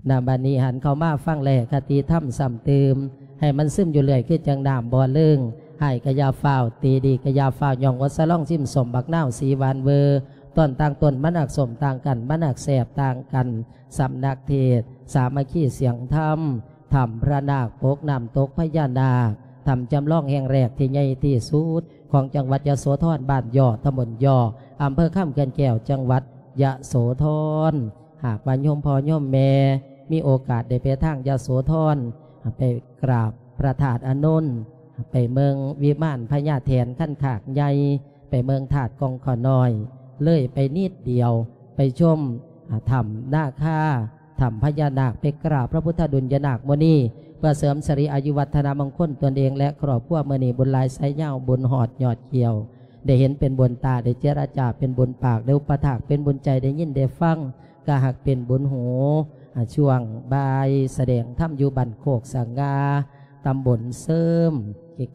ນະ ບັດນີ້ຫັນເຂົ້າມາຟັງແລຄະຕິທຳຊ້ຳຕື່ມ ໃຫ້ມັນຊຶມຢູ່ເລື້ອຍ ຄືຈັ່ງນ້ຳບໍ່ເລີງ. ຮ້າຍກະຢ່າຟ້າວ ຕີດີກະຢ່າຟ້າວ ຍ່ອງອົດສະຫຼອງຊິມສົ້ມບັກນາວສີຫວານເວີ ຕອນຕ່າງຕົ້ນມັນອັກສົ້ມຕ່າງກັນ ມັນອັກແຊບຕ່າງກັນ. ສຳນັກເທດສາມັກຄີສຽງທຳ ຖ້ຳພະນາກປົກນ້ຳຕົກພະຍານາກ ຖ້ຳຈຳລອງແຫ່ງແລກທີ່ໃຫຍ່ທີ່ສຸດຂອງຈັງຫວັດຍະໂສທອນ ບ້ານຍໍ້ ຕຳບົນຍໍ້ ອຳເພີຄຳເຂື່ອນແກ້ວ ຈັງຫວັດຍະໂສທອນ. ຫາກວ່າໂຍມພໍ່ໂຍມແມ່ມີໂອກາດໄດ້ໄປທາງຍະໂສທອນ ໄປກາບພະທາດອານົນ ໄປເບິ່ງວິມານພະຍາແຖນຄັນຄາກໃຫຍ່ ໄປເບິ່ງທາດກ່ອງຂ້ານ້ອຍ ເລີຍໄປນິດດຽວ ໄປຊົມ ອາ ຖ້ຳນາຄາ ຖ້ຳພະຍານາກ ໄປກາບພະພຸດທະດຸນຍະນາກມຸນີ ເພື່ອເສີມສິລິອາຍຸວັດທະນະມົງຄົນຕົນເອງ ແລະ ຄອບຄົວ. ມື້ນີ້ບຸນຫຼາຍສາຍຍາວ ບຸນຮອດຍອດກ່ຽວ ໄດ້ເຫັນເປັນບຸນຕາ ໄດ້ເຈລະຈາເປັນບຸນປາກ ໄດ້ອຸປະຖາກເປັນບຸນໃຈ ໄດ້ຍິນໄດ້ຟັງກະຮັກເປັນບຸນຫູ. ອາ ຊ່ວງບ່າຍສະແດງທຳຢູ່ບ້ານໂຄກສະຫງ່າ ຕຳບົນເສີມ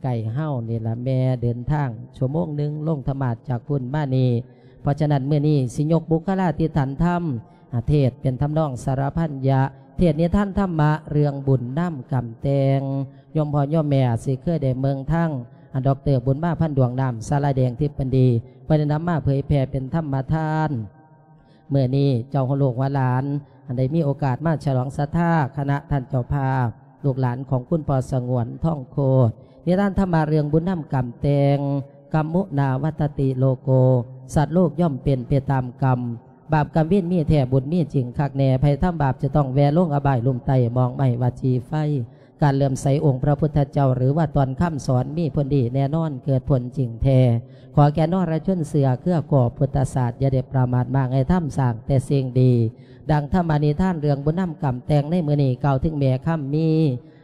ໃກ້ໆເຮົານີ້ລະແມ່ ເດີນທາງຊົ່ວໂມງໜຶ່ງ ລົງທຳມາດຈາກພຸ້ນມານີ້. ເພາະສະນັ້ນ ມື້ນີ້ຊິຍົກບຸກຄະລາທິຖານທຳ ອາ ເທດເປັນທຳນອງສາລະພັນຍະ ເທດນິທານທຳມະເລື່ອງບຸນນຳກຳແຕ່ງ. ໂຍມພໍ່ໂຍມແມ່ອາດຊິເຄີຍໄດ້ເບິ່ງທາງ ອາ ດອກເຕີ ບຸນມາ ພັນດວງນາມ ສາລາແດງ ທິບປະດີ ເພິ່ນໄດ້ນຳມາເຜີຍແຜ່ເປັນທຳມະທານ. ມື້ນີ້ເຈົ້າຫົວລູກຫົວຫຼານ ອັນໄດ້ມີໂອກາດມາສະຫຼອງສັດທາຄະນະທ່ານເຈົ້າພາບ ລູກຫຼານຂອງຄຸນພໍ່ສະຫງວນ ທອງໂຄດ. ນິທານທຳມະເລື່ອງບຸນນຳກຳແຕ່ງ ກຳມຸນາວັດຕະຕິໂລໂກ ສັດໂລກຍ່ອມເປັນໄປຕາມກຳ ບາບກຳເວນມີແທ້ ບຸນມີຈິງຄັກແນ່ ໃຜທຳບາບຈະຕ້ອງແວ່ລົງອະບາຍລຸ່ມໃຕ້ ມອງໄມ້ວັດຈີໄຟ. ການເຫຼື້ອມໃສອົງພະພຸດທະເຈົ້າ ຫຼືວ່າຕອນຄຳສອນມີຜົນດີແນ່ນອນ ເກີດຜົນຈິງແທ້. ຂໍແກ່ນໍລະຊົນເຊື້ອເຄືອຂອບພຸດທະສາດ ຢ່າໄດ້ປະໝາດ ໝາກໃຫ້ທຳສ້າງແຕ່ສິ່ງດີ ດັ່ງທຳມະນິທານເລື່ອງບຸນນຳກຳແຕ່ງໃນມື້ນີ້ ກ່າວເຖິງແມ່ຄຳມີ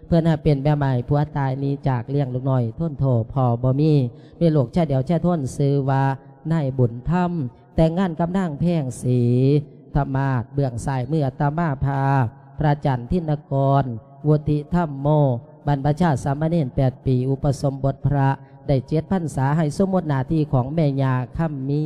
ເພິ່ນຫາເປັນແມ່ໝ້າຍຜົວຕາຍໜີຈາກ ລ້ຽງລູກນ້ອຍທົນໂທພໍ່ບໍ່ມີ ມີລູກຊາຍດຽວຊາຍທົນ ຊື່ວ່ານາຍບຸນທຳ ແຕ່ງງານກັບນາງແພງສີທະມາດ. ເບື້ອງຊ້າຍມືອາດຕະມາພາບ ພະອາຈານທິນນະກອນ ວຸດທິທຳໂມ ບັນພະຊາສາມະເນນແປດປີ ອຸປະສົມບົດພະ ໄດ້ເຈັດພັນສາ ໃຫ້ສົມມຸດໜ້າທີ່ຂອງແມ່ຍ່າຄຳມີ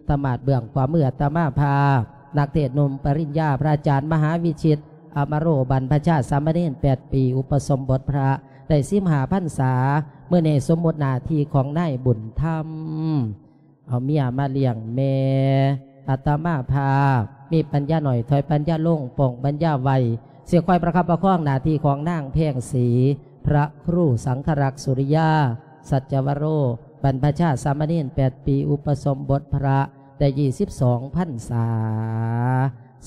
ທະມາດ. ເບື້ອງຂວາມືອາດຕະມາພາບ ນັກເທດໜຸ່ມປະລິນຍາ ພະອາຈານມະຫາວິຊິດ ອາມະໂຣ ບັນພະຊາສາມະເນນແປດປີ ອຸປະສົມບົດພະ ໄດ້ສິບຫ້າພັນສາ ມື້ນີ້ສົມມຸດໜ້າທີ່ຂອງນາຍບຸນທຳ. ເອົາເມຍມາລ້ຽງແມ່ ອາດຕະມາພາບ ມີປັນຍາໜ້ອຍ ຖອຍປັນຍາລົງ ປ່ອງປັນຍາໄວ ຊິຄອຍປະຄັບປະຄອງໜ້າທີ່ຂອງນາງແພງສີ ພະຄູສັງຄະລັກ ສຸລິຍາ ສັດຈະວະໂຣ ບັນພະຊາສາມະເນນແປດປີ ອຸປະສົມບົດພະ ໄດ້ຊາວສອງພັນສາ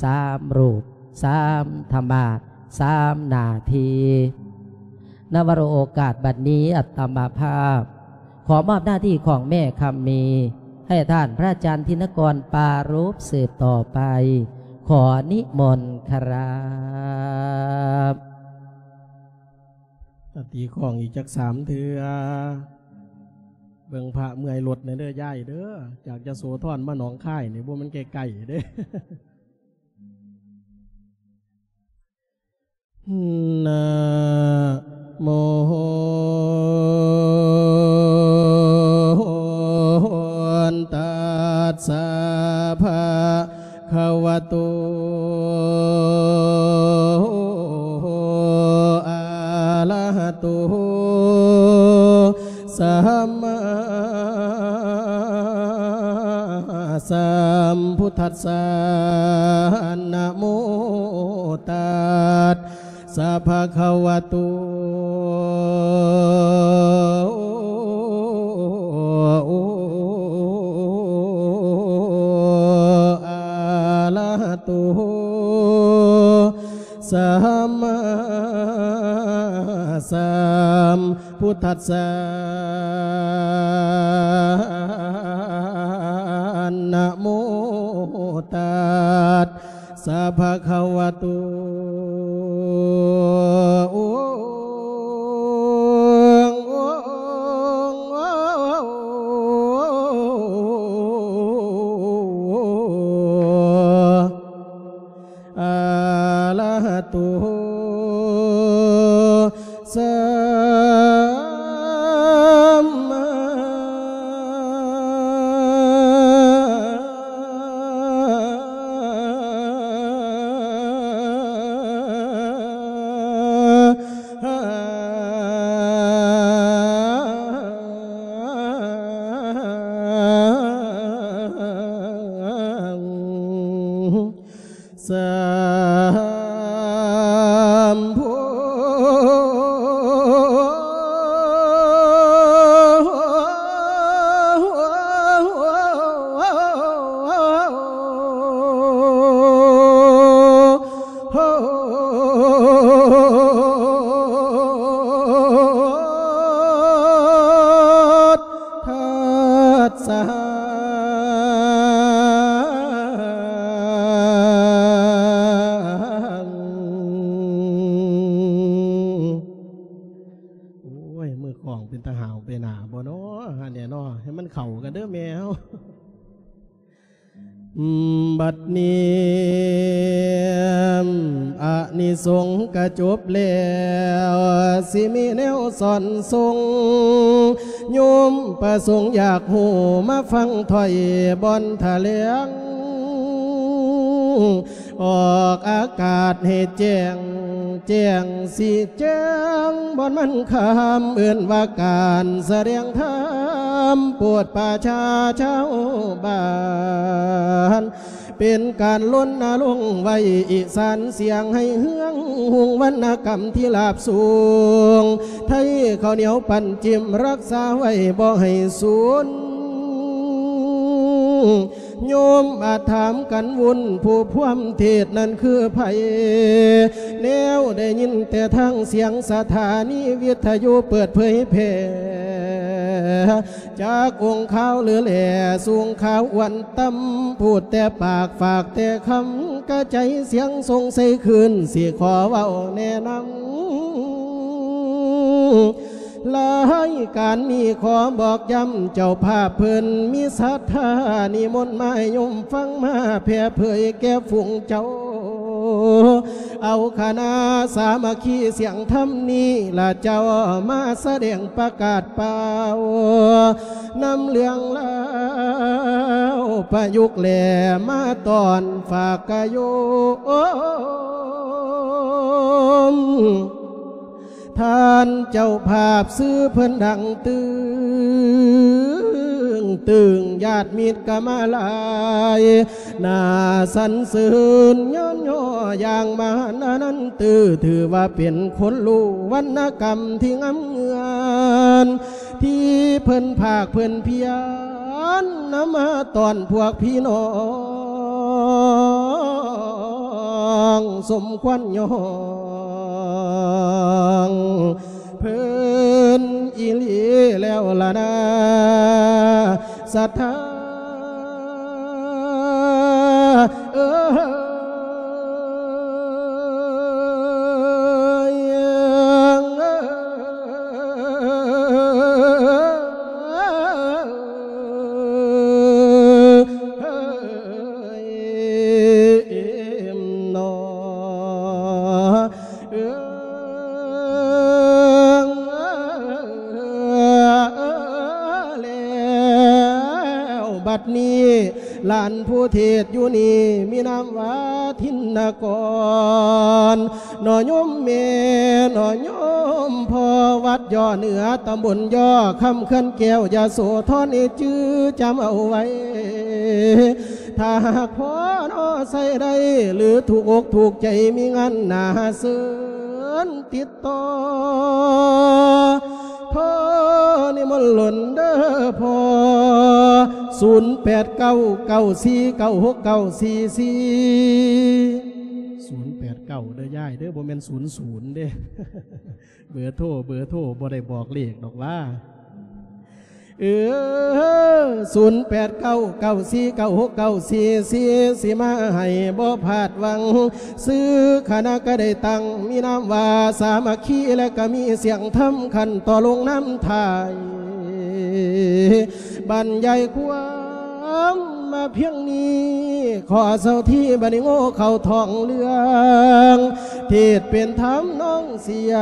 ສາມຮູບ ສາມທຳມາດ ສາມໜ້າທີ່. ນະວະໂຣ ໂອກາດບັດນີ້ ອາດຕະມາພາບ ຂໍມອບໜ້າທີ່ຂອງແມ່ຄຳມີ ໃຫ້ທ່ານພະອາຈານທິນນະກອນປາລົບສືບຕໍ່ໄປ. ຂໍນິມົນຄະຣັບ. ອາ ຕີຂອງອີກຈັກສາມເທື່ອ. ເບິ່ງພະເມື່ອຍລົດແດ່ເດີຍາຍເດີ ຈາກຍະໂສທອນມາໜອງຄາຍນີ້ ບໍ່ແມ່ນໃກ້ໆເດ້. ນະໂມ ຕັດສະ ພະຄະວະໂຕ ອະລະຫະໂຕ ສຳມາສຳພຸດທັດສະ ນະໂມ ຕັດສະ ພະຄະວະໂຕ ອະລະຫະໂຕ ສຳມາສຳພຸດທັດສະ ນະໂມ ຕັດສະ ພະຄະວະໂຕ ອະລະຫະໂຕ ສຳມາ ສາມໂພດທັດສະ ໂອ້ຍ ມືຂອງເປັນຕາຫາວໄປໜ້າບໍ່ນໍ ຫັ້ນແຫຼະນໍ ໃຫ້ມັນເຂົ້າກັນເດີແມ່ເຮົາ. ບັດນີ້ອານິສົງກະຈົບແລ້ວ ຊິມີແນວສອນສົ່ງ ໂຍມປະສົງຢາກຮູ້ ມາຟັງຖ້ອຍບ່ອນຖະແຫຼງ ອອກອາກາດໃຫ້ແຈ້ງ ແຈ້ງສີແຈ້ງບ່ອນມັນຄຳ ເອີ້ນວ່າການສະແດງທຳ ໂປດປະຊາຊາວບ້ານ ເປັນການລົນນະລົງໄວ້ອີສານສຽງໃຫ້ເຮືອງຮຸ່ງ ວັນນະກຳທີ່ລາບສູງ ໄທເຂົ້າໜຽວປັ້ນຈິ້ມ ຮັກສາໄວ້ບໍ່ໃຫ້ສູນ. ໂຍມອາດຖາມກັນວຸ່ນ ຜູ້ພວມເທດນັ້ນຄືໃຜ? ແນວໄດ້ຍິນແຕ່ທາງສຽງສະຖານີວິທະຍຸເປີດເຜີຍແຜ່ ຈັກອົງຄາວຫຼືແຫຼສູງຂາວອວນຕ່ຳ ພູດແຕ່ປາກຝາກແຕ່ຄຳ ກະໃຈສຽງສົ່ງໃສ່ຄືນ ຊິຂໍເວົ້າແນະນຳ ລາຍການນີ້ຂໍບອກຢ້ຳ ເຈົ້າພາບເພິ່ນມີສັດທານິມົນມາ ໃຫ້ໂຍມຟັງມາແຜ່ເຜີຍແກ່ຝູງເຈົ້າ ເອົາຄະນະສາມັກຄີສຽງທຳນີ້ລະເຈົ້າ ມາສະແດງປະກາດປ່າວ ນຳເລື່ອງລາວປະຍຸກແລມາຕ້ອນຝາກກະໂຍມ. ທ່ານເຈົ້າພາບຊື່ເພິ່ນດັງຕຶງຕຶງ ຍາດມິດກະມາຫຼາຍ ໜ້າສັນເສີນຍ້ອນຍໍຢ່າງມະຫານອານັນຕື້ ຖືວ່າເປັນຄົນຮູ້ວັນນະກຳທີ່ງາມເງືອນ ທີ່ເພິ່ນພາກເພິ່ນພຽນນຳມາຕ້ອນພວກພີ່ນ້ອງ ສົມຄວນຍ້ອງເພິ່ນອີ່ຫຼີແລ້ວລະນາ ສັດທາເອີຍ. ແລ້ວບັດນີ້ ຫຼານຜູ້ເທດຢູ່ນີ້ມີນາມວ່າທິນນະກອນ ໜໍ່ໂຍມແມ່ ໜໍ່ໂຍມພໍ່ ວັດຢໍ້ເໜືອ ຕຳບົນຢໍ້ຄຳ ເຂື່ອນແກ້ວ ຍະໂສທອນ ໃຫ້ຈື່ຈຳເອົາໄວ້ ຖ້າຫາກພໍ່ໜໍ່ໃຊ້ໄດ້ ຫຼື ຖືກອົກຖືກໃຈ ມີງານໜ້າເຊີນຕິດ ຕໍ່ ຂໍນິມົນຫຼົນເດີພໍ່ ສູນແປດເກົ້າ ເກົ້າສີ່ເກົ້າຫົກເກົ້າສີ່ສີ່ ສູນແປດເກົ້າເດີຍາຍເດີ ບໍ່ແມ່ນສູນສູນເດ້ ເບີໂທ ເບີໂທ ບໍ່ໄດ້ບອກເລກດອກວ່າ. ເອີ ສູນແປດເກົ້າ ເກົ້າສີ່ເກົ້າຫົກເກົ້າສີ່ສີ່ ຊິມາໃຫ້ບໍ່ພາດຫວັງ ຊື່ຄະນະກະໄດ້ຕັ້ງ ມີນາມວ່າສາມັກຄີ ແລະກະມີສຽງທຳ ຂັ້ນຕໍ່ລົງນຳທ້າຍ ບັນຍາຍຄວາມມາພຽງນີ້ ຂໍເຊົາທີ ບັດນີ້ໂງ່ເຂົ້າທ້ອງເລື່ອງ ເທດເປັນທຳນອງ ສຽ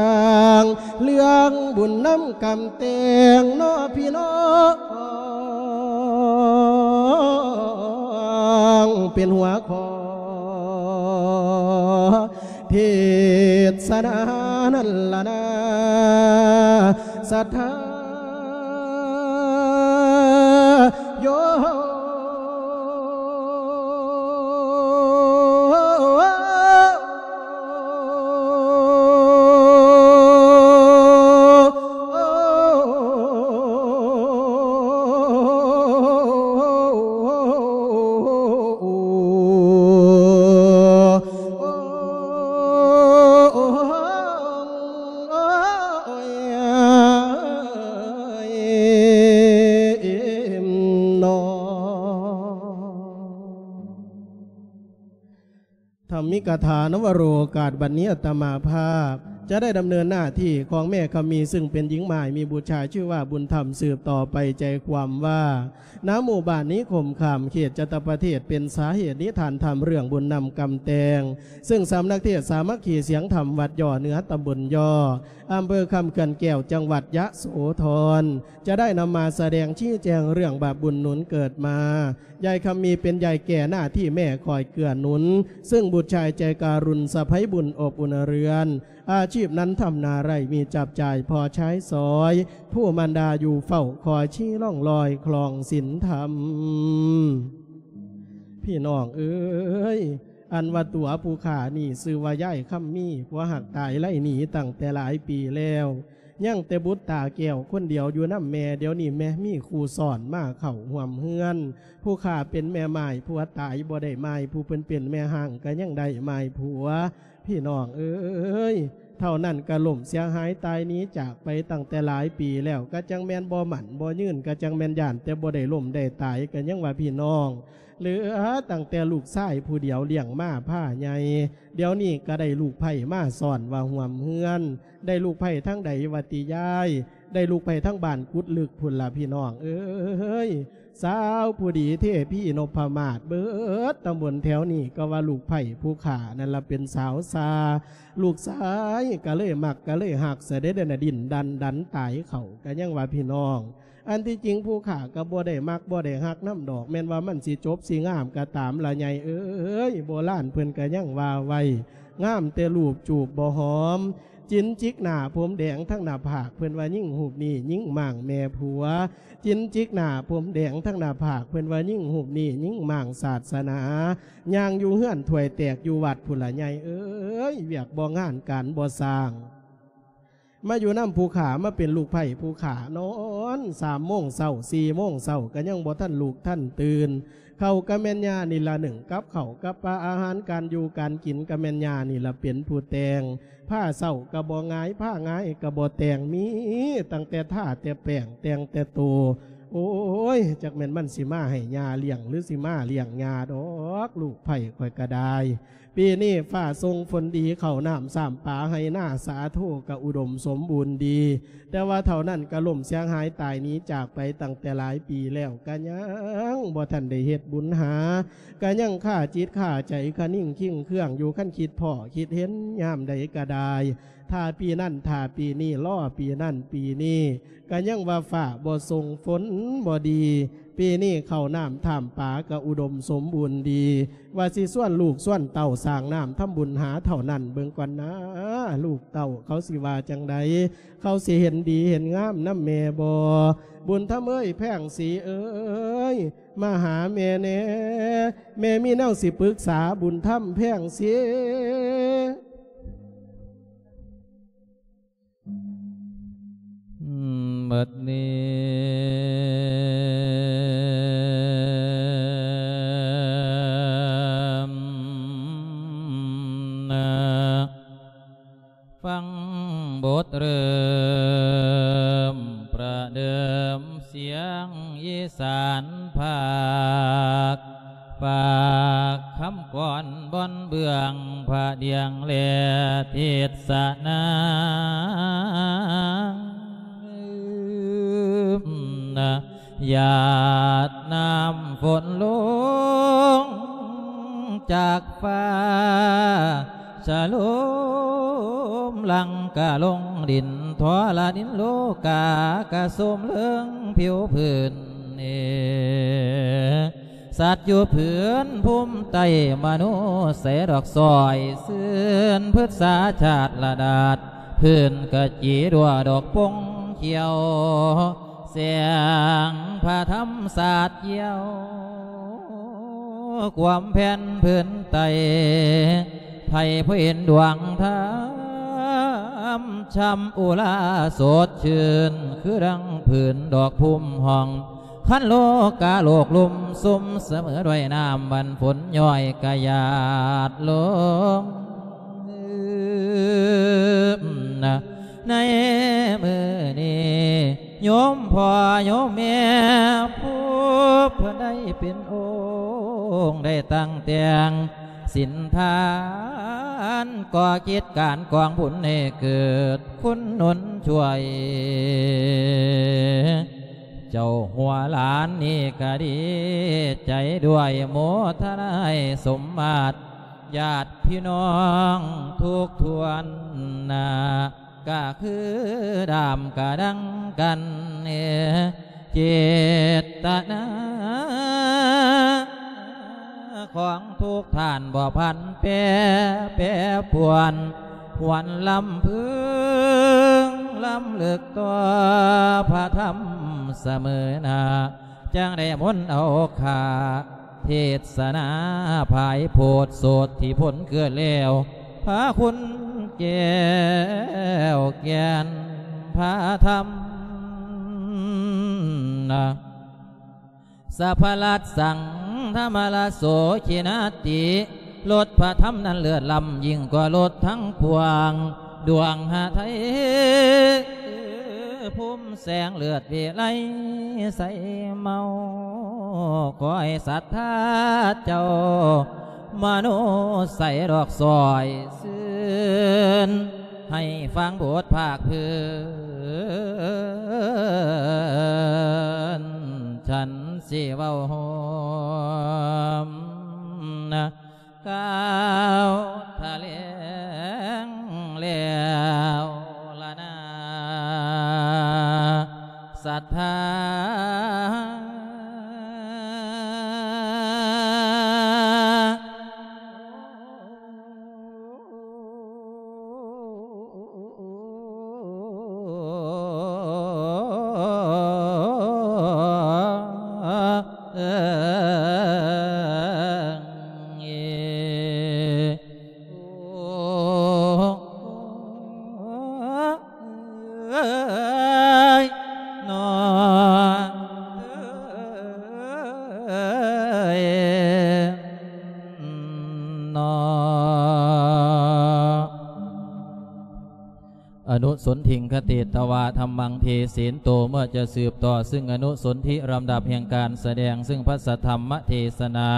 ງເລື່ອງບຸນນຳກຳແຕ່ງເນາະພີ່ນ້ອງ ເປັນຫົວຂໍ້ເທດສະນານັ້ນລະນາ ສັດທາໂຍ ธรรมิกถา นวโรกาส บัดนี้อาตมาภาพจะได้ดำเนินหน้าที่ของแม่คำมี ซึ่งเป็นหญิงม่ายมีบุตรชายชื่อว่าบุญธรรม สืบต่อไป ใจความว่า ณ หมู่บ้านนิคมคาม เขตจัตตประเทศ เป็นสาเหตุนิทานธรรมเรื่องบุญนำกรรมแต่ง ซึ่งสำนักเทศน์สามัคคีเสียงธรรมวัดย่อเหนือ ตำบลย่อ อำเภอคำเขื่อนแก้ว จังหวัดยะโสธร จะได้นำมาแสดงชี้แจงเรื่องบาปบุญหนุนเกิดมา ยายคำมีเป็นยายแก่หน้าที่แม่คอยเกื้อหนุน ซึ่งบุตรชายใจการุณสะใภ้บุญอบอุ่นเรือน อาชีพนั้นทำนาไร่มีจับจ่ายพอใช้สอย ผู้มารดาอยู่เฝ้าคอยชี้ร่องรอยคลองศีลธรรม พี่น้องเอ๋ย อันว่าตั๋ວผู้ข้านี่ชื่อว่ายายคำมี ผัวฮักตายไล่หนีตั้งแต่หลายปีแล้ว ยังแต่บุตรตาแก้วคนเดียวอยู่นำแม่ เดี๋ยวนี้แม่มีคู่ซ้อนมาเข้าร่วมเฮือน ผู้ข้าเป็นแม่ม่าย ผัวตายบ่ได้ม่าย ผู้เพิ่นเป็นแม่ฮ้างก็ยังได้ม่ายผัว พี่น้องเอ๋ย เท่านั้นก็ล้มเสียหายตายหนีจากไปตั้งแต่หลายปีแล้ว ก็จั่งแม่นบ่หมั้นบ่ยืน ก็จั่งแม่นย้านแต่บ่ได้ล้มได้ตาย ก็ยังว่าพี่น้อง เหลือตั้งแต่ลูกชายผู้เดียวเลี้ยงมาพาใหญ่ เดี๋ยวนี้ก็ได้ลูกไพร่มาซ้อนว่าร่วมเฮือน ได้ลูกไพร่ทางใดว่าติยาย ได้ลูกไพร่ทางบ้านกุดลึกพุ้นล่ะพี่น้องเอ๋ย สาวผู้ดีเทพีนพมาศ เบิดตำบลแถวนี้ก็ว่าลูกไพร่ผู้ข้านั่นล่ะเป็นสาวซ่า ลูกชายก็เลยมักก็เลยฮัก เสยเด็จนะ ดิ้นดันดันตายเข้า ก็ยังว่าพี่น้อง อันที่จริงผู้ข้าก็บ่ได้มักบ่ได้ฮักนำดอก แม่นว่ามันสิจบสิงามก็ตามล่ะใหญ่เอ๋ย โบราณเพิ่นก็ยังว่าไว้ งามแต่รูปจูบบ่หอม จินจิกหน้าผมแดงทั้งหน้าผาก เพิ่นว่าหญิงรูปนี้หญิงม้างแม่ผัว จินจิกหน้าผมแดงทั้งหน้าผาก เพิ่นว่าหญิงรูปนี้หญิงม้างศาสนา ย่างอยู่เฮือนถ้วยแตกอยู่วัดพุ้นล่ะใหญ่เอ๋ย เวียกบ่งานการบ่สร้าง มาอยู่นำผู้ข้า มาเป็นลูกไพร่ผู้ข้า นอนสามโมงเช้า สี่โมงเช้าก็ยังบ่ทันลุกทันตื่น ข้าวก็แม่นย่านี่ล่ะนึ่งกับข้าวกับปลา อาหารการอยู่การกินก็แม่นย่านี่ล่ะเป็นผู้แต่ง ผ้าเช้าก็บ่หงาย ผ้าหงายก็บ่แต่ง มีตั้งแต่ทาแต่แป้ง แต่งแต่โต โอ้ย จักแม่นมันสิมาให้ย่าเลี้ยง หรือสิมาเลี้ยงย่าดอก ลูกไพร่ข้อยก็ได้ ปีนี้ฟ้าส่งฝนดี ข้าวน้ำซ้ำปา ไฮ่นาสาโทก็อุดมสมบูรณ์ดี แต่ว่าเท่านั้นก็ล้มเสียหายตายหนีจากไปตั้งแต่หลายปีแล้ว ก็ยังบ่ทันได้เฮ็ดบุญหา ก็ยังคาจิตคาใจคะนิงคิงเคืองอยู่ คันคิดพ้อคิดเห็นยามใดก็ได้ ถ้าปีนั้น ถ้าปีนี้ รอปีนั้นปีนี้ ก็ยังว่าฟ้าบ่ส่งฝนบ่ดี ปีนี้ข้าวน้ำท่ามปาก็อุดมสมบูรณ์ดี ว่าสิชวนลูกชวนเต้าสร้างน้ำทำบุญหาเท่านั้น เบิ่งก่อนนะ ลูกเต้าเขาสิว่าจั่งใด เขาสิเห็นดีเห็นงามนำแม่บ่ บุญธรรมเอ้ย แพงศรีเอ้ย มาหาแม่แน่ แม่มีแนวสิปรึกษา บุญธรรม แพงศรี บัดนี้นะ ฟังบทเริ่มประเดิมเสียงอีสานภาค ฝากคำกลอนบนเบื้องพระเดียงและเทศนา หยาดน้ำฝนลงจากฟ้า สะโลมหลั่งกะลงดิน ทอละนินโลกากะโสมเลิงผิวพื้น เอ สัตว์อยู่พื้นภูมิใต้มนุษย์ใสดอกซอยซื่น พฤกษาชาติละดาษ พื้นกะจีดัวดอกปงเขียว แสงพระธรรมสาดเยี่ยว ความแผ่นพื้นไต ไผผู้เห็นดวงธรรม ช่ำอุราสดชื่น คือดังพื้นดอกพุ่มห้อง คันโลกาโลกลุ่มซุ่มเสมอด้วยน้ำวันฝนย้อยกะหยาดลง ในมื้อนี้ โยมพ่อโยมแม่ ผู้เพิ่นได้เป็นองค์ ได้ตั้งแต่ง ສິນທານ ກໍ່ກິດການກອງບຸນໃຫ້ເກີດຄຸນໜູນຊ່ວຍ ເຈົ້າຫົວຫຼານນີ້ກະດີໃຈດ້ວຍ ໂມທະນາໃຫ້ສົມມາດ ຍາດພີ່ນ້ອງທຸກຖ້ວນໜ້າ ກະຄືດາມກະດັງກັນ ເຈດຕະນາຂອງທຸກທ່ານບໍ່ຜັນແປ ແປປວນ ຫວນລຳເພິງລຳເລິກຕໍ່ພະທຳສະເໝີໜ້າ ຈັ່ງໄດ້ມົນເອົາຂ້າ ເທດສະໜາພາຍໂພດໂສດທີ່ພົ້ນເກີດແລ້ວ ພາຄຸນແກ້ວແກ່ນພາທຳນະ ສະພະລັດສັງທຳມະລະໂສ ຄີນາຕິ ລົດພະທຳນັ້ນເລີດລ້ຳ ຍິ່ງກວ່າລົດທັງປວງ ດວງຫະໄທ ພູມແສງເລີດວິໄລໃສເມົາ ຂໍໃຫ້ສັດທາເຈົ້າ ມະໂນໃສດອກຊ່ອຍຊື່ນ ໃຫ້ຟັງບົດພາກພື້ນ ສັນຊິເວົ້າໂຮມນະ ກ່າວຖະແຫຼງແລ້ວລະນາ ສັດທາ. ອະນຸສົນທິງຄະຕິຕະວາທຳມັງເທເສນໂຕ ເມື່ອຈະສືບຕໍ່ຊຶ່ງອະນຸສົນທິລຳດັບແຫ່ງການສະແດງ ຊຶ່ງພະສະທຳມະເທສະນາ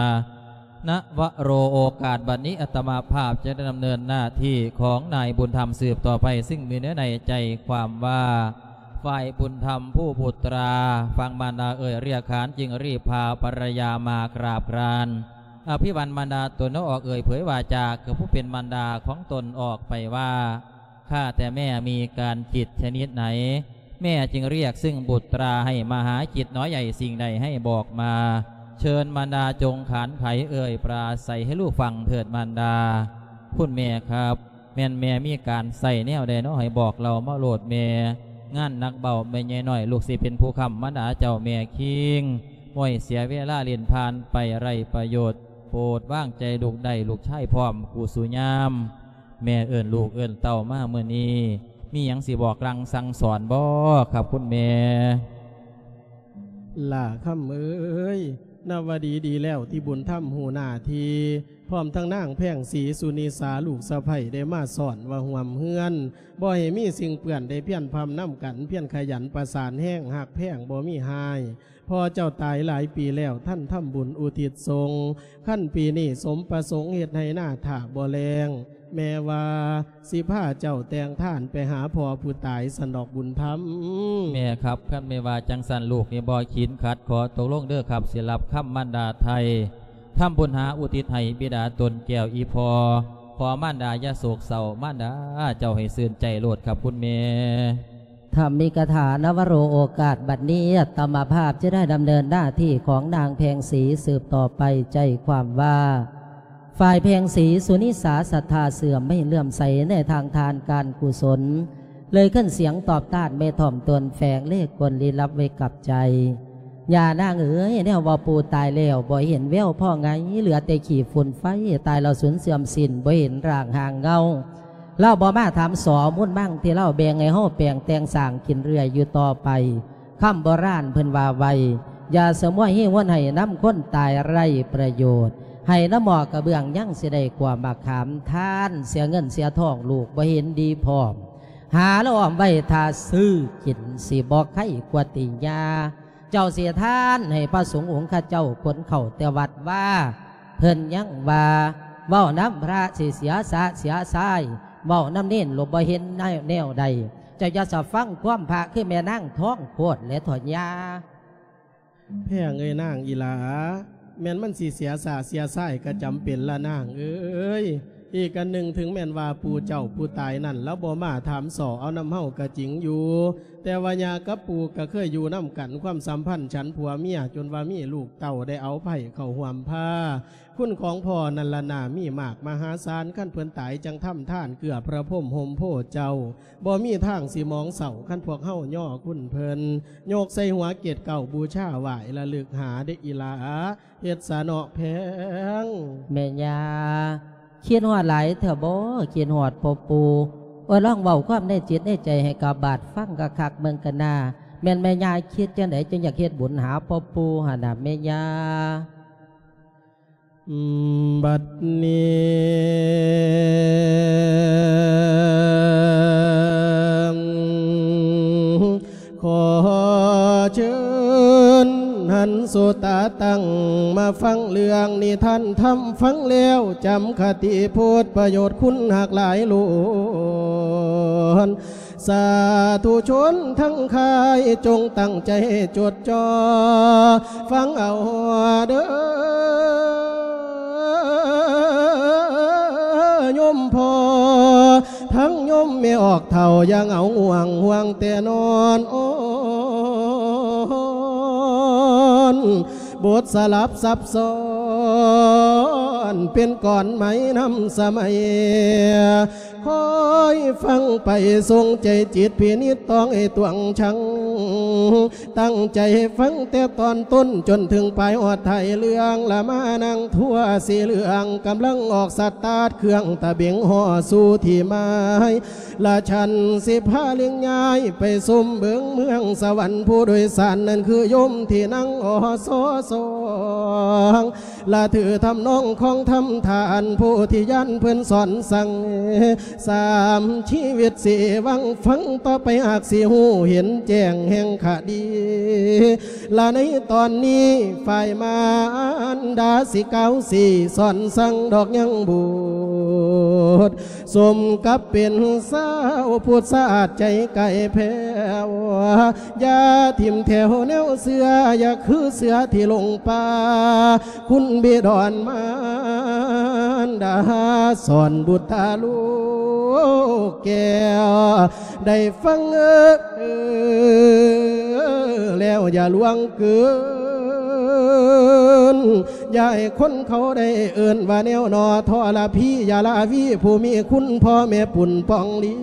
ນະວະໂຣ ໂອກາດບັດນີ້ ອາດຕະມາພາບຈະດຳເນີນໜ້າທີ່ຂອງນາຍບຸນທຳສືບຕໍ່ໄປ ຊຶ່ງມີເນື້ອໃນໃຈຄວາມວ່າ ຝ່າຍບຸນທຳຜູ້ບຸດຕາ ຟັງມານດາເອີ່ຍຮຽກຂານ ຈຶ່ງຣີບພາພັນລະຍາມາກາບການ ອະພິວານມານດາຕົນ ອອກເອີ່ຍເຜີຍວາຈາ ຄືຜູ້ເປັນມານດາຂອງຕົນອອກໄປວ່າ ຂ້າແຕ່ແມ່ມີການຈິດຊະນິດໃດ ແມ່ຈຶ່ງຮຽກຊຶ່ງບຸດຕາໃຫ້ມາຫາຈິດໜໍໃຫຍ່ ສິ່ງໃດໃຫ້ບອກມາ ເຊີນມານດາຈົ່ງຂານໄຂເອີ່ຍປາໄສໃຫ້ລູກຟັງເຖີດມານດາ. ຄຸນແມ່ຄັບ ແມ່ນແມ່ມີການໃຊ້ແນວໃດເນາະ ໃຫ້ບອກເລົ່າມາໂລດແມ່. ງານໜັກເບົາແມ່ໃຫຍ່ນ້ອຍ ລູກຊິເປັນຜູ້ຄ້ຳມານດາເຈົ້າແມ່ຄີງ ໂອ້ຍ ເສຍເວລາຫຼິ້ນຜ່ານໄປໄຮ້ປະໂຫຍດ ໂປດວາງໃຈລູກໄດ້ ລູກຊາຍພ້ອມຄູ່ສູ່ຍາມ. ແມ່ເອີ້ນລູກເອີ້ນເຕົ້າມາມື້ນີ້ ມີຫຍັງຊິບອກລາງສັ່ງສອນບໍ່ຄັບຄຸນແມ່? ຫຼ້າຄຳເອີຍ ນາວະດີດີແລ້ວທີ່ບຸນທຳຮູ້ໜ້າທີ່ ພ້ອມທັງນາງແພງສີສຸນິສາ ລູກສະໃພ້ໄດ້ມາສອນວ່າຮ່ວມເຮືອນ ບໍ່ໃຫ້ມີສິ່ງເປື້ອນ ໄດ້ພຽນພຳນຳກັນ ພຽນຂະຫຍັນປະສານແຮງ ຮັກແພງບໍ່ມີຮ້າຍ. ພໍ່ເຈົ້າຕາຍຫຼາຍປີແລ້ວ ທ່ານທຳບຸນອຸທິດສົງ ຄັນປີນີ້ສົມປະສົງເຮັດໄຮ່ນາຖ້າບໍ່ແລ້ງ ແມ່ວ່າຊິພາເຈົ້າແຕ່ງທ່ານໄປຫາພໍ່ຜູ້ຕາຍຊັ້ນດອກບຸນທຳ. ແມ່ຄັບ ຄັນແມ່ວ່າຈັ່ງຊັ້ນ ລູກນີ້ບໍ່ຂີນຂັດ ຂໍຕົກລົງເດີຄັບ ຊິຮັບຄຳມານດາໄຖ່ ທຳບຸນຫາອຸທິດໃຫ້ບິດາຕົນແກ້ວອີ່ພໍ່ ຂໍມານດາຢ່າໂສກເສົ້າ ມານດາເຈົ້າໃຫ້ຊື່ນໃຈໂລດຄັບຄຸນແມ່. ທຳມິກະຖາ ນະວະໂຣ ໂອກາດບັດນີ້ ອາດຕະມາພາບຈະໄດ້ດຳເນີນໜ້າທີ່ຂອງນາງແພງສີສືບຕໍ່ໄປ ໃຈຄວາມວ່າ ຝ່າຍແພງສີສຸນິສາ ສັດທາເຊື່ອມໃຫ້ເຫຼື້ອມໃສໃນທາງທານການກຸສົນ ເລີຍຂຶ້ນສຽງຕອບຕ້ານແມ່ຖ່ອມຕົນ ແຝງເລກກົນລີລັບໄວ້ກັບໃຈ. ຍ່ານາງເອີຍ ແນວວ່າປູຕາຍແລ້ວ ບໍ່ເຫັນແວວພໍ່ໄງ ເຫຼືອແຕ່ຂີ້ຝຸ່ນໄຟ ຕາຍແລ້ວສູນເສື່ອມສິ້ນ ບໍ່ເຫັນຮ່າງຮ່າງເງົາ. ລາວບໍ່ມາຖາມສໍມູນມັງທີ່ລາວແບ່ງໃຫ້ເຮົາແປງແຕ່ງສ້າງກິນເລື້ອຍຢູ່ຕໍ່ໄປ. ຄຳໂບລານເພິ່ນວ່າໄວ້ ຢ່າສະໝວຍຮີຫວນໃຫ້ນຳຄົນຕາຍໄຮ້ປະໂຫຍດ ໃຫ້ນຳໝໍ້ກະເບື້ອງຍັງຊິໄດ້ກວ່າໝາກຂາມ ທານເສຍເງິນເສຍທອງ ລູກບໍ່ເຫັນດີພ້ອມ ຫາລະອ້ອມໄວ້ຖ້າຊື້ກິນ ຊິບໍ່ໄຄກວ່າຕິຍາ. ເຈົ້າເສຍທານໃຫ້ພະສົງອົງຄະເຈົ້າ ຂົນເຂົ້າແຕ່ວັດວາ ເພິ່ນຍັງວ່າ ເວົ້ານຳພະຊິເສຍຊາດເສຍຊາຍ ເວົ້ານຳເນນໂລດບໍ່ເຫັນແນວໃດ. ເຈົ້າຢ່າສະຟັງຄວາມພະ ຄືແມ່ນາງທອງໂຄດແລະເຖາະຍາ. ແພງເອີຍນາງອີ່ຫຼ້າ ແມ່ນມັນຊິເສຍຊາດເສຍຊາຍກະຈຳເປັນລະນາງເອີຍ. ອີກອັນໜຶ່ງ ເຖິງແມ່ນວ່າປູ່ເຈົ້າຜູ້ຕາຍນັ້ນ ລາວບໍ່ມາຖາມສໍ້ເອົານຳເຮົາກະຈິງຢູ່ ແຕ່ວ່າຍ່າກັບປູ່ກະເຄີຍຢູ່ນຳກັນ ຄວາມສຳພັນສັນຜົວເມຍ ຈົນວ່າມີລູກເຕົ້າໄດ້ເອົາໃພ້ເຂົ້າຮ່ວມພາ. ຄຸນຂອງພໍ່ນັ້ນລະນາມີມາກມະຫາສານ ຄັນເພິ່ນຕາຍຈັ່ງທຳທານເກືອພະພົມຮົ່ມໂພເຈົ້າ ບໍ່ມີທາງຊິໝອງເສົ້າ ຄັນພວກເຮົາຍໍຄຸນເພິ່ນ ຍົກໃສ່ຫົວເກດເກົ້າບູຊາໄຫວ້ລະລຶກຫາເດ້ອີ່ຫຼ້າ ເຮັດສາເນາະແພງ. ແມ່ຍ່າ ຄິດຮອດຫຼາຍແທ້ບໍ? ຄິດຮອດພໍ່ປູ່. ໂອ້ຍ ລອງເວົ້າຄວາມໃນຈິດໃນໃຈໃຫ້ກະບາດຟັງຄັກໆເບິ່ງກະນາ ແມ່ນແມ່ຍ່າຄິດຈັ່ງໃດ ຈຶ່ງຢາກເຮັດບຸນຫາພໍ່ປູ່ຫັ້ນນະແມ່ຍ່າ? ບັດນີ້ ຂໍເຊີນຫັນສະຕາຕັ້ງມາຟັງເລື່ອງນິທານທຳ ຟັງແລ້ວຈຳຄະຕິໂພດປະໂຫຍດຄຸນຮັກຫຼາຍຫຼວງ. ສາທຸຊົນທັງຂາຍ ຈົ່ງຕັ້ງໃຈຈົດຈ່ອຟັງເອົາເດີ ໂຍມພໍ່ທັງໂຍມແມ່ອອກເຖົ້າ ຢ່າເຫງົາງ່ວງຫ່ວງແຕ່ນອນ ໂອນ ບົດສະຫຼັບສັບຊ້ອນ ເປັນກ່ອນໄໝນຳສະໄໝ ຄອຍຟັງໄປ ຊົງໃຈຈິດພິນິດຕອງໃຫ້ຕວງຊັງ ຕັ້ງໃຈຟັງແຕ່ຕອນຕົ້ນ ຈົນເຖິງປາຍຮອດທ້າຍເລື່ອງ ລະມານາງທົ່ວສີເຫຼືອງ ກຳລັງອອກສະຕາດເຄື່ອງຕະເບັງ ຫໍ່ສູ່ທີ່ໝາຍ ລະສັນຊິພາເລັງຍ້າຍໄປຊົມເບິ່ງເມືອງສະຫວັນ ຜູ້ໂດຍສານນັ້ນຄືໂຍມທີ່ນັ່ງ ອສສອງ ລະຖືທຳນອງຂອງທຳທ່ານໂພທິຍານເພິ່ນສອນສັ່ງ ສາມຊີວິດຊິຫວັງຟັງຕໍ່ໄປ ຫາກຊິຮູ້ເຫັນແຈ້ງແຫ່ງຄະດີ ລະໃນຕອນນີ້ຝ່າຍມານດາຊິກ່າວຊີ້ສອນສັ່ງດອກຍັງບຸດ ສົມກັບເປັນຊາວພຸດຊາດໃຈໄກແຜ່ວ ຢ່າຖິ້ມແຖວແນວເຊື່ອ ຢ່າຄືເສືອທີ່ຫຼົງປ່າ ຄຸນບິດອນມານດາ ສອນບຸດຕາລູກແກ້ວ ໄດ້ຟັງ ເອີ ແລ້ວຢ່າລວງເກີນ ຢ່າໃຫ້ຄົນເຂົາໄດ້ເອີ້ນວ່າແນວໜໍ ທໍລະພີ ຢ່າລາວີ ຜູ້ມີຄຸນພໍ່ແມ່ປຸນປ່ອງລ້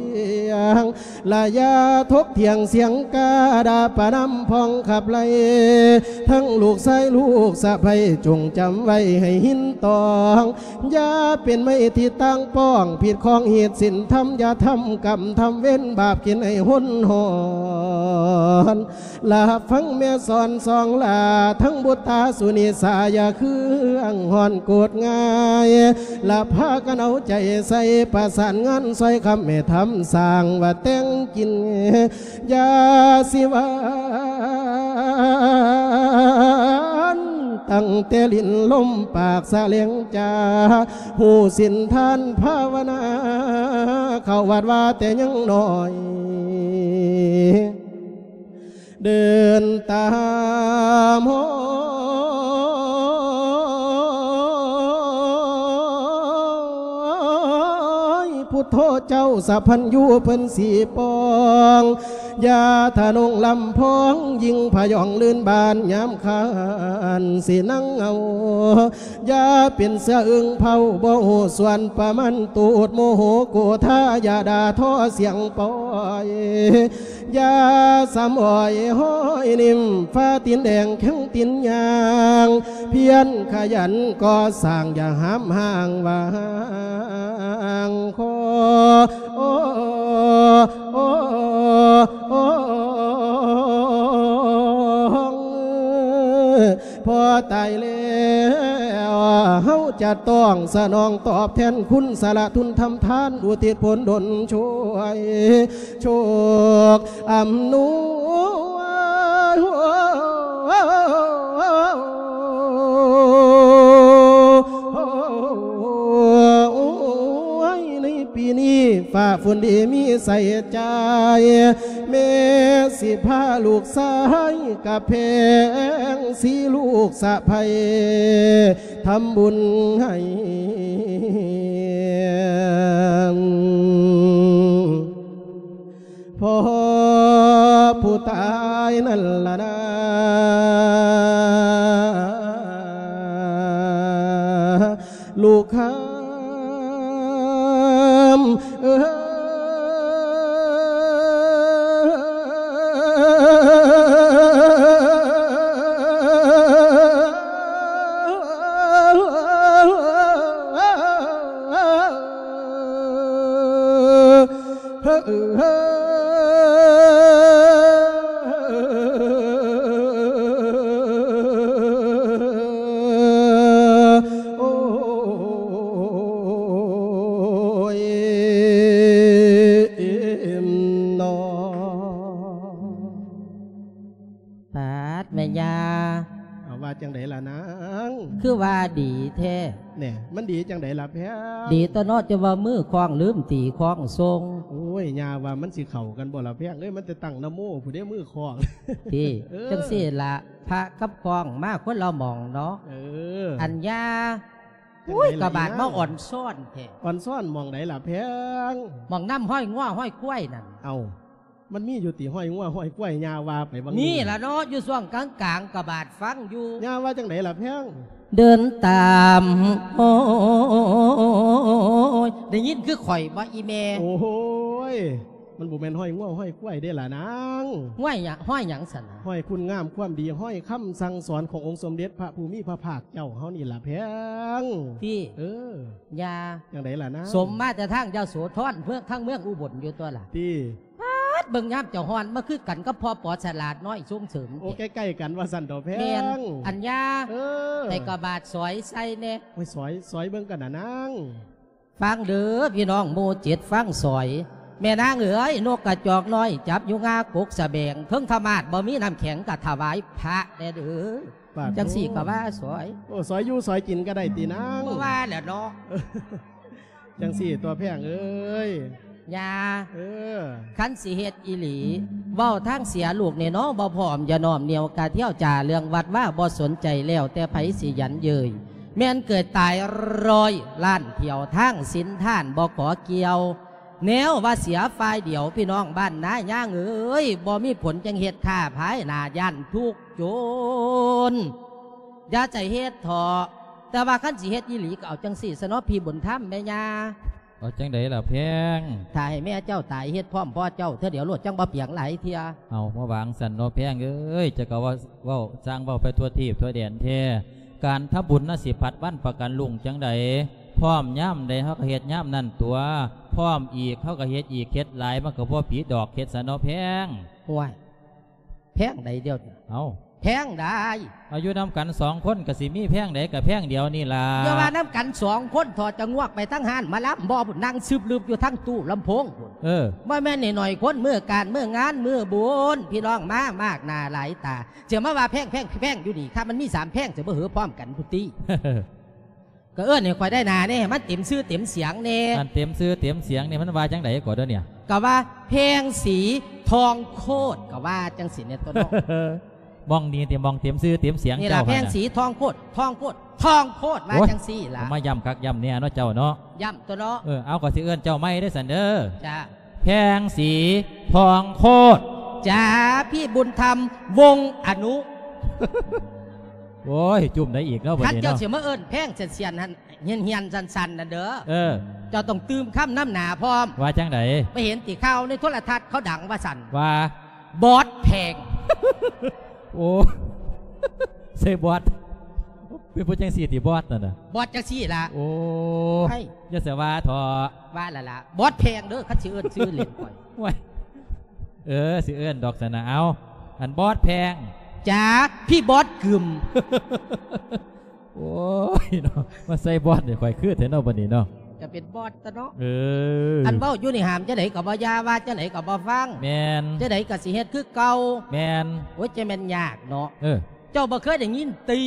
ຽງ ລະຢ່າຖົກຖຽງສຽງກາ ດ່າປະນຳພອງຂັບໄລ່ ທັງລູກຊາຍລູກສະໃພ້ ຈົ່ງຈຳໄວ້ໃຫ້ຫີນຕອງ ຢ່າເປັນໄມ້ທີ່ຕ່າງປ້ອງ ຜິດຂອງຮີດສິນທຳ ຢ່າທຳກຳທຳເວນ ບາບກິນໃຫ້ຫົນຫອນ ລະຮັບຟັງແມ່ສອນສອງຫຼ້າ ທັງບຸດຕາສຸນິສາ ຢ່າເຄືອງຮ້ອນໂກດງ່າຍ ລະພາກັນເອົາໃຈໃສ່ ປະສານງານຊ່ອຍຄຳແມ່ທຳ ສ້າງວ່າແຕ່ງກິນ ຢ່າຊິຫວານ ຕັ້ງແຕ່ຫຼິ້ນລົມປາກສະແຫຼງຈາ ຮູ້ສິນທານພາວະນາ ເຂົ້າວັດວ່າແຕ່ຍັງນ້ອຍ ເດີນຕາມຮອຍ ພຸດໂທເຈົ້າສະພັນຍູເພິ່ນສີປອງ ຢ່າທະນົງລຳພອງ ຍິງພະຍອງລື່ນບານຍາມຄານ ຊິນັ່ງເອົາ ຢ່າເປັນເສືອອຶ່ງເຜົາ ບໍ່ຮູ້ສ່ວນປະມານ ຕູດໂມໂຫໂກທາ ຢ່າດ່າທໍສຽງປ່ອຍ ຢ່າສຳອ້ອຍຫ້ອຍນິ້ມ ຟ້າຕີນແດງແຂງຕີນຍ່າງ ພຽນຂະຫຍັນກໍ່ສ້າງ ຢ່າຫາມຫ້າງຫວ່າງຄໍ ໂອ ໂອ ໂອ ພໍຕາຍແລ້ວ ເຮົາຈະຕ້ອງສະໜອງຕອບແທນຄຸນ ສະຫຼະທຶນທຳທານ ອຸທິດຜົນດົນຊ່ວຍ ໂຊກອຳນວຍ ປີນີ້ຟ້າຝົນດີມີໃສ່ໃຈ ແມ່ຊິພາລູກຊາຍກະແພງສີລູກສະໃພ້ທຳບຸນໃຫ້ ພໍ່ຜູ້ຕາຍນັ້ນລະນາ ລູກຄຳເອີຍ. ໂອ້ຍເນາະ ປາດ ແມ່ຍ່າ ເອົາ ວ່າຈັ່ງໃດລະນາງ? ຄືວ່າດີແທ້? ແນ່ ມັນດີຈັ່ງໃດລະແພງ? ດີຕົວະເນາະ ຈະວ່າມືຄ້ອງລືມຕີຄ້ອງຊົງ. ໂອ້ຍ ຍ່າວ່າມັນຊິເຂົ້າກັນບໍ່ລະແພງເອີຍ? ມັນແຕ່ຕັ້ງນະໂມພຸ້ນເດ້ ມືຄ້ອງ. ຕິ ເອີ ຈັ່ງຊີ້ລະ ພະກັບຄ້ອງມາຄົນລະໝ່ອງເນາະ. ເອີ ອັນຍ່າ ຈັ່ງໃດລະ ໂອ້ຍ ກະບາດມາ ອອນຊອນແທ້. ອອນຊອນໝ່ອງໃດລະແພງ? ໝ່ອງນ້ຳຫ້ອຍງົວຫ້ອຍຄວາຍນັ້ນ. ເອົ້າ ມັນມີຢູ່ຕິ ຫ້ອຍງົວຫ້ອຍຄວາຍ ຍ່າວ່າໄປຫວ່າງນີ້ລະເນາະ. ຢູ່ຊ່ວງກາງໆ ກະບາດຟັງຢູ່. ຍ່າວ່າຈັ່ງໃດລະແພງ? ເດີນຕາມ ໂອ້ຍ ໄດ້ຍິນຄືຂ້ອຍບໍ່ອີ່ແມ່? ໂອ້ຍ ມັນບໍ່ແມ່ນຫ້ອຍງົວຫ້ອຍຄວາຍເດ້ລະນາງ. ຫ້ອຍຫຍັງ ຫ້ອຍຫຍັງຊັ້ນນະ? ຫ້ອຍຄຸນງາມຄວາມດີ ຫ້ອຍຄຳສັ່ງສອນຂອງອົງສົມເດັດພະຜູ້ມີພະພາກເຈົ້າເຮົານີ້ລະແພງ. ຕິ ເອີ ຍ່າ ຈັ່ງໃດລະນາງ? ສົມມາແຕ່ທາງຍະໂສທອນ ເມືອງ ທາງເມືອງອຸບົນຢູ່ຕົວລະ. ຕິ ປາດ ເບິ່ງຍາມເຈົ້າຮ້ອນມາຄືກັນກັບພໍ່ປໍສະຫຼາດນ້ອຍຊົງເສີມ. ໂອ້ ແທ້ ໃກ້ໆກັນວ່າຊັ້ນເຖາະແພງ. ແມ່ນ ອັນຍ່າ ເອີ ໃສ່ກະບາດສອຍໃສ່ແດ່. ໂອ້ຍ ສອຍ ສອຍເບິ່ງກັນນະນາງ. ຟັງເດີພີ່ນ້ອງໝູ່ເຈັດ ຟັງສອຍ. ແມ່ນາງເອີຍ ນົກກະຈອກນ້ອຍຈັບຢູ່ງາກົກສະແບງ ເທິງທະມາດບໍ່ມີນ້ຳແຂງກະຖວາຍພະແດ່ເດີ. ປາດ ຈັ່ງຊີ້ກະວ່າສອຍ. ໂອ້ ສອຍຢູ່ສອຍກິນກະໄດ້ຕິນາງ? ບໍ່ວ່າແຫຼະເນາະ. ຈັ່ງຊີ້ຕົວະແພງເອີຍ ຍ່າ ເອີ ຄັນຊິເຮັດອີ່ຫຼີ ເວົ້າທາງເສຍລູກນີ້ເນາະ ບໍ່ພ້ອມຢ່ານ້ອມໜຽວກະທ່ຽວ ຈາເລື່ອງວັດວາບໍ່ສົນໃຈ ແລ້ວແຕ່ໃຜຊິຢັນເຍີ້ຍ ແມ່ນເກີດຕາຍຮ້ອຍລ້ານຖ້ຽວ ທາງສິນທານບໍ່ຂໍກ່ຽວ ແນວວ່າເສຍຝ່າຍດຽວ ພີ່ນ້ອງບ້ານນາຍ່າງເອີຍ ບໍ່ມີຜົນຈັ່ງເຮັດຖ້າພາຍໜ້າ ຢ້ານທຸກຈົນ ຢ່າໃຈເຮັດເຖາະ. ແຕ່ວ່າຄັນຊິເຮັດອີ່ຫຼີກະເອົາຈັ່ງຊີ້ຊະເນາະ ພີ່ບຸນທຳແມ່ຍ່າ. ເອົາຈັ່ງໃດລະແພງ? ຖ້າໃຫ້ແມ່ເຈົ້າຕາຍເຮັດພ້ອມພໍ່ເຈົ້າເທື່ອດຽວໂລດ ຈັ່ງບໍ່ປຽງຫຼາຍເທື່ອ. ເອົາ ມາວ່າຈັ່ງຊັ້ນເນາະແພງເອີຍ ເຈົ້າກະເວົ້າ ເວົ້າຊ່າງເວົ້າໄປທົ່ວທີບທົ່ວແດນແທ້. ການທຳບຸນນະຊິຜັດວັນປະກັນລຸ້ງຈັ່ງໃດ ພ້ອມຍາມໃດເຮົາກະເຮັດຍາມນັ້ນຕົວະ ພ້ອມອີກເຮົາກະເຮັດອີກ ເຮັດຫຼາຍມັນກະບໍ່ຜິດດອກ ເຮັດຊະເນາະແພງ. ໂອ້ຍ ແພງໃດດຽວນີ້? ເອົ້າ ແພງໃດ? ເອົາ ຢູ່ນຳກັນສອງຄົນກະຊິມີແພງໃດກະແພງດຽວນີ້ລະ. ຢ່າວ່ານຳກັນສອງຄົນ ຖອດຈະງວກໄປທາງຮ້ານໝໍລຳບໍ່ພຸ້ນ ນັ່ງຊຶບລຶບຢູ່ທາງຕູ້ລຳໂພງພຸ້ນ. ເອີ ບໍ່ແມ່ນໜ້ອຍໆຄົນ ມື້ການມື້ງານມື້ບຸນ ພີ່ນ້ອງມາມາກໜ້າຫຼາຍຕາ ຊິມາວ່າແພງ ແພງ ແພງຢູ່ນີ້ ຄັນມັນມີສາມແພງຊິບໍ່ເຫີພ້ອມກັນພຸ້ນຕິ. ກະເອີ້ນໃຫ້ຂ້ອຍໄດ້ໜ້າແດ່ ໃຫ້ມັນເຕັມຊື່ເຕັມສຽງແດ່. ອັນເຕັມຊື່ເຕັມສຽງນີ້ມັນວ່າຈັ່ງໃດກໍເດີນີ້? ກະວ່າແພງສີທອງໂຄດ ກະວ່າຈັ່ງຊີ້ແດ່ຕົວະເນາະ. ໝ່ອງນີ້ຕິ ໝ່ອງເຕັມຊື່ເຕັມສຽງ ນີ້ລະ ເຈົ້າ ແພງສີທອງໂຄດ ທອງໂຄດ ທອງໂຄດ ວ່າ ໂອ້ຍ ຈັ່ງຊີ້ລະ. ມາຢ້ຳຄັກຢ້ຳແນ່ເນາະເຈົ້າເນາະ. ຢ້ຳຕົວະເນາະ. ເອີ ເອົາ ຂ້ອຍຊິເອີ້ນເຈົ້າໃໝ່ເດີຊັ້ນເດີ. ຈ້າ. ແພງສີທອງໂຄດ. ຈ້າ ພີ່ບຸນທຳ ວົງອະນຸ. ໂອ້ຍ ຈຸ້ມໄດ້ອີກເນາະບັດນີ້ເນາະ. ຄັນເຈົ້າຊິມາເອີ້ນແພງສ່ຽນໆຫັ້ນ ຮຽນໆສັ້ນໆນັ້ນເດີ ເອີ ເຈົ້າຕ້ອງຕື່ມຄຳນຳໜ້າພ້ອມ. ວ່າຈັ່ງໃດ? ໄປເຫັນຕິຂ່າວໃນໂທລະທັດເຂົາດັງວ່າຊັ້ນ ວ່າ ບອດແພງ. ໂອ້ ໃສ່ບອດ ເປັນຜູ້ຈັ່ງຊີ້ຕິ ບອດນັ້ນນະ? ບອດຈັ່ງຊີ້ລະ. ໂອ້ ໄອ້ ຢ່າສະວ່າເຖາະ. ວ່າລະລະ ບອດແພງເດີ ຄັນຊິເອີ້ນຊື່ຫຼິ້ນຂ້ອຍ. ໂອ້ຍ ເອີ ຊິເອີ້ນດອກຊັ້ນນະ. ເອົາ ອັນບອດແພງ. ຈ້າ ພີ່ບອດກຶມ. ໂອ້ຍເນາະ ມາໃສ່ບອດໃຫ້ຂ້ອຍຄືແທ້ເນາະບັດນີ້ເນາະ. ກະເປັນບອດຕະເນາະ. ເອີ ອັນເວົ້າຢູ່ນີ້ຫາມຈັ່ງໃດກະບໍ່ຢ່າ ວ່າຈັ່ງໃດກະບໍ່ຟັງ. ແມ່ນ. ຈັ່ງໃດກະຊິເຮັດຄືເກົ່າ. ແມ່ນ. ໂອ້ຍ ຈະແມ່ນຍາກເນາະ. ເອີ ເຈົ້າບໍ່ເຄີຍໄດ້ຍິນຕິ?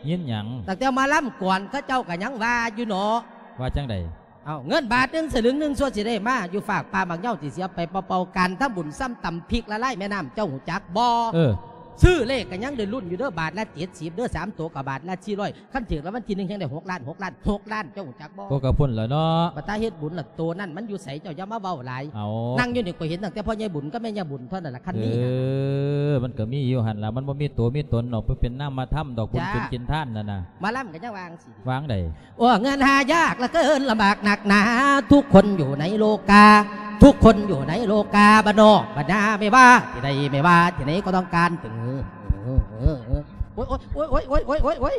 ຍິນຫຍັງ? ຕັ້ງແຕ່ມາລຳກອນເຂົາເຈົ້າກະຍັງວ່າຢູ່ເນາະ. ວ່າຈັ່ງໃດ? ເອົາເງິນບາດໜຶ່ງສະຫຼຶງໜຶ່ງ ສ່ວນຊິໄດ້ມາຢູ່ຟາກປ່າໝາກເຍົາ ທີ່ຊິເອົາໄປເປົ່າໆ ການທຳບຸນສ່ຳຕຳພິກລະລາຍແມ່ນ້ຳ ເຈົ້າຮູ້ຈັກບໍ່? ເອີ ຊື້ເລກກໍຍັງໄດ້ລຸ້ນຢູ່ເດີ ບາດລະເຈັດສິບເດີ ສາມໂຕກໍບາດລະສີ່ຮ້ອຍ ຄັນຖືກລາງວັນທີໜຶ່ງແຮ່ງໄດ້ຫົກລ້ານ ຫົກລ້ານ ຫົກລ້ານ ເຈົ້າຮູ້ຈັກບໍ່? ກໍກະພຸ້ນລະເນາະ ບັດຕາເຮັດບຸນລະ ໂຕນັ້ນມັນຢູ່ໃສ ເຈົ້າຢ່າມາເວົ້າຫຼາຍ. ເອົາ ນັ່ງຢູ່ນີ້ ຂ້ອຍເຫັນຕັ້ງແຕ່ພໍ່ໃຫຍ່ບຸນກັບແມ່ຍ່າບຸນເທົ່ານັ້ນລະ ຄັນມີ. ເອີ ມັນກໍມີຢູ່ຫັ້ນລະ ມັນບໍ່ມີໂຕມີຕົນດອກ ເປັນນາມມະທຳດອກ ບຸນສິນກິນທານນັ້ນນະ. ໝໍລຳກໍຍັງວ່າຈັ່ງຊີ້ ວ່າຈັ່ງໃດ? ໂອ້ ເງິນຫາຍາກເຫຼືອເກີນ ລຳບາກໜັກໜາ ທຸກຄົນຢູ່ໃນໂລກາ ທຸກຄົນຢູ່ໃນໂລກາ ບ້ານນອກບ້ານນາ ໄມ່ວ່າທີ່ໃດ ໄມ່ວ່າທີ່ໃດ ກໍຕ້ອງການ ໂອ້ຍ ໂອ້ຍ ໂອ້ຍ ໂອ້ຍ ໂອ້ຍ ໂອ້ຍ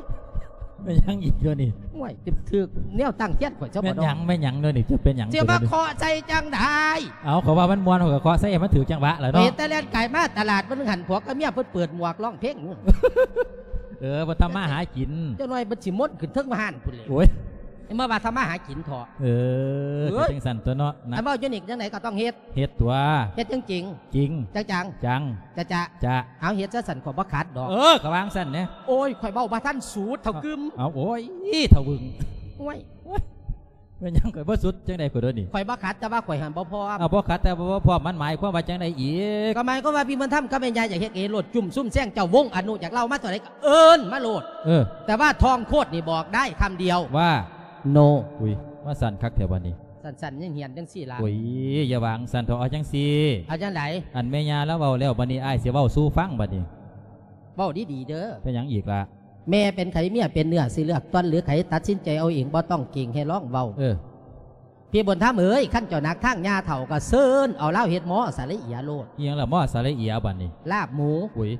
ແມ່ນຫຍັງອີກດຽວນີ້? ໂອ້ຍ ຖືກແນວຕັ້ງທຽນຂ້ອຍຊະບໍ່ເນາະ. ແມ່ນຫຍັງ ແມ່ນຫຍັງດຽວນີ້? ຈະເປັນຫຍັງ? ຊິມາເຄາະໃສ່ຈັ່ງໃດ? ເອົາ ເຂົາວ່າມັນມ່ວນ ເຂົາກໍເຄາະໃສ່ໃຫ້ມັນຖືກຈັງຫວະແຫຼະເນາະ. ເປັນຕາແລ່ນກາຍມາຕະຫຼາດ ມື້ໜຶ່ງຫັ້ນ ພວກກໍເມຍເພິ່ນເປີດໝວກຮ້ອງເພງ. ເອີ ບໍ່ທຳມາຫາກິນ ຈັກໜ່ອຍມັນຊິມົນຂຶ້ນເທິງມາຫັ້ນພຸ້ນແຫຼະ. ໂອ້ຍ ມາວ່າທຳມາຫາກິນເຖາະ. ເອີ ເອີຍ ເຮັດຈັ່ງຊັ້ນຕົວະເນາະ. ອັນເວົ້າຢູ່ນີ້ຈັ່ງໃດກໍຕ້ອງເຮັດ ເຮັດຕົວະ. ເຮັດຈັ່ງຈິງ ຈິງ ຈັງໆ ຈັງ ຈະຈະ ຈະ ເອົາເຮັດຊະຊັ້ນ ຂ້ອຍບໍ່ຂັດດອກ. ເອີ ກໍວ່າຈັ່ງຊັ້ນແຫຼະ. ໂອ້ຍ ຂ້ອຍເວົ້າບໍ່ທັນສູດ ເຖົ້າກຶມ. ເອົາ ໂອ້ຍ ເຖົ້າວຶງ. ໂອ້ຍ ໂອ້ຍ ແມ່ນຫຍັງ? ຂ້ອຍບໍ່ສຸດຈັ່ງໃດຂ້ອຍໂດນນີ້? ຂ້ອຍບໍ່ຂັດ ແຕ່ວ່າຂ້ອຍຫັ້ນບໍ່ພ້ອມ. ເອົາ ບໍ່ຂັດແຕ່ວ່າບໍ່ພ້ອມ ມັນໝາຍຄວາມວ່າຈັ່ງໃດອີກ? ກໍໝາຍຄວາມວ່າພີ່ບຸນທຳກັບແມ່ຍ່າຢາກເຮັດເອໂລດ ຈຸ້ມຊຸມແຊງເຈົ້າ ວົງອະນຸຢາກເລົ່າມາເທົ່າໃດກໍເອີ້ນມາໂລດ. ເອີ ແຕ່ວ່າທ່ອງໂຄດນີ້ບອກໄດ້ຄຳດຽວວ່າ ໂນ. ອຸ້ຍ ວ່າສັ້ນຄັກແທ້ບັດນີ້. ສັ້ນໆ ຮຽນໆ ຈັ່ງຊີ້ລະ. ໂອ້ຍ ຢ່າວ່າຈັ່ງຊັ້ນເຖາະ ເອົາຈັ່ງຊີ້. ເອົາຈັ່ງໃດ? ອັນແມ່ຍ່າລາວເວົ້າແລ້ວ ບັດນີ້ອ້າຍຊິເວົ້າສູ່ຟັງບັດນີ້. ເວົ້າດີໆ ເດີ. ເປັນຫຍັງອີກລະ? ແມ່ເປັນໃຜ ເມຍເປັນເນື້ອ ຊິເລືອກຕ່ອນຫຼືໃຜ ຕັດສິນໃຈເອົາເອງ ບໍ່ຕ້ອງເກງໃຫ້ລອງເວົ້າ. ເອີ ພີ່ບຸນທຳເອີຍ ຄັນເຈົ້າໜັກທາງຍ່າເຖົ້າ ກໍເຊີນເອົາລາວເຮັດໝໍສະລະເອຍໂລດ. ອີຫຍັງລະໝໍສະລະເອຍບັດນີ້? ລາບໝູ. ອຸ້ຍ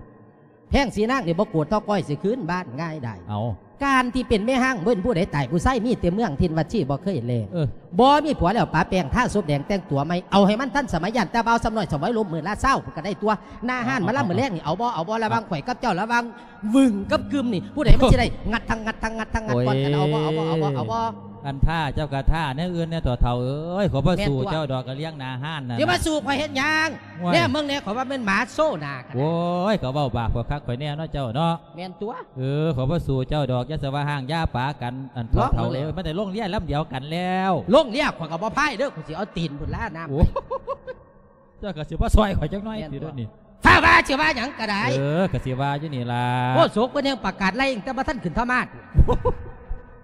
ແພງສີນາງນີ້ບໍ່ໂກດເທົ່າກ້ອຍ ຊິຄືນບ້ານງ່າຍດາຍ. ເອົາ ການທີ່ເປັນແມ່ຮ້າງ ເປັນຜູ້ໃດຕາຍຜູ້ຊາຍ ມີແຕ່ເມືອງຖິ່ນວັດຊີ ບໍ່ເຄີຍແລ. ເອີ ບໍ່ມີຜົວແລ້ວ ປະແປ້ງ ທາສົບແດງ ແຕ່ງຕົວໃໝ່ ເອົາໃຫ້ມັນທັນສະໄໝ ຢ້ານແຕ່ບ່າວຊຳນ້ອຍ ສະໄໝລົມມື້ລະຊາວ ກໍໄດ້ຕົວະ. ໜ້າຮ້ານ ເອົາ ມາລຳ ເອົາ ມື້ແລງນີ້ ເອົາບໍ່ ເອົາບໍ່? ລະຫວ່າງ ເອົາ ຂ້ອຍກັບເຈົ້າ ລະຫວ່າງວຶງກັບກຶມນີ້ ຜູ້ໃດມັນຊິໄດ້ ງັດທັງງັດທັງງັດທັງງັດ ໂອ້ຍ ກ່ອນກັນ ເອົາບໍ່ ເອົາບໍ່ ເອົາບໍ່ ເອົາບໍ່? ອັນຖ້າເຈົ້າກະຖ້າແນວອື່ນແດ່ ເຖົ້າເອີຍ ຂ້ອຍບໍ່ສູ້ເຈົ້າດອກ ກະລ້ຽງໜ້າຮ້ານນັ້ນ. ຊິມາສູ້ຂ້ອຍເຮັດຫຍັງ? ແນມເບິ່ງແດ່ ຂ້ອຍວ່າແມ່ນໝາໂຊໜ້າ. ໂອ້ຍ ກໍເວົ້າບາບຂ້ອຍຄັກຂ້ອຍແນ່ເນາະເຈົ້າເນາະ. ແມ່ນຕົວະ. ເອີ ຂ້ອຍບໍ່ສູ້ເຈົ້າດອກ ຢ່າສະວ່າຮ້າງຢ່າປາກັນ ອັນ ລອງເບິ່ງແຫຼະ ເຖົ້າເອີຍ ມັນໄດ້ລົງເຮືອລຳດຽວກັນແລ້ວ. ລົງເຮືອ ຂ້ອຍກໍບໍ່ພາຍເດີ ຂ້ອຍຊິເອົາຕີນພຸ້ນລະນ້ຳ. ໂອ້ ເຈົ້າກໍຊິບໍ່ຊ່ອຍຂ້ອຍຈັກໜ້ອຍຕິດຽວນີ້? ຖ້າວ່າຊິວ່າຫຍັງກໍໄດ້. ເອີ ກໍຊິວ່າຢູ່ນີ້ລະ. ໂອ້ ໂສກເພິ່ນແຮ່ງປະກາດໄລ່ ຕັ້ງແຕ່ບໍ່ທັນຂຶ້ນທຳມາດ.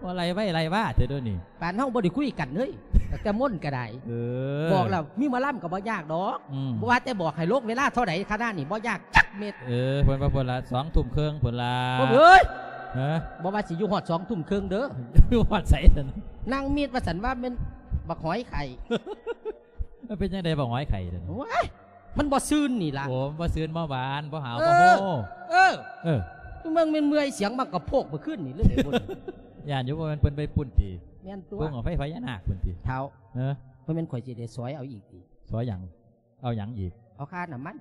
ວ່າໄລ່ໄວ້ໄລ່ວ່າແທ້ດຽວນີ້. ປານເຮົາບໍ່ໄດ້ຄຸຍກັນເລີຍ ຕັ້ງແຕ່ມົນກໍໄດ້. ເອີ ບອກແລ້ວ ມີໝໍລຳກໍບໍ່ຍາກດອກ. ອືມ ບໍ່ວ່າແຕ່ບອກໃຫ້ລົງເວລາເທົ່າໃດ ຄະນະນີ້ບໍ່ຍາກຈັກເມັດ. ເອີ ເພິ່ນວ່າພຸ້ນລະ ສອງທຸ່ມເຄິ່ງພຸ້ນລະ. ເອີຍ ຮະ ບໍ່ວ່າຊິຢູ່ຮອດສອງທຸ່ມເຄິ່ງເດີ. ຢູ່ຮອດໃສຊັ້ນ? ນາງມິດວ່າຊັ້ນ ວ່າແມ່ນບັກຫອຍໄຂ່. ມັນເປັນຈັ່ງໃດບັກຫອຍໄຂ່ນັ້ນ? ໂອ້ຍ ມັນບໍ່ຊືນນີ້ລະ. ໂອ້ ມັນບໍ່ຊືນ ບໍ່ຫວານ ບໍ່ຫາວ ເອີ ບໍ່ໂຮ. ເອີ ເອີ ມຶງແມ່ນເມື່ອຍສຽງມາກະໂພກເມື່ອຄືນນີ້ເລີຍພຸ້ນ. ຢ້ານຢູ່ ບໍ່ແມ່ນເພິ່ນໄປປຸ້ນຕິ? ແມ່ນຕົວະ. ເພິ່ນເອົາໄຟພະຍານາກພຸ້ນຕິ? ທ້າວ ເອີ ບໍ່ແມ່ນຂ້ອຍຊິໄດ້ສອຍເອົາອີກຕິ? ສອຍຫຍັງ? ເອົາຫຍັງອີກ? ເອົາຄ່ານ້ຳມັນ.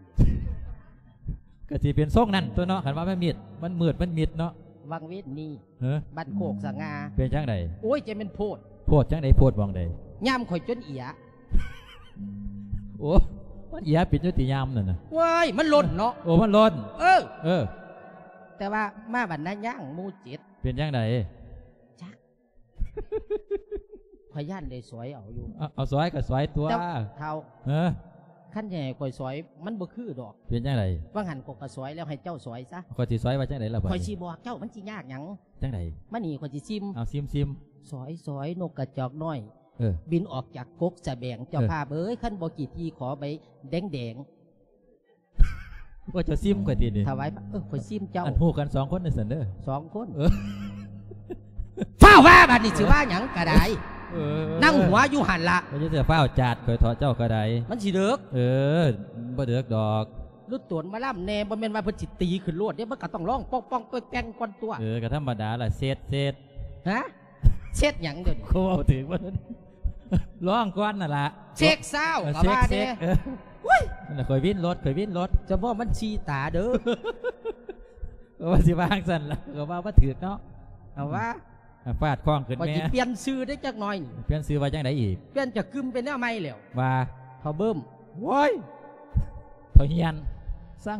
ກະຊິເປັນຊົງນັ້ນຕົວະເນາະ ຄັນວ່າມັນມິດ ມັນມືດ ມັນມິດເນາະ. ວັງເວນນີ້ ເອີ ບ້ານໂຄກສະຫງ່າ. ເປັນຈັ່ງໃດ? ໂອ້ຍ ຈະແມ່ນໂພດ. ໂພດຈັ່ງໃດ? ໂພດໝ່ອງໃດ? ຍາມຂ້ອຍຈົນເອຍ. ໂອ້ ມັນເອຍເປັນຢູ່ຕິຍາມນັ້ນນະ? ເວີຍ ມັນຫຼົ່ນເນາະ. ໂອ້ ມັນຫຼົ່ນ. ເອີ ເອີ ແຕ່ວ່າມາບັດນາຍ່າງໝູ່ເຈັດ. ເປັນຈັ່ງໃດ? ຈັກ ຂ້ອຍຢ້ານໄດ້ສອຍເອົາຢູ່. ເອົາ ເອົາສອຍກໍສອຍຕົວະ. ແຕ່ເຖົ້າ ເອີ ຄັນຊິໃຫ້ຂ້ອຍສອຍ ມັນບໍ່ຄືດອກ. ເປັນຈັ່ງໃດ? ວ່າຫັ້ນຂ້ອຍກໍສອຍແລ້ວ ໃຫ້ເຈົ້າສອຍຊະ. ຂ້ອຍຊິສອຍວ່າຈັ່ງໃດລະບາດນີ້? ຂ້ອຍຊິບອກເຈົ້າ ມັນຊິຍາກຫຍັງ? ຈັ່ງໃດ? ມານີ້ ຂ້ອຍຊິຊິມ. ເອົາ ຊິມໆ. ສອຍ ສອຍ ນົກກະຈອກນ້ອຍ ເອີ ບິນອອກຈາກກົກສະແບງ. ເຈົ້າ ເອີ ພາບເອີຍ ຄັນບໍ່ຂີ້ຖີ່ຂໍໃບແດງໆ. ໂອ້ ເຈົ້າຊິມຂ້ອຍຕິນີ້? ຖວາຍ ເອີ ຂ້ອຍຊິມເຈົ້າ. ອັນ ຮູ້ກັນສອງຄົນນີ້ຊັ້ນເດີ. ສອງຄົນ. ເອີ ຟ້າວວ່າບາດນີ້ ຊິວ່າຫຍັງກໍໄດ້. ເອີ ນັ່ງຫົວຢູ່ຫັ້ນລະ. ບໍ່ຈະຟ້າວຈາດຂ້ອຍເຖາະ ເຈົ້າກໍໄດ້. ມັນຊິເດິກ. ເອີ ບໍ່ເດິກດອກ. ລຸດໂຕນໝໍລຳແດ່ ບໍ່ແມ່ນວ່າເພິ່ນຊິຕີຂຶ້ນໂລດເດ້ ມັນກໍຕ້ອງຮ້ອງປ່ອງໆແປ້ງໆກ່ອນຕົວະ. ເອີ ກໍທຳມະດາລະ ເຊັດ ເຊັດ. ຮະ? ເຊັດຫຍັງດຽວນີ້? ຂ້ອຍເວົ້າຖືກບໍ່? ຮ້ອງກ່ອນນັ້ນລະ. ເຊັກຊາວ ເອີ ກໍວ່າແດ່. ເຊັກ ເຊັກ ເອີ ໂອ້ຍ ນັ້ນລະ ຂ້ອຍວິນລົດ ຂ້ອຍວິນລົດ. ຈະບໍ່ມັນຊີ້ຕາເດີ. ກໍວ່າຊິວ່າຈັ່ງຊັ້ນລະ ກໍວ່າບໍ່ຖືກເນາະ. ເອົາວ່າ ອາ ຟາດຄ້ອງຂຶ້ນແມ່. ຂ້ອຍຊິປ່ຽນຊື່ໄດ້ຈັກໜ້ອຍນີ້. ປ່ຽນຊື່ວ່າຈັ່ງໃດອີກ? ປ່ຽນຈາກກຶມເປັນແນວໃໝ່ແລ້ວ. ວ່າ ເຖົ້າເບິ່ມ. ໂອ້ຍ ເຖົ້າຮຽນ ຊັງ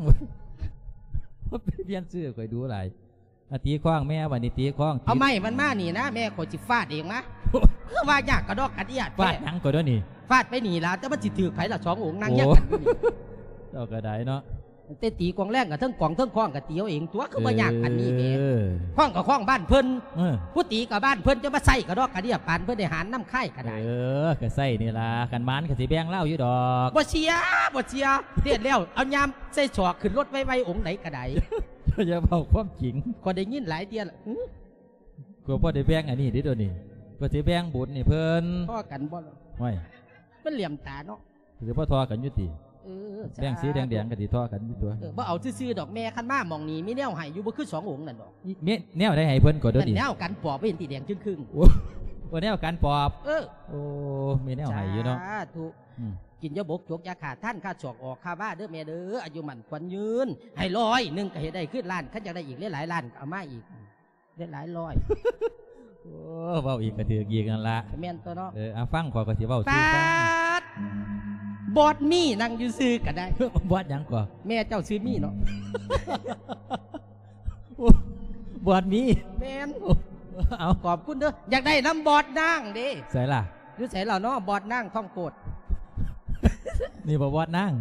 ເປັນປ່ຽນຊື່ຂ້ອຍດູຫຼາຍ. ອາ ຕີຄ້ອງແມ່ ບັດນີ້ຕີຄ້ອງ ເອົາໄມ້ມັນມານີ້ນະ ແມ່ຂ້ອຍຊິຟາດເອງມາ. ຄືວ່າຍາກກະດອກກະເດຍແທ້ ຟາດຫຍັງກໍດຽວນີ້ ຟາດໄປນີ້ລະ ແຕ່ມັນຊິຖືກໃຜລະ ສອງອົງນັ່ງຮຽງກັນຢູ່ນີ້. ໂອ້ ເຈົ້າກໍໄດ້ເນາະ ແຕ່ຕີກອງແລງກໍເທິງກອງເທິງຄ້ອງກໍຕີເອົາເອງຕົວະ ຄືບໍ່ຍາກປານນີ້ແໝ ເອີ ຄ້ອງກໍຄ້ອງບ້ານເພິ່ນ ເອີ ຜູ້ຕີກໍບ້ານເພິ່ນ ຈະມາໃຊ້ກະດອກກະເດຍປານເພິ່ນໄດ້ຫານນຳຄ້າຍກໍໄດ້. ເອີ ກໍໃຊ້ນີ້ລະ ຄັນໝານກໍຊິແບ່ງລາວຢູ່ດອກ. ບໍ່ເຊື່ອ ບໍ່ເຊື່ອ ເຮັດແລ້ວເອົາຍາມໃສ່ສອກຂຶ້ນລົດໄວໆ ອົງໃດກໍໄດ້. ຢ່າເວົ້າຄວາມຈິງ ຂ້ອຍໄດ້ຍິນຫຼາຍເທື່ອລະ. ຫື ກໍພໍໄດ້ແບ່ງອັນນີ້ເດ້ໂດນີ້ ກໍຊິແບ່ງບຸນໃຫ້ເພິ່ນ. ພໍກັນບໍ່ລະ? ໂອ້ຍ ມັນຫຼຽມຕາເນາະ. ຊິພໍທໍ່ກັນຢູ່ຕິ? ເອີ ແບ່ງສີແດງໆ ກໍຊິທໍ່ກັນຢູ່ຕົວະ. ເອີ ບໍ່ເອົາຊື່ໆດອກແມ່ ຄັນມາໝ່ອງນີ້ມີແນວໃຫ້ຢູ່ ບໍ່ຄືສອງອົງນັ້ນດອກ. ມີແນວໃດໃຫ້ເພິ່ນກໍໂດນີ້? ແນວກັນປອບເຫັນຕິແດງຈຶ້ງຄຶ່ງ. ໂອ້ ໂອ້ ແນວກັນປອບ. ເອີ ໂອ້ ມີແນວໃຫ້ຢູ່ເນາະ. ສາທຸ. ອືມ ກິນຢາບົກຈົກຢາຂ້າ ທານຂ້າສອກອອກຂ້າວາເດີແມ່ເດີ ອາຍຸໝັ້ນຂວັນຍືນ ໃຫ້ຮ້ອຍໜຶ່ງກໍເຮັດໄດ້ຄືລ້ານ ຄັນຢາກໄດ້ອີກຫຼາຍໆລ້ານກໍເອົາມາອີກ ຫຼາຍໆຮ້ອຍ. ໂອ້ ເວົ້າອີກກໍຖືກອີກນັ້ນລະ ແມ່ນຕົວະເນາະ. ເອີ ເອົາຟັງ ຂ້ອຍກໍຊິເວົ້າສູ່ຟັງ. ບອດມີ່ນັ່ງຢູ່ຊື່ກໍໄດ້. ບອດຫຍັງກໍ? ແມ່ເຈົ້າຊື່ມີ່ເນາະ. ໂອ້ ບອດມີ່ ແມ່ນ. ເອົາ ຂອບຄຸນເດີ ຢາກໄດ້ນຳບອດນາງເດ້. ໃສລະ? ຢູ່ໃສລະເນາະ ບອດນາງທອງໂກດ? ນີ້ບໍ່ບອດນາງ?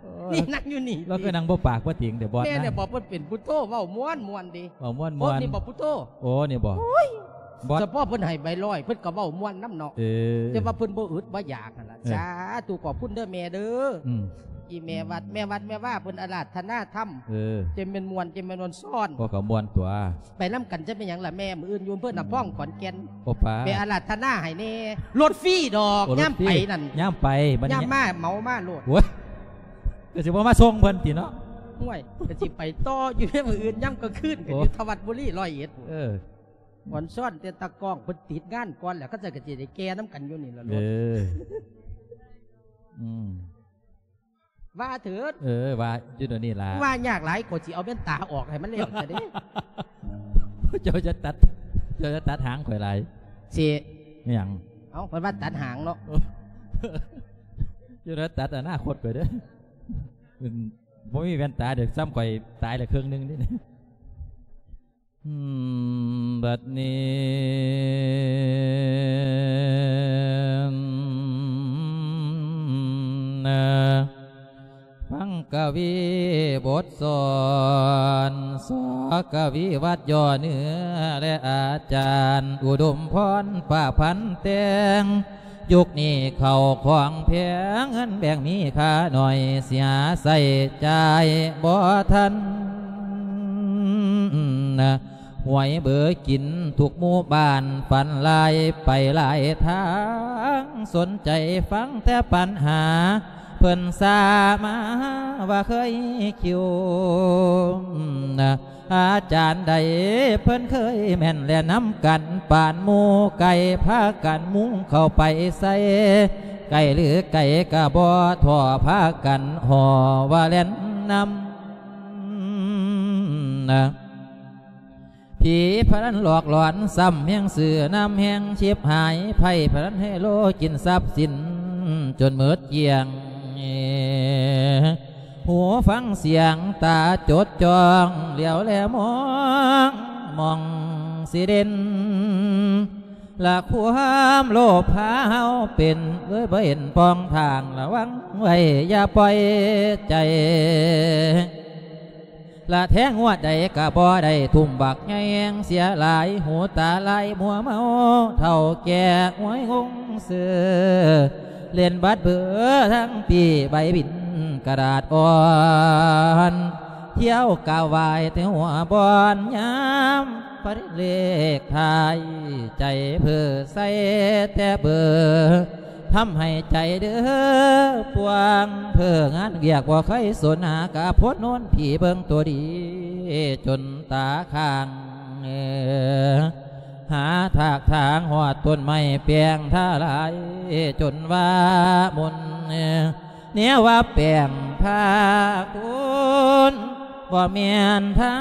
ໂອ້ ນີ້ນັ່ງຢູ່ນີ້ ລາວຄືນັ່ງບໍ່ປາກບໍ່ຕິງແຕ່ບອດນາງ. ແມ່ນແຫຼະ ບອກເພິ່ນເປັນຜູ້ໂທ ເວົ້າມ່ວນໆເດ້ ເວົ້າມ່ວນໆ. ໂອ້ ນີ້ບໍ່ຜູ້ໂທ. ໂອ້ ນີ້ບໍ່? ໂອ້ຍ ບອດ ສະເພາະເພິ່ນໃຫ້ໃບຮ້ອຍ ເພິ່ນກໍເວົ້າມ່ວນນຳເນາະ. ເອີ ແຕ່ວ່າເພິ່ນບໍ່ອຶດບໍ່ຢາກຫັ້ນລະ. ເອີ ສາທຸ ຂອບຄຸນເດີແມ່ເດີ. ອືມ ອີແມ່ວັດ ແມ່ວັດແມ່ວາເພິ່ນອາລາທະນາທຳ. ເອີ ເຈັງແມ່ນມ່ວນ ເຈັງແມ່ນມ່ວນຊ້ອນ ກໍກໍມ່ວນຕົວະ. ໄປນຳກັນຈະເປັນຫຍັງລະແມ່ ມື້ອື່ນຢູ່ອຳເພີນນາພອງຂອນແກ່ນ. ໂອ້ປາ ໄປອາລາທະນາໃຫ້ແດ່. ລົດຟຣີດອກ. ໂອ້ ຍາມໄປນັ້ນ ຍາມໄປ ບັດນີ້ຍາມມາເໝົາມາໂລດ. ໂອ້ຍ ກໍຊິບໍ່ມາສົ່ງເພິ່ນຕິເນາະ? ໂອ້ຍ ກໍຊິໄປຕໍ່ຢູ່ເດ້ມື້ອື່ນຍາມກາງຄືນ ກໍຢູ່ທະວັດບຸລີ ຮ້ອຍເອັດ. ເອີ ອອນຊອນແຕ່ຕາກ້ອງເພິ່ນຕິດງານກ່ອນແລ້ວ ເຂົາເຈົ້າກໍຊິໄດ້ແກ່ນຳກັນຢູ່ນີ້ລະໂລດ. ເອີ ອືມ ວ່າເຖີດ. ເອີ ວ່າຢູ່ດຽວນີ້ລະ ວ່າຍາກຫຼາຍ ຂ້ອຍຊິເອົາແວ່ນຕາອອກໃຫ້ມັນແລ້ວຊະເດ້. ເຈົ້າຈະຕັດ ເຈົ້າຈະຕັດຫາງຂ້ອຍຫຼາຍ. ຊິ ອີຫຍັງ? ເອົ້າ ເພິ່ນວ່າຕັດຫາງເນາະ. ເຈົ້າຈະຕັດອະນາຄົດຂ້ອຍເດີ. ອືມ ບໍ່ມີແວ່ນຕາເດີ ສ່ຳຂ້ອຍຕາຍລະເຄິ່ງໜຶ່ງເດ້. ອືມ ບັດນີ້ນະ ຟັງກະວີບົດສອນ ສ ກະວີວັດຍໍເນື້ອ ແລະ ອາຈານອຸດົມພອນ ປະພັນແຕ່ງ. ຍຸກນີ້ເຂົ້າຂອງແພງ ເງິນແບງມີຄ່າໜ້ອຍ ເສຍໃຊ້ຈ່າຍບໍ່ທັນ ຫວຍເບີກິນທຸກໝູ່ບ້ານ ຝັນຫຼາຍໄປຫຼາຍທາງ ສົນໃຈຟັງແຕ່ບັນຫາ ເພິ່ນສາມາວ່າເຄີຍຄິວ ອາຈານໃດເພິ່ນເຄີຍແມ່ນແລະນຳກັນ ປານໝູ່ໄກ່ພາກັນມຸງເຂົ້າໄປໃສ່ ໄກ່ຫຼືໄກ່ກະບໍ່ທໍ່ ພາກັນຫໍ່ວ່າແລ່ນນຳ ຜີພະນັນຫຼອກຫຼອນ ຊ້ຳແຮງຊື່ນຳແຮງຊິບຫາຍ ໄພ້ພະນັນໄຮໂລກິນຊັບສິນຈົນໝົດກ້ຽງ. ຫູຟັງສຽງ ຕາຈົດຈ້ອງ ຫຼຽວແລມອງ ມອງຊິເດັ່ນ ລະຄວາມໂລບພາເຮົາເປັນ ເລີຍບໍ່ເຫັນປ່ອງທາງ ລະວັງໄວ້ຢ່າປ່ອຍໃຈ ລະແທງງວດໃດກະບໍ່ໄດ້ ທຸ່ມບັກໃຫຍ່ແຮງເສຍຫຼາຍ ຫູຕາລາຍມົວເມົາ ເຖົ້າແກ່ຫວຍງົງ ຊື້ເລ່ນບັດເບີທັງປີ້ ໃບບິນກະດາດອ່ອນ ທ່ຽວກະຫວາຍແຕ່ຫົວບ່ອນ ຍາມປະເລກທ້າຍ ໃຈເພີໃສ່ແຕ່ເບີ ທຳໃຫ້ໃຈເດີປວງ ເພີງານວຽກບໍ່ເຄີຍສົນຫາ ກະພົດໂນນຜີເບິ່ງໂຕດີ ຈົນຕາຄ້າງ ຫາທາກທາງຮອດຕົ້ນໄມ້ແປງທາລາຍ ຈົນວ່າມົນ ແນວວ່າແປງພາຄຸນ ບໍ່ແມ່ນທາ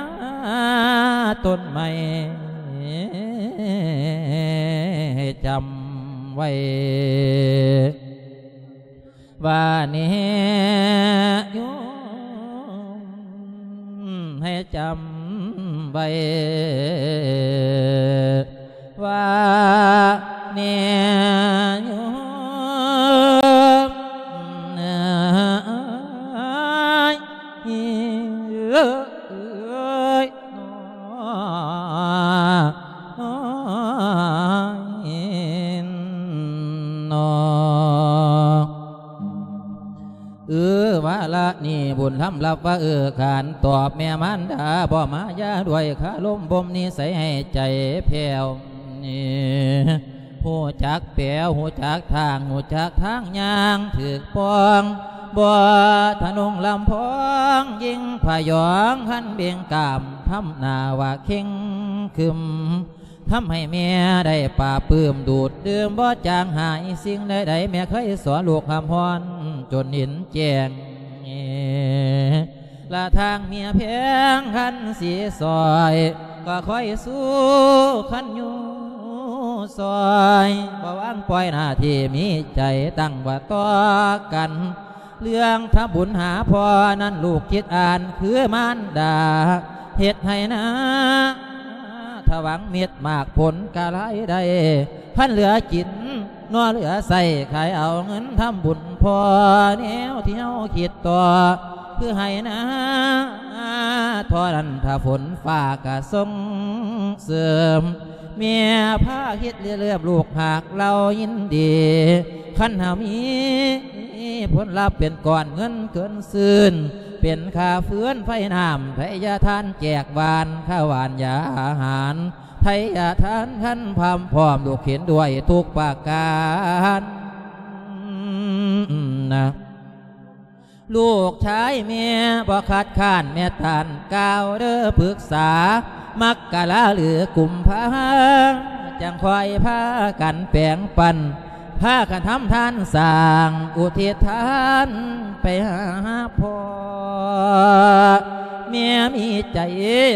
ຕົ້ນໄມ້ ໃຫ້ຈຳໄວ້ ວ່າແນໂຍມ ໃຫ້ຈຳ ໄວ້ວ່າແນ່ໂຍມເອີຍ ເອີຍ ເອີຍ ເອີຍ ເອີ ວາລະນີ້ບຸນທຳລັບວ່າເອີ ການຕອບແມ່ມານດາບໍ່ມາຢາດ້ວຍຄາລົມບົ່ມນິໄສໃຫ້ໃຈແຜ່ວ ຮູ້ຈັກແປ ຮູ້ຈັກທາງ ຮູ້ຈັກທາງຍ່າງຖືກປ່ອງ ບໍ່ທະນົງລຳພອງ ຍິງພະຍອງ ຄັນເບັງກາມ ທຳໜ້າວ່າເຄັ່ງຄຶມ ທຳໃຫ້ແມ່ໄດ້ປາບປື້ມ ດູດດື່ມບໍ່ຈາງຫາຍ ສິ່ງໃດໆແມ່ເຄີຍສອນລູກຮ່ຳຮ້ອນຈົນເຫັນແຈ້ງ ລະທາງເມຍແພງຄັນຊິຊ່ອຍ ກໍຄ່ອຍສູ້ຄັນຢູ່ຊ່ອຍ ບໍ່ວາງປ່ອຍໜ້າທີ່ມີໃຈຕັ້ງວ່າຕໍ່ກັນ ເລື່ອງທຳບຸນຫາພໍ່ນັ້ນລູກຄິດອ່ານຄືມານດາ ເຮັດໃຫ້ນາ ຖ້າຫວັງເມັດໝາກຜົນກະລາຍໄດ້ ຄັນເຫຼືອກິນໜໍ່ເຫຼືອໃຊ້ ຂາຍເອົາເງິນທຳບຸນພໍ່ ແນວທີ່ເຮົາຄິດຕໍ່ ຄືໃຫ້ນາທໍ່ນັ້ນ ຖ້າຝົນຟ້າກະສົ່ງເສີມ ແມ່ພາເຮັດເລື່ອມ ລູກຫາກເລົ່າຍິນດີ ຄັນຫາມີຜົນລັບເປັນກ້ອນເງິນເກີນຊື່ນ ເປັນຄ່າເຟືອນໄຟນ້ຳ ໄທຍະທານແຈກຫວານ ຄ່າຫວານຢາອາຫານ ໄທຍະທານຄັນພາມພ້ອມ ລູກເຫັນດ້ວຍທຸກປະການນະ ລູກຊາຍແມ່ບໍ່ຄັດຄ້ານ ແມ່ຕ້ານກ່າວເດີປຶກສາ ມັກກະລາຫຼືກຸມພາ ຈັ່ງຄ່ອຍພາກັນແບ່ງປັນ ພາກັນທຳທານສ້າງ ອຸທິດທານໄປຫາພໍ່ ແມ່ມີໃຈ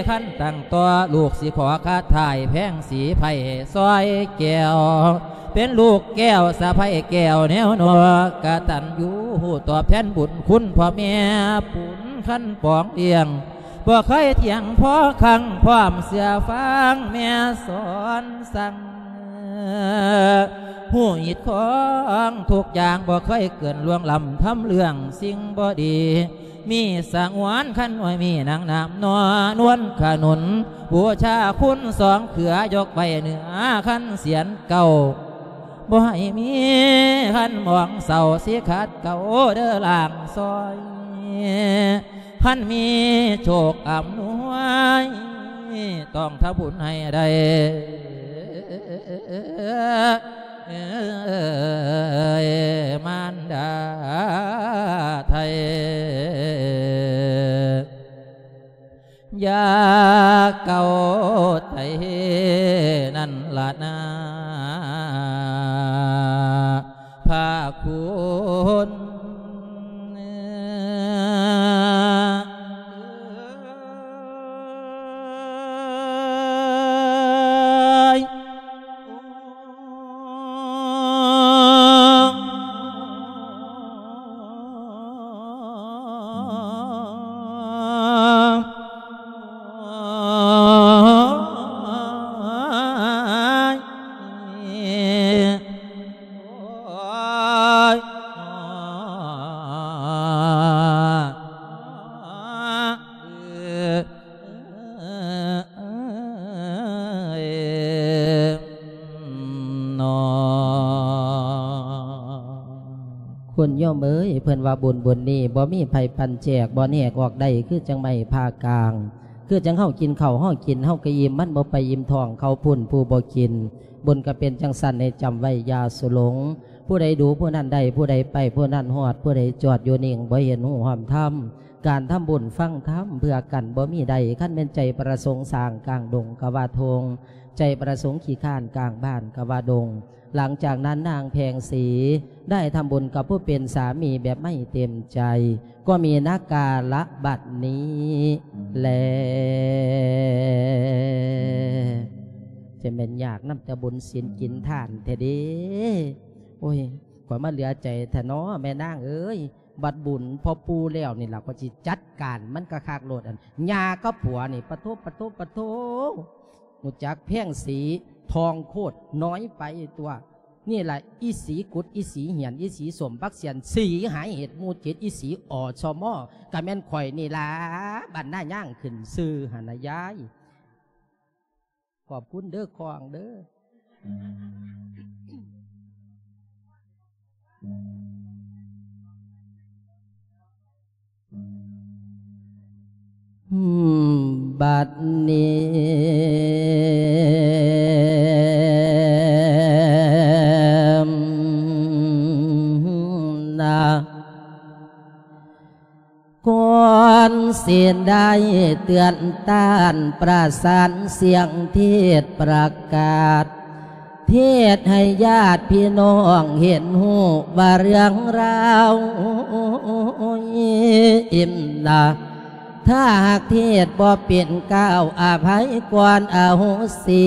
ຄັນຕັ້ງຕໍ່ ລູກຊິຂໍຄາຖາຍແພງສີໄພ້ຊອຍແກ້ວ ເປັນລູກແກ້ວສະໃພ້ແກ້ວແນວນອກ ກະຕັນຍູຮູ້ຕອບແທນບຸນຄຸນພໍ່ແມ່ປຸນຄັນປອງລ້ຽງ ບໍ່ເຄີຍຖຽງພໍຄັງ ພ້ອມເຊື່ອຟັງແມ່ສອນສັ່ງ ຮູ້ຮີດຄອງທຸກຢ່າງ ບໍ່ເຄີຍເກີນລ່ວງລ້ຳທຳເລື່ອງສິ່ງບໍ່ດີ ມີສະຫງວນຄັນບໍ່ມີນາງນາມນໍ ນວນຂະໜູນບູຊາຄຸນສອງເຄືອ ຍົກໄວ້ເໜືອຄັນສຽນເກົ້າ ບໍ່ໃຫ້ມີຄັນໝອງເສົ້າ ຊິຂັດເກົາເດີລ່າງຊອຍ ຄັນມີໂຊກອຳນວຍ ຕ້ອງທຳບຸນໃຫ້ໄດ້ ເອີຍ ມານດາໄທ ຢ່າເກົາໃຈນັ້ນລະນາ ພະຄຸນເອີຍ. ຄຸນໂຍມເອີຍ ເພິ່ນວ່າບຸນບຸນນີ້ ບໍ່ມີໃຜປັນແຈກ ບໍ່ແນກອອກໄດ້ ຄືຈັ່ງໄມ້ຜ່າກາງ ຄືຈັ່ງເຮົາກິນເຂົ້າ ເຮົາກິນ ເຮົາກະອີ່ມ ມັນບໍ່ໄປອີ່ມທ້ອງເຂົາພຸ້ນຜູ້ບໍ່ກິນ ບຸນກະເປັນຈັ່ງຊັ້ນ ໃຫ້ຈຳໄວ້ຢ່າສຸຫຼົງ ຜູ້ໃດດູຜູ້ນັ້ນໄດ້ ຜູ້ໃດໄປຜູ້ນັ້ນຮອດ ຜູ້ໃດຈອດຢູ່ນິ່ງ ບໍ່ເຫັນຮູ້ຮ່ອມທຳ ການທຳບຸນຟັງທຳເພື່ອກັນບໍ່ມີໄດ້ ຄັນແມ່ນໃຈປະສົງສ້າງກາງດົງກະວ່າທົ່ງ ໃຈປະສົງຂີ້ຄ້ານກາງບ້ານກະວ່າດົງ. ຫຼັງຈາກນັ້ນນາງແພງສີໄດ້ທຳບຸນກັບຜູ້ເປັນສາມີແບບໄມ່ເຕັມໃຈ ກໍມີນາກາລະບັດນີ້ແລ. ຈະແມ່ນຍາກນຳແຕ່ບຸນສິນກິນທານແທ້ເດ. ໂອ້ຍ ຂ້ອຍມາເຫຼືອໃຈແທ້ນໍແມ່ນາງເອີຍ. ບັດບຸນພໍ່ປູ່ແລ້ວນີ້ລະ ຂ້ອຍຊິຈັດການມັນຄັກໆໂລດ. ອັນຍ່າກັບຜົວນີ້ ປະໂທ ປະໂທ ປະໂທ ຮູ້ຈັກແພງສີ ທອງໂຄດ ນ້ອຍໄປຕົວະ. ນີ້ລະອີສີກຸດ ອີສີຫຽນ ອີສີສົ້ມບັກສຽນ ສີຫາຍເຫດໝູ່ເຈັດ ອີສີ ອສມ ກະແມ່ນຂ້ອຍນີ້ລະ ບັນນາຍ່າງຂຶ້ນຊື່ຫັ້ນນະຍາຍ. ຂອບຄຸນເດີ ຂອງເດີ. ບັດນີ້ນະ ກ່ອນຊິໄດ້ເຕືອນຕ້ານ ປະສານສຽງເທດປະກາດ ເທດໃຫ້ຍາດພີ່ນ້ອງເຫັນຮູ້ວ່າເລື່ອງລາວ ອີ່ມນະ ຖ້າຫາກເທດບໍ່ເປັນກ້າວ ອະໄພກ່ອນ ອະໂຫສິ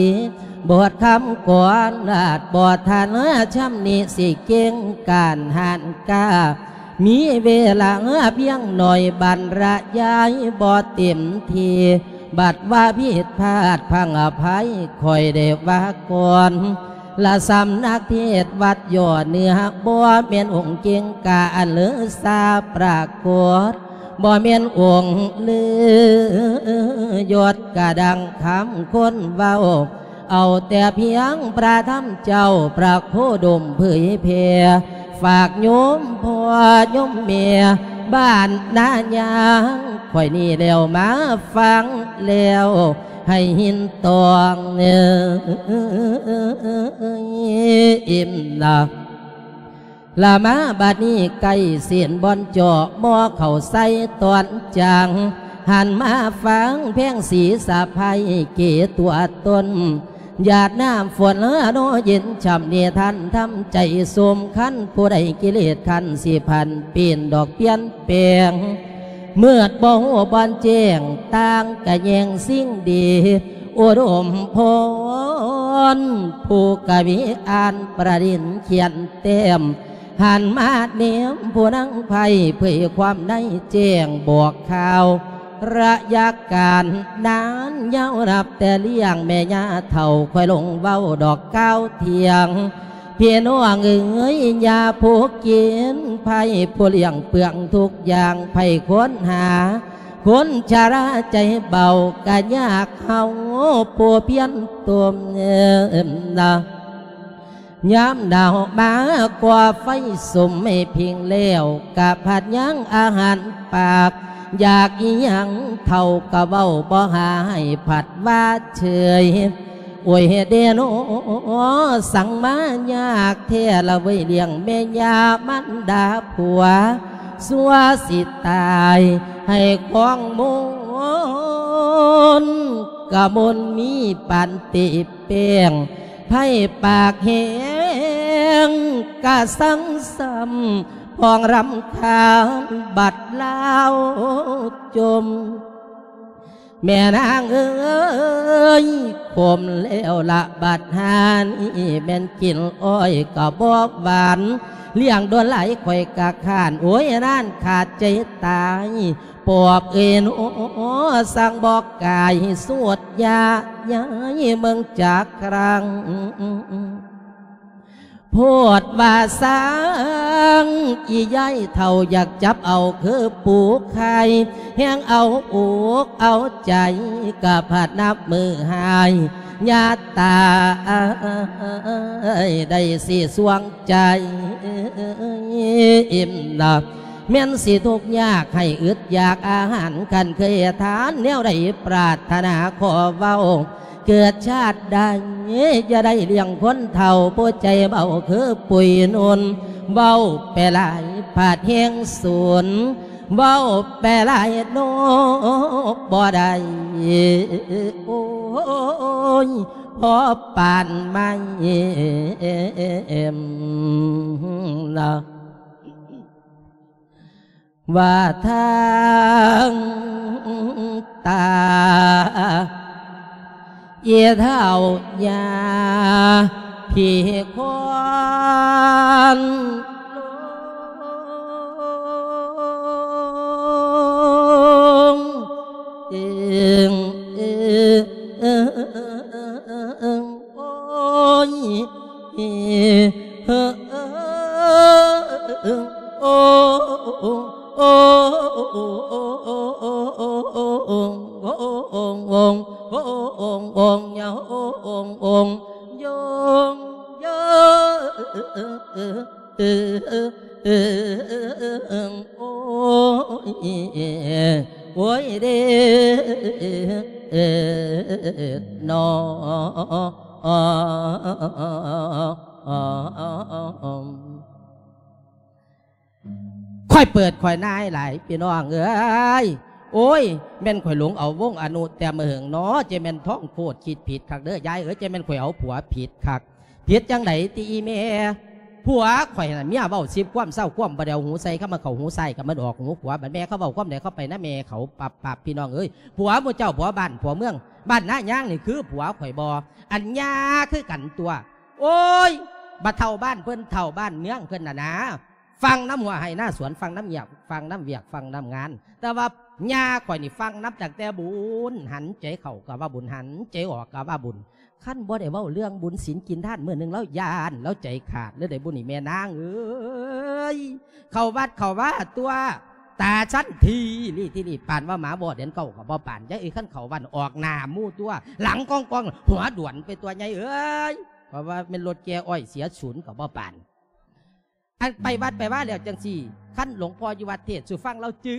ບົດຄຳກອນ ອາດບໍ່ທັນຊຳນິ ຊິເກັ່ງການຫ້ານກ້າ ມີເວລາພຽງໜ້ອຍ ບັນລະຍາຍບໍ່ເຕັມທີ່ ບັດວ່າຜິດພາດພັງອະໄພ ຂ້ອຍໄດ້ວ່າກ່ອນ ລະສຳນັກເທດວັດຢໍ້ເໜືອ ບໍ່ແມ່ນອົງເກັ່ງກ້າອັນເລີສາປາກົດ ບໍ່ແມ່ນອົງລືຍົດກະດັ່ງຄຳຄົນເວົ້າ ເອົາແຕ່ພຽງພະທຳເຈົ້າ ພະໂຄດົມເຜີຍແຜ່ ຝາກໂຍມພໍ່ໂຍມແມ່ບ້ານນາຍາງ ຂ້ອຍນີ້ແລ້ວມາຟັງແລ້ວ ໃຫ້ຫີນຕອງ ອີ່ມນະ ລະມາບັດນີ້ໃກ້ເສັ້ນບ່ອນເຈາະ ໝໍ້ເຂົ້າໃສ່ຕອນຈາງ ຫັນມາຟັງແພງສີສະໃພ້ເກຕົວຕົນ ຢາດນ້ຳຝົນເນາະເຢັນຊ່ຳ ນິທານທຳໃຈສົມຄັນ ຜູ້ໃດກິເລດຄັນ ຊິຜັນປ່ຽນດອກປ່ຽນແປງ ມືດບໍ່ຮູ້ບ່ອນແຈ້ງ ຕ່າງກະແຍງສິ່ງດີ ອຸດົມພອນ ຜູ້ກະວີອ່ານປະດິນຂຽນແຕ້ມ ຫັນມາແນມຜູ້ນາງໃພ້ ເຜີຍຄວາມໃນແຈ້ງບອກຂ່າວ ໄລຍະການນານຍາວ ນັບແຕ່ລ້ຽງແມ່ຍ່າເຖົ້າ ຂ້ອຍລົງເວົ້າດອກກ່າວທ່ຽງ ພີ່ນ້ອງເອີຍ ຢ່າຜູ້ກິນໄພ ຜູ້ລ້ຽງເປືອງທຸກຢ່າງ ໃຜຄົ້ນຫາ ຄົນຊະລາໃຈເບົາ ກະຍາກເຮົາຜູ້ພຽນຕົມນະ ຍາມໜາວມາກໍໄຟສຸມໃຫ້ພິງແລ້ວ ກະພັດຍັງອາຫານປາກ ຢາກອີ່ຫຍັງເຖົ້າກະເວົ້າ ບໍ່ຫາໃຫ້ພັດວ່າເຊີຍ ໂອຍເດໂນ ສັງມາຍາກແທ້ລະເວີຍ ລ້ຽງແມ່ຍ່າມັນດາຜົວ ຊົ່ວຊິຕາຍໃຫ້ຂອງມົນ ກະມົນມີປານເຕແປ້ງ ໃຜປາກແຮງກະສັງຊ້ຳ ພອງລຳຄານບັດລາວຈົມ ແມ່ນາງເອີຍ ຂົມແລ້ວລະບັດຫານີ້ ແມ່ນກິນອ້ອຍກະບໍ່ຫວານ ລ້ຽງດົນຫຼາຍຂ້ອຍກະຄ້ານ ໂອຍ ນານຂາດໃຈຕາຍ ປອບເອີຍໂນ ສັງບອກກາຍສູດຢາຍາຍເມືອງຈັກຄັ້ງ ໂພດວ່າສັງ ອີຍາຍເຖົ້າຢາກຈັບເອົາຄືປູໄຂ່ ແຮງເອົາອົກເອົາໃຈ ກະພັດນັບມື້ຫາຍ ຍາດຕາຍ ໄດ້ຊິສວງໃຈ ອີ່ມນະ ແມ່ນຊິທຸກຍາກໃຫ້ອຶດຢາກອາຫານ ຄັນເຄີຍທານແນວໃດປາດຖະໜາຂໍເວົ້າ ເກີດຊາດໃດ ຢ່າໄດ້ລ້ຽງຄົນເຖົ້າ ຜູ້ໃຈເບົາຄືປຸຍນຸ່ນ ເວົ້າໄປຫຼາຍພາດແຮງສູນ ເວົ້າໄປຫຼາຍໂນກບໍ່ໄດ້ ໂອ້ຍ ພໍປານໄມ້ນະ ວ່າທາງຕາ ອີເຖົ້າຍ່າຜີຄວານ ໂອ້ຍເດ້ເນາະ. ຂ້ອຍເປີດຂ້ອຍນາຍຫຼາຍ ພີ່ນ້ອງເອີຍ. ໂອ້ຍ ແມ່ນຂ້ອຍຫຼົງເອົາວົງອະນຸແຕ່ເມີເຫິງເນາະ, ເຈແມ່ນທ້ອງໂພດຄິດຜິດຄັກເດີຍາຍເອີຍ, ເຈແມ່ນຂ້ອຍເອົາຜົວຜິດຄັກ. ຜິດຈັ່ງໃດຕິອີ່ແມ່? ຜົວຂ້ອຍຫັ້ນນະ ເມຍເວົ້າສິບຄວາມ ຊາວຄວາມ ບໍ່ໄດ້ເອົາຫູໃສ່, ຄຳວ່າເຂົ້າຫູຊ້າຍກໍມັນອອກຫູຂວາ, ບັດແມ່ເຂົາເວົ້າຄວາມໃດ ເຂົ້າໄປນຳແມ່ເຂົາປັບໆ ພີ່ນ້ອງເອີຍ. ຜົວໝູ່ເຈົ້າ ຜົວບ້ານ ຜົວເມືອງ ບ້ານນາຍາງນີ້ຄືຜົວຂ້ອຍບໍ່? ອັນຍາຄືກັນຕົວະ. ໂອ້ຍ ບໍ່ເທົ່າບ້ານເພິ່ນ ເທົ່າບ້ານເມືອງເພິ່ນນະນາ. ຟັງນຳຫົວໄຮ່ນາສວນ, ຟັງນຳວຽກ, ຟັງນຳວຽກ, ຟັງນຳງານ. ແຕ່ວ່າຍ່າຂ້ອຍນີ້ຟັງນຳຕັ້ງແຕ່ບຸນ, ຫັນໃຈເຂົ້າກໍວ່າບຸນ, ຫັນໃຈອອກກໍວ່າບຸນ. ຄັນບໍ່ໄດ້ເວົ້າເລື່ອງບຸນສິນກິນທານ ມື້ໜຶ່ງລາວຢ້ານ, ລາວໃຈຂາດເລີຍໄດ້ບຸນນີ້ແມ່ນາງເອີຍ. ເຂົ້າວັດເຂົ້າວາຕົວະ, ຕາຊັ້ນທີລີ້ທີລີ້, ປານວ່າໝາວໍເດືອນເກົ້າກໍບໍ່ປານ. ຍາຍເອີຍ ຄັນເຂົ້າວັດອອກໜ້າໝູ່ຕົວະ, ຫຼັງກອງໆ ຫົວດວນໄປຕົວະຍາຍເອີຍ. ເພາະວ່າແມ່ນລົດແກ່ອ້ອຍເສຍສູນກໍບໍ່ປານ. ອັນໄປວັດໄປວາແລ້ວຈັ່ງຊີ້ ຄັນຫຼວງພໍ່ຢູ່ວັດເທດສູ່ຟັງ ລາວຈື່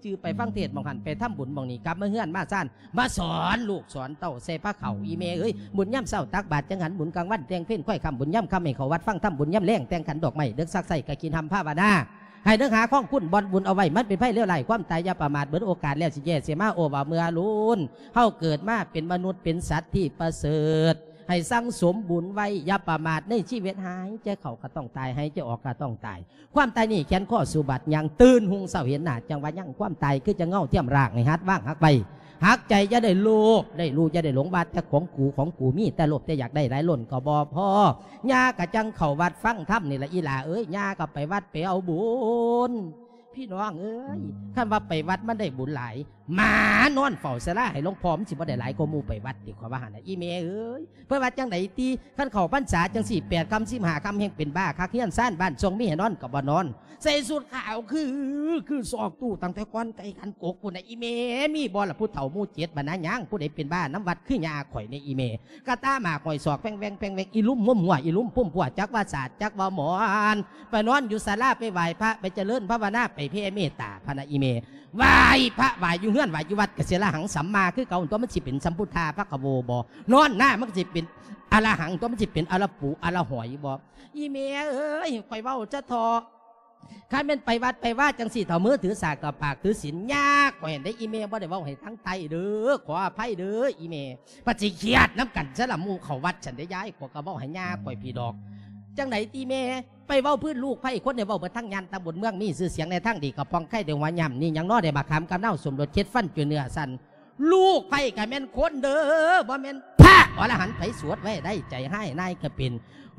ຈື່ໄປຟັງເທດໝ່ອງຫັ້ນ ໄປທຳບຸນໝ່ອງນີ້ ກັບມາເຮືອນມາຊານ ມາສອນລູກສອນເຕົ້າໃສ່ພາເຂົ້າ. ອີ່ແມ່ເອີຍ ບຸນຍາມເຊົ້າຕັກບາດຈັ່ງຫັ້ນ ບຸນກາງວັນແຕ່ງເພັນ ຄ້ອຍຄ່ຳ ບຸນຍາມຄ່ຳໃຫ້ເຂົ້າວັດຟັງທຳ, ບຸນຍາມແລງແຕ່ງຂັນດອກໄມ້ ເດິກສັກໄສ້ກະກິນ ຮ່ຳພາວະນາ ໃຫ້ເດີກຫາຄອງຄຸນ ບ່ອນບຸນເອົາໄວ້ ມັນເປັນໄພເລວຮ້າຍ ຄວາມຕາຍຢ່າປະໝາດ ເບິດໂອກາດແລ້ວຊິແຍ່ຊິມາ ໂອ້ວ່າເມື່ອລຸນ ເຮົາເກີດມາເປັນມະນຸດ ເປັນສັດທີ່ປະເສີດ ໃຫ້ສັ່ງສົມບຸນໄວ້ ຢ່າປະໝາດໃນຊີວິດ. ຫາຍໃຈເຂົ້າກໍຕ້ອງຕາຍ ຫາຍໃຈອອກກໍຕ້ອງຕາຍ ຄວາມຕາຍນີ້ແຂນຄໍສູ່ບາດຍ່າງ ຕື່ນຮຸ່ງເຊົ້າເຫັນໜ້າຈັ່ງວ່າຍັງ ຄວາມຕາຍຄືຈັ່ງເງົາທຽມຮ່າງ ໃຫ້ຫັດວາງຫັກໄວ້ ຫັກໃຈ ຢ່າໄດ້ໂລບໄດ້ຫຼູ່ ຢ່າໄດ້ຫຼົງວ່າແຕ່ຂອງກູ ຂອງກູ ມີແຕ່ໂລບແຕ່ຢາກໄດ້ຫຼາຍລົ້ນກໍບໍ່ພໍ. ຍ່າກໍຈັ່ງເຂົ້າວັດຟັງທຳນີ້ລະອີ່ຫຼ້າເອີຍ ຍ່າກໍໄປວັດໄປເອົາບຸນ. ພີ່ນ້ອງເອີຍ ອືມ ຄັນວ່າໄປວັດມັນໄດ້ບຸນຫຼາຍ ໝານອນເຝົ້າສາລາໃຫ້ຫຼວງພໍ່ ມັນຊິບໍ່ໄດ້ຫຼາຍກວ່າໝູ່ໄປວັດຕິ ຂ້ອຍວ່າຫັ້ນນະ ອີ່ແມ່ເອີຍ. ເພິ່ນວ່າຈັ່ງໃດຕິ ຄັນເຂົ້າພັນສາຈັ່ງຊີ້ ແປດຄ່ຳສິບຫ້າຄ່ຳແຮ່ງເປັນບ້າຄັກ ເຮືອນຊານບ້ານຊ່ອງມີໃຫ້ນອນກໍບໍ່ນອນ ໃສ່ຊຸດຂາວຄື ຄືຊອກຕູ້ ຕັ້ງແຕ່ກ່ອນໄກ່ຂັນກົກພຸ້ນນະ ອີ່ແມ່. ມີບໍ່ລະຜູ້ເຖົ້າໝູ່ເຈັດບ້ານນາຍາງ ຜູ້ໃດເປັນບ້ານຳວັດຄືຍ່າຂ້ອຍນີ້ ອີ່ແມ່? ກະຕາໝາກຫ້ອຍສອກແຟງແວງແຟງແວງ ອີ່ລຸ່ມມຸມຫົວ ອີ່ລຸ່ມພຸ້ມພົວ ຈັກວ່າສາດ ຈັກວ່າໝອນ ໄປນອນຢູ່ສາລາ ໄປໄຫວ້ພະ ໄປຈະເລີນພາວະນາ ໄປແຜ່ເມດຕາພະນະ ອີ່ແມ່. ໄຫວ້ພະໄຫວ້ຢູ່ເຮືອນ ໄຫວ້ຢູ່ວັດກະເສຍລະຫັງສຳມາຄືເກົ່າຕົວະ ມັນຊິເປັນສຳພຸດທາພະຄະໂວບໍ່? ນອນໜ້າມັນກະຊິເປັນອະລະຫັງຕົວະ ມັນຊິເປັນອະລະປູອະລະຫອຍບໍ່? ອີ່ແມ່ເອີຍ ຂ້ອຍເວົ້າຊະເທາະ ຄັນແມ່ນໄປວັດໄປວາຈັ່ງຊີ້ ເຖົ້າມືຖືສາກ ເຖົ້າປາກຖືສິນ ຍາກກວ່າຫັ້ນເດ້ ອີ່ແມ່. ບໍ່ໄດ້ເວົ້າໃຫ້ທາງໃຕ້ເດີ ຂໍອະໄພເດີ ອີ່ແມ່. ປະຕິຄຽດນຳກັນຊະລະ ໝູ່ເຂົ້າວັດຊັ້ນເດ້ຍາຍ ຂ້ອຍກະເວົ້າໃຫ້ຍ່າຂ້ອຍພີ້ດອກ. ຈັ່ງໃດຕິແມ່? ໄປເວົ້າພື້ນລູກໃພ້ຄົນ ໄດ້ເວົ້າເບິດທັງຍານຕຳບົນເມືອງ ມີຊື່ສຽງໃນທາງດີ ກະປ່ອງໄຄ ໄດ້ຫົວຫຍ້ຳນີ້ຫຍັງນໍ ໄດ້ບັກຂາມກຳເນົາ ສົມລົດເຄັດຟັນ ຈຸເນື້ອຊັ້ນ ລູກໃພ້ກະແມ່ນຄົນເດີ ບໍ່ແມ່ນພະອໍລະຫັນ ໃຜສວດໄວ້ໄດ້ ໃຈຮ້າຍນາຍກະເປັນ.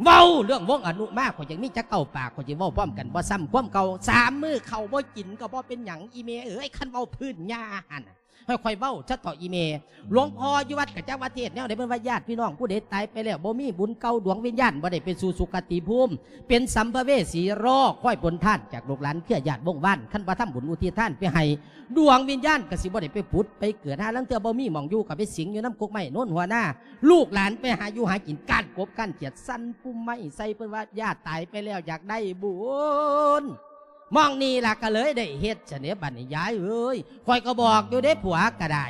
ເວົ້າເລື່ອງວົງອະນຸມາ ຂ້ອຍຈັ່ງມີຈັກເກົ້າປາກ ຂ້ອຍຈຶ່ງເວົ້າພ້ອມກັນບໍ່ຊ້ຳຄວາມເກົ່າ. ສາມມື້ເຂົ້າບໍ່ກິນກະບໍ່ເປັນຫຍັງ ອີ່ແມ່ເອີຍ. ຄັນເວົ້າພື້ນຍ່າຫັ້ນ ໃຫ້ຂ້ອຍເວົ້າຊະເຖາະອີ່ແມ່. ຫຼວງພໍ່ຢູ່ວັດກະຈັກວ່າເທດແນວໃດ ເພິ່ນວ່າຍາດພີ່ນ້ອງຜູ້ໃດຕາຍໄປແລ້ວ ບໍ່ມີບຸນເກົ່າ ດວງວິນຍານບໍ່ໄດ້ໄປສູ່ສຸຄະຕິພູມ ເປັນສຳພະເວສີ ລໍຄອຍຜົນທານຈາກລູກຫຼານເຄືອຍາດວົງວານ. ຄັນບໍ່ທຳບຸນອຸທິດທານໄປໃຫ້ ດວງວິນຍານກະຊິບໍ່ໄດ້ໄປຜຸດໄປເກີດ. ຫາລາງເທື່ອບໍ່ມີໝ່ອງຢູ່ ກະໄປສິງຢູ່ນຳກົກໄມ້ໂນນຫົວນາ. ລູກຫຼານໄປຫາຢູ່ຫາກິນ ກ້ານກົບກ້ານຂຽດ ສັນປຸ່ມໄມ້ໃສ່ ເພິ່ນວ່າຍາດຕາຍໄປແລ້ວຢາກໄດ້ບຸນ. ໝ່ອງນີ້ລະກະເລີຍໄດ້ເຮັດຊະເດ ບັດນີ້ຍາຍເອີຍ. ຂ້ອຍກະບອກຢູ່ເດ ຜົວກະໄດ້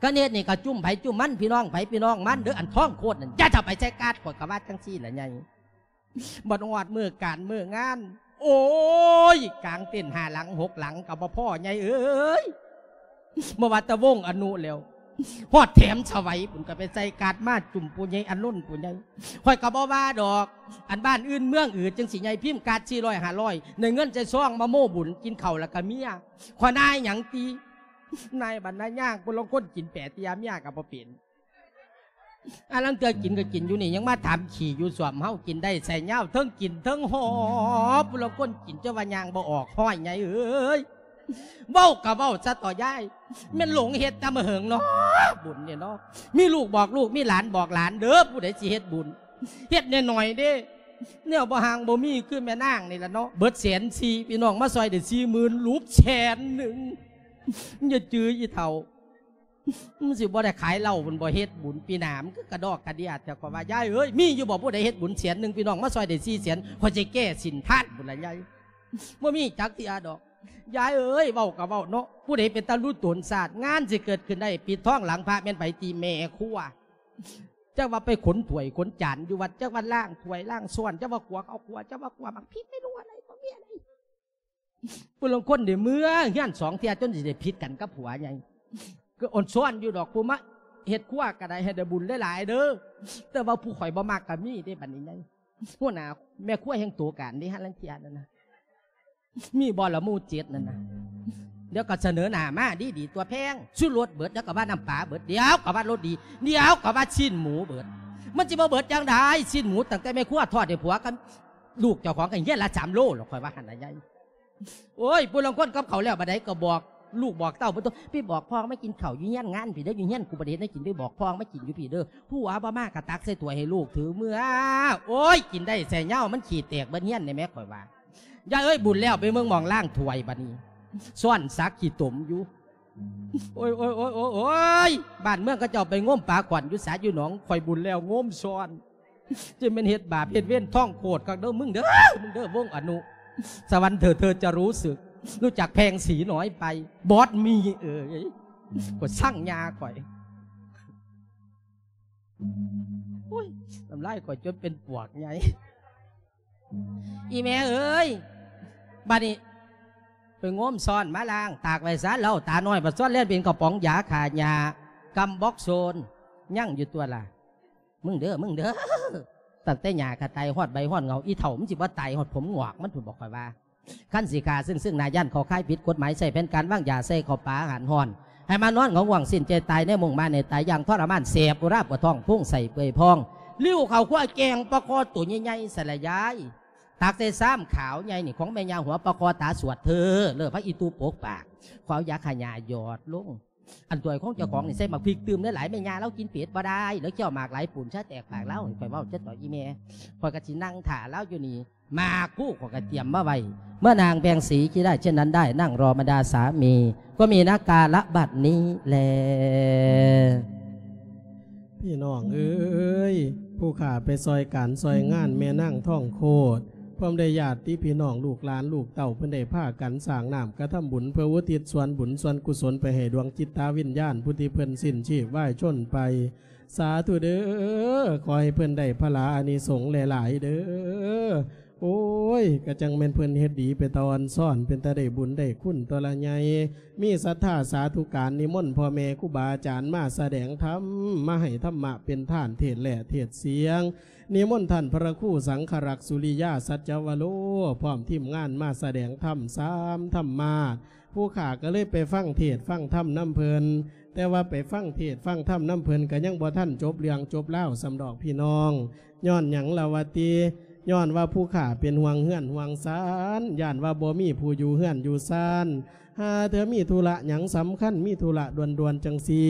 ຄັນເຮັດນີ້ກະຈຸ້ມໃຜຈຸ້ມມັນ ພີ່ນ້ອງໃຜພີ່ນ້ອງມັນເດີ. ອັນທ້ອງໂຄດນັ້ນ ຢ່າເຂົ້າໄປໃສ່ກາດ ຂ້ອຍກະວ່າຈັ່ງຊີ້ລະໃຫຍ່. ບັດຮອດມື້ການມື້ງານ ໂອ້ຍ ກາງເຕັນຫ້າຫຼັງຫົກຫຼັງກະບໍ່ພໍໃຫຍ່ເອີຍ. ບໍ່ວ່າແຕ່ວົງອະນຸແລ້ວ ຮອດແຖມສະໄຫວພຸ້ນ ກະໄປໃສ່ກາດມາຈຸ້ມຜູ້ໃຫຍ່ອາລຸນຜູ້ໃຫຍ່. ຂ້ອຍກະບໍ່ວ່າດອກ ອັນບ້ານອື່ນເມືອງອື່ນຈັ່ງຊີ້ໃຫຍ່ ພິມກາດສີ່ຮ້ອຍຫ້າຮ້ອຍ ໄດ້ເງິນໃສ່ຊອງມາໂມ້ບຸນ ກິນເຂົ້າລະກະເມຍ. ຂ້ອຍນາຍຫຍັງຕິ ນາຍບັນນາຍາງ ຜູ້ລາງຄົນກິນແປເຕຍເມຍກະບໍ່ເປັນ. ອາ ລາງເທື່ອກິນກະກິນຢູ່ນີ້ ຍັງມາຖາມຂີ້ຢູ່ສ້ວມເຮົາ ກິນໄດ້ໃສ່ຍາວ ເທິງກິນເທິງຫໍ່. ຜູ້ລາງຄົນກິນຈົນວ່າຍ່າງບໍ່ອອກ ຫ້ອຍໃຫຍ່ເອີຍ. ເວົ້າກະເວົ້າຊະເຖາະຍາຍ ແມ່ນຫຼົງເຮັດແຕ່ມາເຫິງເນາະ ບຸນນີ້ເນາະ. ມີລູກບອກລູກ ມີຫຼານບອກຫຼານເດີ ຜູ້ໃດຊິເຮັດບຸນ ເຮັດໜ້ອຍໆເດ້. ແນວບໍ່ຮ່າງບໍ່ມີຄືແມ່ນາງນີ້ລະເນາະ ເບິດແສນສີ່ ພີ່ນ້ອງມາຊ່ອຍໄດ້ສີ່ໝື່ນ ຫຼຸບແສນໜຶ່ງ. ຢ່າຈື່ອີເຖົ້າ ມັນຊິບໍ່ໄດ້ຂາຍເຫຼົ້າພຸ້ນບໍ່ ເຮັດບຸນປີໜ້າ ມັນຄືກະດອກກະເດຍແທ້. ຂ້ອຍວ່າ ຍາຍເອີຍ ມີຢູ່ບໍ່ຜູ້ໃດເຮັດບຸນແສນໜຶ່ງ ພີ່ນ້ອງມາຊ່ອຍໄດ້ສີ່ແສນ ຂ້ອຍຊິແກ້ສິນທານພຸ້ນລະຍາຍ. ບໍ່ມີຈັກເທື່ອດອກ ຍາຍເອີຍ. ເວົ້າກໍເວົ້າເນາະ ຜູ້ໃດເປັນຕາລຸຕົນຊາດ ງານຊິເກີດຂຶ້ນໄດ້ ປິດທອງຫຼັງພະແມ່ນໃຜ? ຕິແມ່ຄົວ. ຈັກວ່າໄປຂົນຖ້ວຍຂົນຈານຢູ່ວັດ ຈັກວ່າລ້າງຖ້ວຍລ້າງຊ້ອນ ຈັກວ່າຂົ້ວເຂົ້າຂົ້ວ ຈັກວ່າຂົ້ວໝາກພິກ ໄມ່ຮູ້ອະໄລບໍ່ມີອະໄລ. ຜູ້ລາງຄົນໄດ້ເມືອເຮືອນສອງເທື່ອ ຈົນຊິໄດ້ຜິດກັນກັບຜົວໃຫຍ່. ກໍອ່ອນຊ້ອນຢູ່ດອກ ຜູ້ມາເຮັດຄົວກໍໄດ້ ໃຫ້ໄດ້ບຸນຫຼາຍໆເດີ. ແຕ່ວ່າຜູ້ຂ້ອຍບໍ່ມັກກໍມີເດ້ບັດນີ້ໃຫຍ່. ຫົວໜ້າແມ່ຄົວແຮ່ງໂຕການເດ້ ຫາລາງເທື່ອນັ້ນນະ. ມີບໍ່ລະໝູ່ເຈັດນັ້ນນະ? ດຽວກໍສະເໜີໜ້າມາດີໆ ຕົວະແພງ ຊູລົດເບິດ ດຽວກໍວ່ານ້ຳປາເບິດ ດຽວກໍວ່າໂລຕີ ດຽວກໍວ່າຊີ້ນໝູເບິດ. ມັນຊິບໍ່ເບິດຈັ່ງໃດ? ຊີ້ນໝູຕັ້ງແຕ່ແມ່ຄົວທອດໃຫ້ຜົວກັບລູກເຈົ້າຂອງກັນເຮືອນລະສາມໂລ ແລ້ວຂ້ອຍວ່າຫັ້ນນະຍາຍ. ໂອ້ຍ ຜູ້ລາງຄົນກັບເຂົາແລ້ວບັດໃດກໍບອກລູກບອກເຕົ້າ ບໍ່ຕ້ອງໄປບອກພໍ່ມາກິນເຂົ້າຢູ່ເຮືອນງານພີ້ເດີ້ ຢູ່ເຮືອນກູບໍ່ໄດ້ເຮັດແນວກິນ ໄປບອກພໍ່ມາກິນຢູ່ພີ້ເດີ້. ຜົວບໍ່ມາກໍຕັກໃສ່ຖ້ວຍໃຫ້ລູກຖືເມືອ. ໂອ້ຍ ກິນໄດ້ໃສ່ເຫຍົາ ມັນຂີ້ແຕກເບິດເຮືອນນີ້ແໝ ຂ້ອຍວ່າ. ຍາຍເອີຍ ບຸນແລ້ວ ໄປເບິ່ງໝ່ອງລ້າງຖ້ວຍບັດນີ້ ຊ້ອນສັກຂີ້ຕົມຢູ່. ໂອ້ຍ ໂອ້ຍ ໂອ້ຍ ໂອ້ຍ ໂອ້ຍ ບ້ານເມືອງເຂົາເຈົ້າໄປງົມປາຂວັນຢູ່ສາຢູ່ໜອງ ຂ້ອຍບຸນແລ້ວງົມຊ້ອນ. ຈະແມ່ນເຮັດບາບເຮັດເວນທ້ອງໂຄດຄັກເດີ້ມຶງເດີ້ ມຶງເດີ້ ວົງອະນຸ ສະຫວັນເທີດເທີດຈະຮູ້ສຶກ ຮູ້ຈັກແພງສີໜ້ອຍໄປ ບອດມີເອີຍ ຂ້ອຍຊັງຍາຂ້ອຍ. ໂອ້ຍ ນ້ຳລາຍຂ້ອຍຈົນເປັນປວກໃຫຍ່. ອີແມ່ເອີຍ ບັດນີ້ໄປງົມຊ້ອນມາລ້າງ ຕາກໄວ້ຊະ ເຫຼົ້າຕານ້ອຍ ບັດຊ້ອນແລ່ນເປັນກະປ໋ອງຢາຂ້າຫຍ້າ ກຳບັກໂຊນ ຍັງຢູ່ຕົວລະ. ມຶງເດີ້ ມຶງເດີ້ ຕັ້ງແຕ່ຫຍ້າກະໄຕຮອດໃບຮອດເຫງົາ ອີເຖົ້າມັນຊິບໍ່ຕາຍຮອດຜົມງອກມັນພຸ້ນບໍ ຂ້ອຍວ່າ. ຄັນຊິຂ້າເຊິ່ງໆ ໜ້າຢ້ານເຂົ້າຂ່າຍຜິດກົດໝາຍ ໃຊ້ແຜນການວາງຢາໃສ່ເຂົ້າປາອາຫານຮ້ອນ ໃຫ້ມານອນຫງອຍຫວ່ອງສິ້ນໃຈຕາຍໃນມຸງມາໃນຕາຍຢ່າງທໍລະມານ ແສບອຸຣາປວດທ້ອງ ພຸງໄສ້ເປື່ອຍພອງ ລິ້ວເຂົ້າຄົວແກງປາຄໍໂຕໃຫຍ່ໆ ສະລະຍາຍ ຕັກໃສ່ຊາມຂາວໃຫຍ່ນີ້ ຂອງແມ່ຍ່າຫົວປາຄໍຕາສວດເທີ ເລີພະອີຕູປົກປາກ ຂ້ອຍເອົາຢາຂ້າຫຍ້າຢອດລົງ. ອັນຖ້ວຍຂອງເຈົ້າຂອງນີ້ໃສ່ໝາກພິກຕື່ມຫຼາຍໆ ແມ່ຍ່າລາວກິນເຜັດບໍ່ໄດ້ ລາວຄ້ຽວໝາກຫຼາຍປູນຊະແຕກປາກລາວ. ຂ້ອຍເວົ້າຈະຕໍ່ອີແມ່ ຂ້ອຍກໍຊິນັ່ງຖ້າລາວຢູ່ນີ້ ໝາກຄູ່ຂ້ອຍກໍຕຽມມາໄວ້ ເມື່ອນางแพงศรีคิดได้เช่นนั้นได้ นั่งรอบรรดาสามี ก็มีนักกาละบัดนี้แล. ພີ່ນ້ອງເອີຍ ຜູ້ຂ້າໄປຊ່ອຍການຊ່ອຍງານແມ່ນາງທອງໂຄດ ພ້ອມໄດ້ຍາດຕິພີ່ນ້ອງລູກຫຼານລູກເຕົ້າ ເພິ່ນໄດ້ພາກັນສ້າງນ້ຳກະທຳບຸນ ເພື່ອອຸທິດສ່ວນບຸນສ່ວນກຸສົນໄປໃຫ້ດວງຈິດຕາວິນຍານຜູ້ທີ່ເພິ່ນສິ້ນຊີບວາຍຊົນໄປ. ສາທຸເດີ້ ຂໍໃຫ້ເພິ່ນໄດ້ພະລາອານິສົງຫຼາຍໆເດີ້. ໂອ້ຍ ກະຈັ່ງແມ່ນເພິ່ນເຮັດດີເປັນຕາອ່ອນຊ້ອນ ເປັນຕາໄດ້ບຸນໄດ້ຄຸນຕົວລະໃຫຍ່. ມີສັດທາສາທຸການນິມົນພໍ່ແມ່ຄູບາອາຈານມາສະແດງທຳ ມາໃຫ້ທຳມະເປັນທານ ເທດແລະເທດສຽງ. ນິມົນທ່ານພະລະຄູສັງຄະລັກ ສຸລິຍາ ສັດຈະວະໂລ ພ້ອມທີມງານມາສະແດງທຳສາມທຳມາດ. ຜູ້ຂ້າກໍເລີຍໄປຟັງເທດຟັງທຳນຳເພິ່ນ ແຕ່ວ່າໄປຟັງເທດຟັງທຳນຳເພິ່ນກໍຍັງບໍ່ທັນຈົບເລື່ອງຈົບລາວສ່ຳດອກພີ່ນ້ອງ. ຍ້ອນຫຍັງລະວະຕິ? ຍ້ອນວ່າຜູ້ຂ້າເປັນຫ່ວງເຮືອນຫ່ວງຊານ ຢ້ານວ່າບໍ່ມີຜູ້ຢູ່ເຮືອນຢູ່ຊານ. ຫາເທື່ອມີທຸລະຫຍັງສຳຄັນ ມີທຸລະດ່ວນໆຈັ່ງຊີ້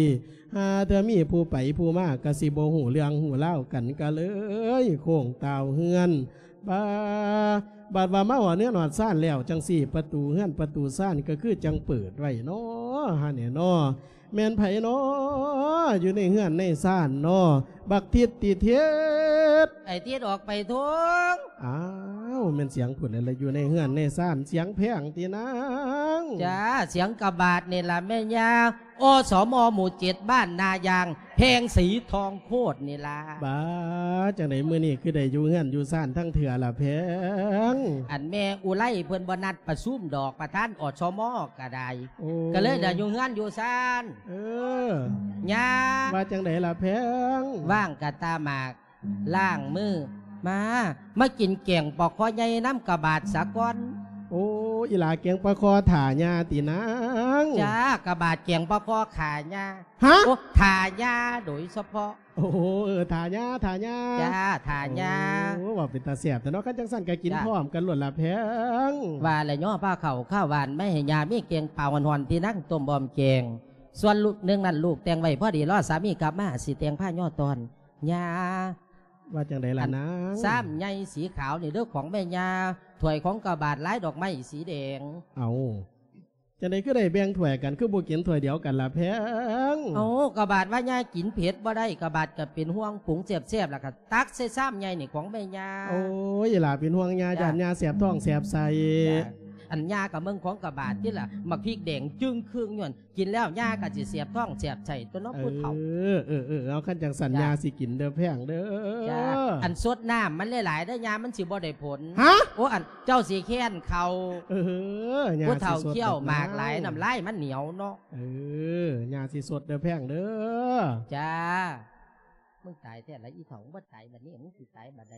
ຫາເທື່ອມີຜູ້ໄປຜູ້ມາກໍຊິບໍ່ຮູ້ເລື່ອງຮູ້ລາວກັນ ກໍເລີຍໂຄ້ງຕ່າວເຮືອນ. ບາ ບາດວ່າມາຮອດເຮືອນຮອດຊານແລ້ວຈັ່ງຊີ້ ປະຕູເຮືອນປະຕູຊານກໍຄືຈັ່ງເປີດໄວ້ເນາະ ຫັ້ນແຫຼະເນາະ. ແມ່ນໃຜເນາະ ຢູ່ໃນເຮືອນໃນຊານເນາະ? ບັກທິດຕິເທດ. ໄອ້ທິດອອກໄປທົ່ວ. ອ້າວ ແມ່ນສຽງຜູ້ໃດລະ ຢູ່ໃນເຮືອນໃນຊານ ສຽງແພງຕິນາງ? ຈ້າ ສຽງກະບາດນີ້ລະແມ່ຍ່າ ອສມ ໝູ່ເຈັດ ບ້ານນາຢາງ ແພງສີທອງໂຄດນີ້ລະ. ບາ ຈັ່ງໃດມື້ນີ້ຄືໄດ້ຢູ່ເຮືອນຢູ່ຊານທັງເທື່ອລະແພງ? ອັນແມ່ອຸໄລເພິ່ນບໍ່ນັດປະຊຸມດອກ ປະທານ ອສມ ກະໄດ້ ໂອ້ ກະເລີຍໄດ້ຢູ່ເຮືອນຢູ່ຊານ. ເອີ ຍ່າ ວ່າຈັ່ງໃດລະແພງ? ວ່າງກະຕາໝາກ ລ້າງມື ມາ ມາກິນແກງປາຄໍໃຫຍ່ນຳກະບາດສາກ່ອນ. ໂອ້ ອີຫຼ້າແກງປາຄໍຖ້າຍ່າຕິນາງ? ຈ້າ ກະບາດແກງປາຄໍຂ້າຍ່າ. ຮະ? ໂອ້ ຖ້າຍ່າໂດຍສະເພາະ. ໂອ້ ເອີ ຖ້າຍ່າ ຖ້າຍ່າ. ຈ້າ ຖ້າຍ່າ. ໂອ້ ເວົ້າເປັນຕາແຊບແທ້ເນາະ ຄັນຈັ່ງຊັ້ນກະກິນ ຈ້າ ພ້ອມກັນໂລດລະແພງ. ວ່າແລ້ວຍໍພາເຂົ້າຂ້າວຫວານມາໃຫ້ຍ່າ ມີແກງປາຮ້ອນໆ ທີ່ນາງຕົ້ມອ້ອມແກງ. ສ່ວນລູກໜຶ່ງນັ້ນ ລູກແຕ່ງໄວ້ພໍດີ ລໍສາມີກັບມາ ຊິແຕ່ງພາຍໍຕອນ. ຍ່າ ວ່າຈັ່ງໃດລະນາງ? ຊາມໃຫຍ່ສີຂາວນີ້ເດີ້ຂອງແມ່ຍ່າ, ຖ້ວຍຂອງກະບາດລາຍດອກໄມ້ສີແດງ. ເອົ້າ ຈັ່ງໃດຄືໄດ້ແບ່ງຖ້ວຍກັນ ຄືບໍ່ກິນຖ້ວຍດຽວກັນລະແພງ? ເອົ້າ ກະບາດວ່າຍ່າກິນເຜັດບໍ່ໄດ້, ກະບາດກະເປັນຫ່ວງປຸງແຊບໆ ລະກະຕັກໃສ່ຊາມໃຫຍ່ນີ້ຂອງແມ່ຍ່າ. ໂອ້ຍ ຫຼ້າເປັນຫ່ວງຍ່າ ຢ້ານຍ່າແສບທ້ອງແສບໄສ້. ອັນຍ່າກະເບິ່ງຂອງກະບາດຕິລະ, ໝາກພິກແດງຈຶ່ງຄຶ່ງຢູ່ຫັ້ນ ກິນແລ້ວຍ່າກໍຊິແສບທ້ອງແສບໄສ້ຕົວເນາະ ເອີ ຜູ້ເຖົ້າ. ເອີ ເອີ ເອີ ເອົາ ຄັນຈັ່ງຊັ້ນ ຈ້າ ຍ່າຊິກິນເດີ້ແພງເດີ້. ຈ້າ ອັນ ສົດນ້ຳມັນຫຼາຍໆເດີ້ ຍ່າ ມັນຊິບໍ່ໄດ້ຜົນ. ຮະ? ໂອ້ ອັນ ເຈົ້າຊິແຄ້ນເຂົ້າ. ເອີ ຍ່າ ຜູ້ເຖົ້າ ຊິສົດ ຂ້ຽວໝາກຫຼາຍ ນ້ຳລາຍມັນໜຽວເນາະ. ເອີ ຍ່າຊິສົດເດີ້ແພງເດີ້. ຈ້າ ມຶງຕາຍແທ້ລະອີເຖົ້າ, ບໍ່ຕາຍບັດນີ້ ມຶງຊິຕາຍບັດໃດ?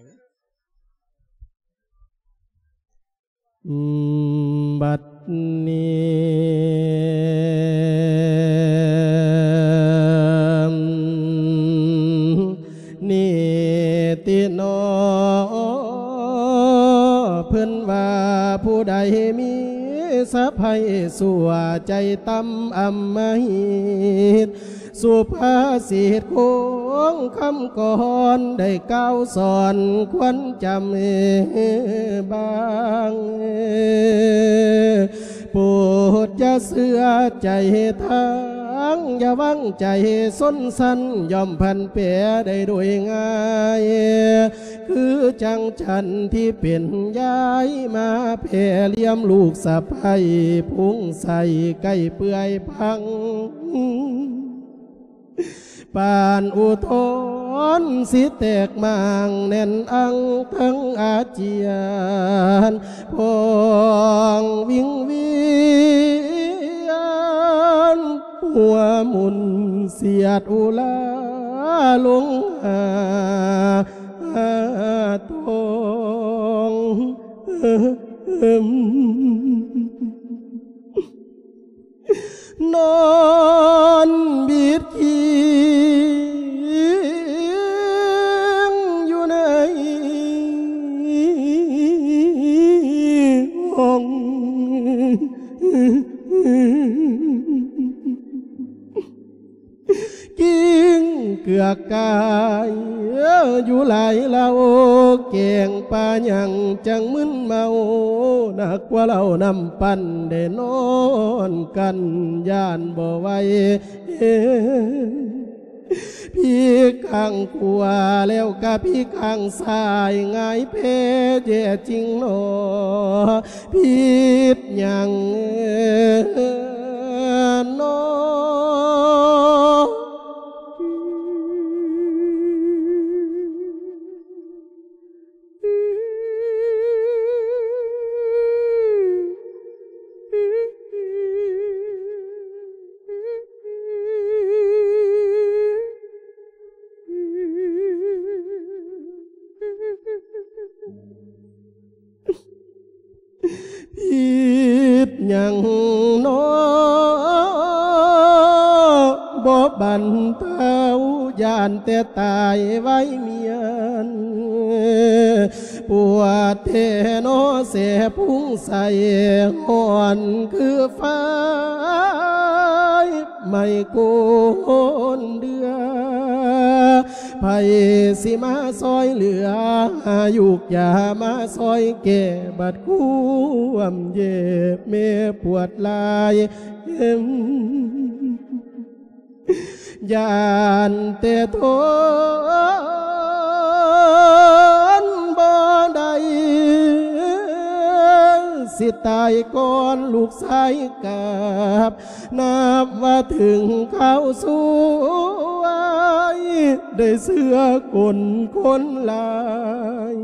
ອືມ ບັດນີ້ ນີ້ຕິໜໍ ເພິ່ນວ່າຜູ້ໃດມີສະໃພ້ຊົ່ວ ໃຈຕ່ຳອຳມະຫິດ ສຸພາສິດຄົງຄຳກອນ ໄດ້ກ່າວສອນຄວນຈຳບາງ ໂປດຢ່າເຊື່ອໃຈທາງ ຢ່າວາງໃຈຊົນຊັ້ນ ຍ່ອມຜັນແປໄດ້ໂດຍງ່າຍ ຄືຈັ່ງຈັນທີ່ເປັນຍາຍ ມາແຜ່ລຽມລູກສະໃພ້ ພຸງໃສໄກ່ເປື່ອຍພັງ ປານອຸທອນຊິແຕກໝາງ ແໜ້ນອັງທັງອາຈຽນ ພອງວິງວຽນ ຫົວໝຸນສຽດອຸລາລົງຫາ ທ້ອງ ນອນບິດຄີງຢູ່ໃນຫ້ອງ ກິ້ງເກືອກກາຍຢູ່ຫຼາຍເຫຼົ່າ ແກງປາຫຍັງຈັ່ງມຶນເມົາ ໜັກກວ່າເຫຼົ້ານ້ຳປັ່ນໄດ້ນອນກັນ ຢ້ານບໍ່ໄຫວ ພິກຂ້າງຂວາແລ້ວກະພິກຂ້າງຊ້າຍ ຫງາຍແພແຍ່ຈິງໜໍ ຜິດຫຍັງໜໍ? ຜິດຫຍັງໜໍ ບໍ່ບັນເທົາ ຢ້ານແຕ່ຕາຍໄວມຽນ ປວດແທ້ໜໍແສພຸງໃສ ຮ້ອນຄືໄຟ ໄໝ້ໂກນເດືອ ໃຜຊິມາຊ່ອຍເຫຼືອ ຫາຢູກຢາມາຊ່ອຍແກ້ ບັດຄວາມເຈັບແມ່ປວດຫຼາຍ ຢ້ານແຕ່ທົນບໍ່ໄດ້ ຊິຕາຍກ່ອນລູກຊາຍກັບ ນັບວ່າເຖິງຄາວສວຍ ໄດ້ເຊື່ອກົນຄົນຫຼາຍ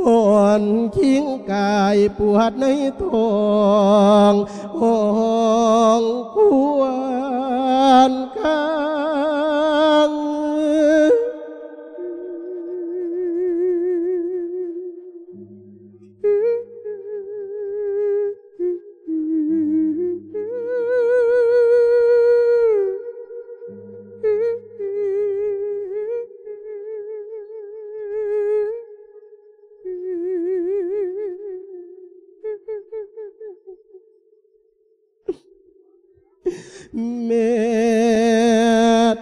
ອ່ອນຄີງກາຍປວດໃນທ້ອງ ຫ້ອງຄວນຄາງ. ແມ່ນ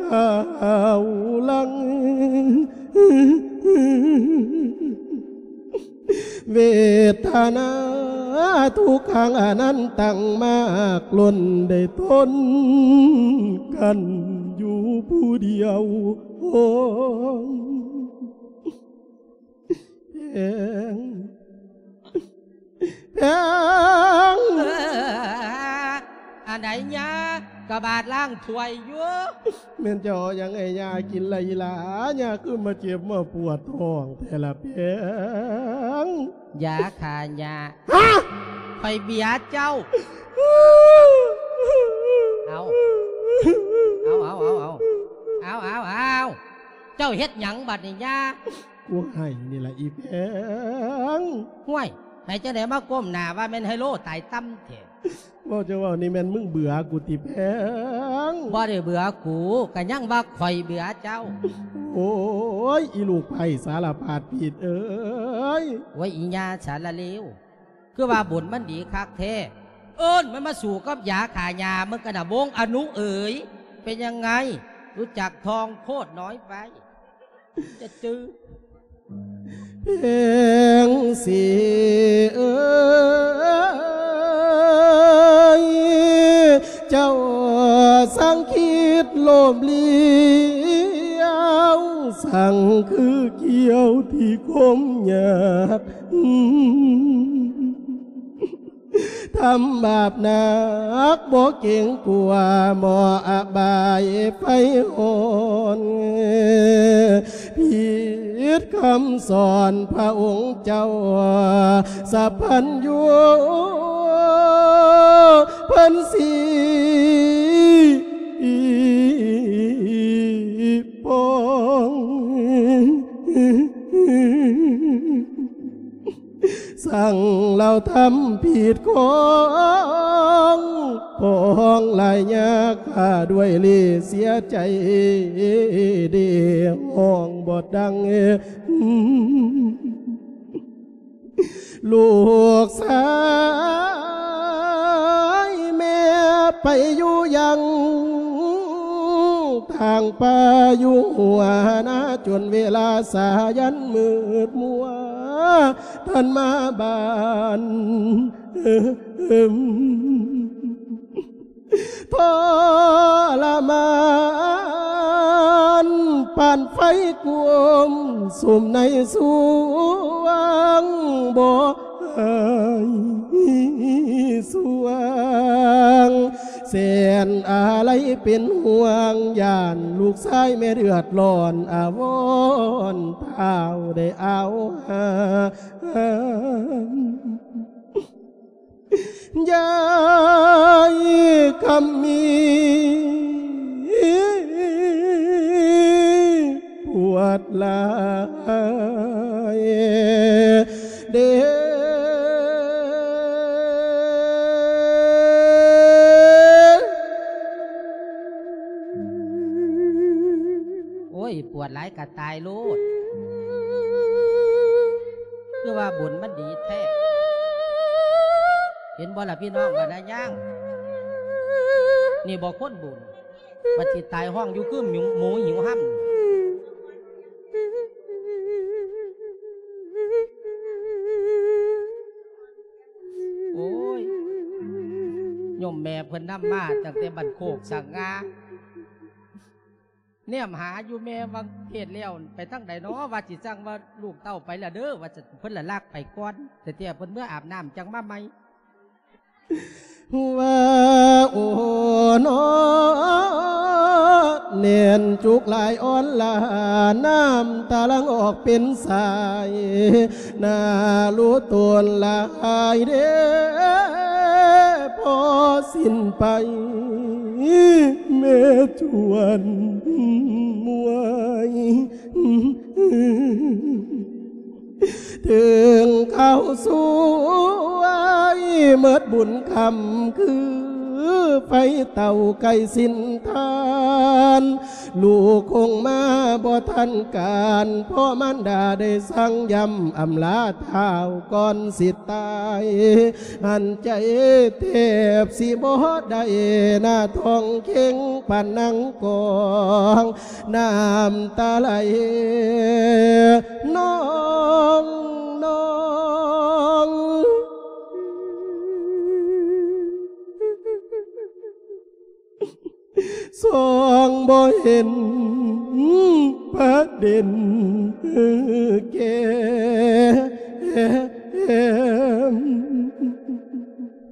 ຂ້າວຫຼັງ ເວທະນາທຸກຂັງອະນັນຕັງມາກລົ້ນ ໄດ້ທົນກັນຢູ່ຜູ້ດຽວ. ໂອ້ຍ ແພງ ແພງ ເອີ ອັນໃດຍາ ກະບາດລ້າງຖ້ວຍຢູ່. ແມ່ນເຈົ້າເອົາຫຍັງໃຫ້ຍ່າກິນລະອີ່ຫຼ້າ? ຍ່າຄືມາເຈັບມາປວດທ້ອງແທ້ລະແພງ? ຢາຂ້າຫຍ້າ. ຮະ? ຂ້ອຍເບຍເຈົ້າ. ເອົາ ເອົາ ເອົາ ເອົາ ເຈົ້າເຮັດຫຍັງບັດນີ້ຍາ? ກູໃຫ້ນີ້ລະອີ່ແພງ. ຫ້ວຍ ໃຫ້ຈັ່ງໃດມາກົ້ມໜ້າວ່າແມ່ນໄຮໂລຕາຍຕ່ຳແທ້? ເວົ້າຈັ່ງເວົ້ານີ້ແມ່ນມຶງເບື່ອກູຕິແພງ? ບໍ່ໄດ້ເບື່ອກູ ກະຍັງວ່າຂ້ອຍເບື່ອເຈົ້າ. ໂອ້ຍ ອີລູກໃພ້ສາລະພາດຜິດເອີຍ. ໂອ້ຍ ອີຍ່າສາລະເລວ ຄືວ່າບຸນມັນດີຄັກແທ້. ເອີ້ນມັນມາສູ້ກັບຢາຂ້າຫຍ້າ ມຶງກະນະ ວົງອະນຸເອີຍ. ເປັນຍັງໄງ? ຮູ້ຈັກທອງໂຄດນ້ອຍໄປ ຈະຈື່. ແພງສີເອີຍ ເຈົ້າສັງຄິດໂລບລ້ຽວ ສັງຄືກ່ຽວທີ່ຄົມຍາກ. ທຳບາບໜັກບໍ່ເກງກົວ ໝໍອະບາຍໄຟຮ້ອນ. ຜິດຄຳສອນພະອົງເຈົ້າ ສັບພັນຍູ ເພິ່ນສີປອງ. ສັ່ງລາວທຳຜິດຂອງ ປອງຫຼາຍຍາຂ້າດ້ວຍເລເສຍໃຈ ເດຮ້ອງບໍ່ດັງ ລູກຊາຍແມ່ໄປຢູ່ຍັງ ທາງປ່າຢູ່ຫົວນາ ຈົນເວລາສາຍັນມືດມົວ ທ່ານມາບ້ານ ທໍລະມານ ປານໄຟກວມສຸມໃນສວງ ບໍ່ຫາຍສວ່າງ ແສນອາໄລເປັນຫ່ວງ ຢ້ານລູກຊາຍແມ່ເດືອດຮ້ອນ ອາວອນທ້າວໄດ້ອາວຫາ ຍາຍຄຳມີ ປວດຫຼາຍເດ້. ໂອ້ຍ ປວດຫຼາຍກະຕາຍໂລດ ຄືວ່າບຸນມັນດີແທ້ ເຫັນບໍ່ລະພີ່ນ້ອງບັນດາຍາງ ນີ້ບໍ່ຄົນບຸນ ບັດຊິຕາຍຮ້ອງຢູ່ຄືໝູ ໝູຫິວຫຳ. ໂອ້ຍ ໂຍມແມ່ເພິ່ນນຳມາຕັ້ງແຕ່ບ້ານໂຄກສັກງາ ແນມຫາຢູ່ແມ່ວ່າເທດແລ້ວໄປທາງໃດນໍ ວ່າຊິສັ່ງວ່າລູກເຕົ້າໄປລະເດີ ວ່າຊັ້ນ ເພິ່ນລະລັກໄປກ່ອນ ແຕ່ເທື່ອເພິ່ນເມືອອາບນ້ຳຈັ່ງມາໃໝ່. ວ່າໂອນໍ ແໜ້ນຈຸກຫຼາຍອ່ອນຫຼ້າ ນ້ຳຕາຫຼັ່ງອອກເປັນສາຍ ໜ້າລູຕົນຫຼາຍເດ້ ພໍສິ້ນໄປ ແມ່ຈວນມວຍ ເຖິງຄາວສວຍ ເໝິດບຸນຄ່ຳຄືນ ຄືໄຟເຕົາໃກ້ສິ້ນທານ ລູກຄົງມາບໍ່ທັນການ ເພາະມານດາໄດ້ສັ່ງຢ້ຳອຳລາທ້າວກ່ອນຊິຕາຍ ຫັນໃຈແທບຊິບໍ່ໄດ້ ໜ້າທ້ອງເຄັ່ງປານນັ່ງກອງ ນ້ຳຕາໄຫຼນອງໆ. ສ່ອງບໍ່ເຫັນປະເດັນແກ່ມ.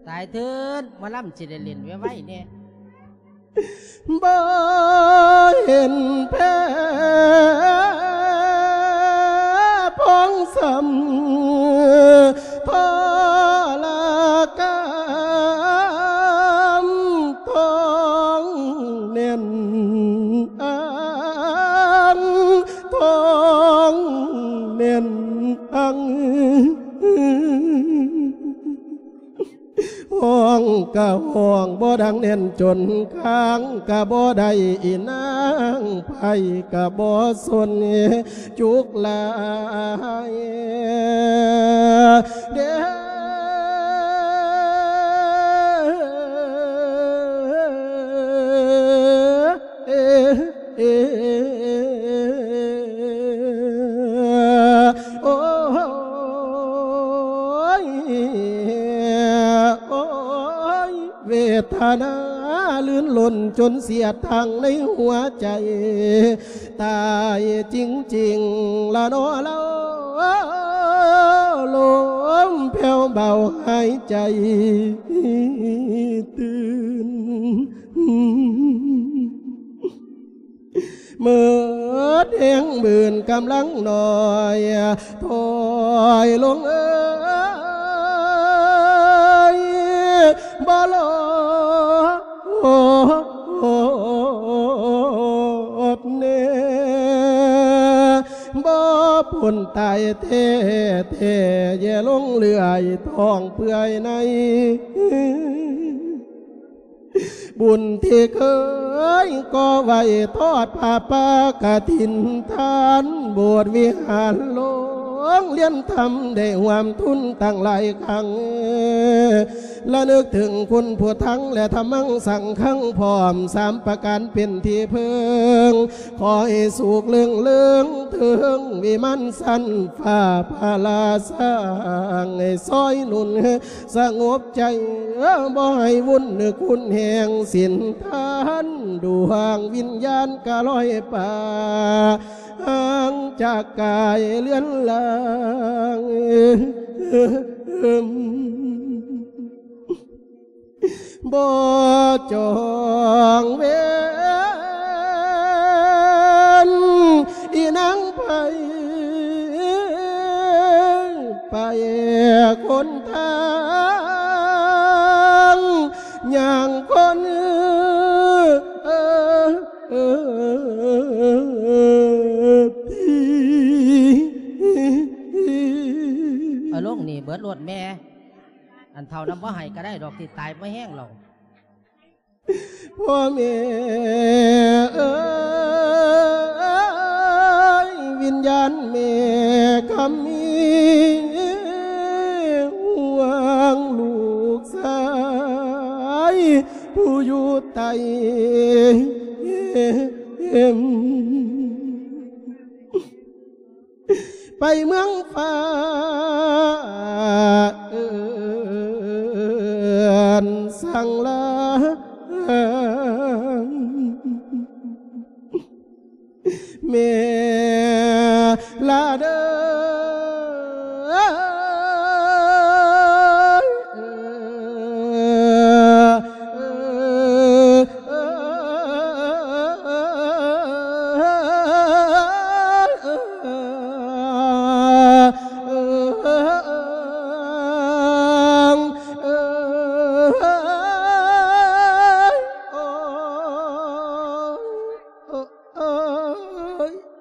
ຕາຍເທີດ ໝໍລຳຊິໄດ້ຫຼິ້ນໄວໆແດ່. ບໍ່ເຫັນແພ້ພອງສ່ຳທໍລະກຳ ທ້ອງແໜ້ນອັງ ທ້ອງແໜ້ນອັງ. ຮ້ອງກະຮ້ອງບໍ່ດັງແໜ້ນຈົນຄ້າງກະບໍ່ໄດ້ ອີນາງໄພ້ກະບໍ່ສົນຈຸກຫຼາຍເດ້. ໂອ້ຍ ໂອ້ຍ ເວທະນາລື່ນລົນຈົນສຽດທາງໃນຫົວໃຈ ຕາຍຈິງໆລະນໍລາວ ລົມແຜ່ວເບົາຫາຍໃຈຕື່ນ. ໝົດແຮງບືນກຳລັງໜ້ອຍ ຖອຍລົງເອີຍ ບໍ່ລອດແນ່ ບໍ່ພົ້ນຕາຍແທ້ໆ ແຍ່ລົງເລື່ອຍ ທ້ອງເປື່ອຍໃນ ບຸນທີ່ເຄີຍກໍ່ໄວ້ ທອດຜ້າປ່າກະຖິນທານ ໂບດວິຫານໂລງລຽນທຳ ໄດ້ຮ່ວມທຶນຕັ້ງຫຼາຍຄັ້ງ ລະນຶກເຖິງຄຸນພຸດທັງ ແລະທຳມັງສັງຄັງ ພ້ອມສາມປະການເປັນທີ່ເພິ່ງ ຂໍໃຫ້ສຸກເລື່ອງເລີງເທິງວິມານຊັ້ນຟ້າ ພະລາສ້າງໃຫ້ຊ່ອຍໜູນ ສະຫງົບໃຈ ບໍ່ໃຫ້ວຸ່ນຂຸນແຮງສິນທານ ດວງວິນຍານກະລອຍປາ ຫ່າງຈາກກາຍເລືອນລາງ ບໍ່ຈອງເວນ ອີນາງໄຜ ໄປຄົນທາງ ຍ່າງຄົນ ເອີ ເອີ ເອີ ເອົາລົງນີ້ເບິດໂລດແມ່ ອັນເຖົ້ານຳບໍ່ໃຫ້ກະໄດ້ດອກ ຊິຕາຍບໍ່ແຮງແລ້ວ. ພໍ່ແມ່ເອີຍ ວິນຍານແມ່ຄຳມີ ຫ່ວງລູກຊາຍຜູ້ຢູ່ໃຕ້ ໄປເມືອງຟ້າເອີ້ນສັ່ງລາ ແມ່ລາເດີ.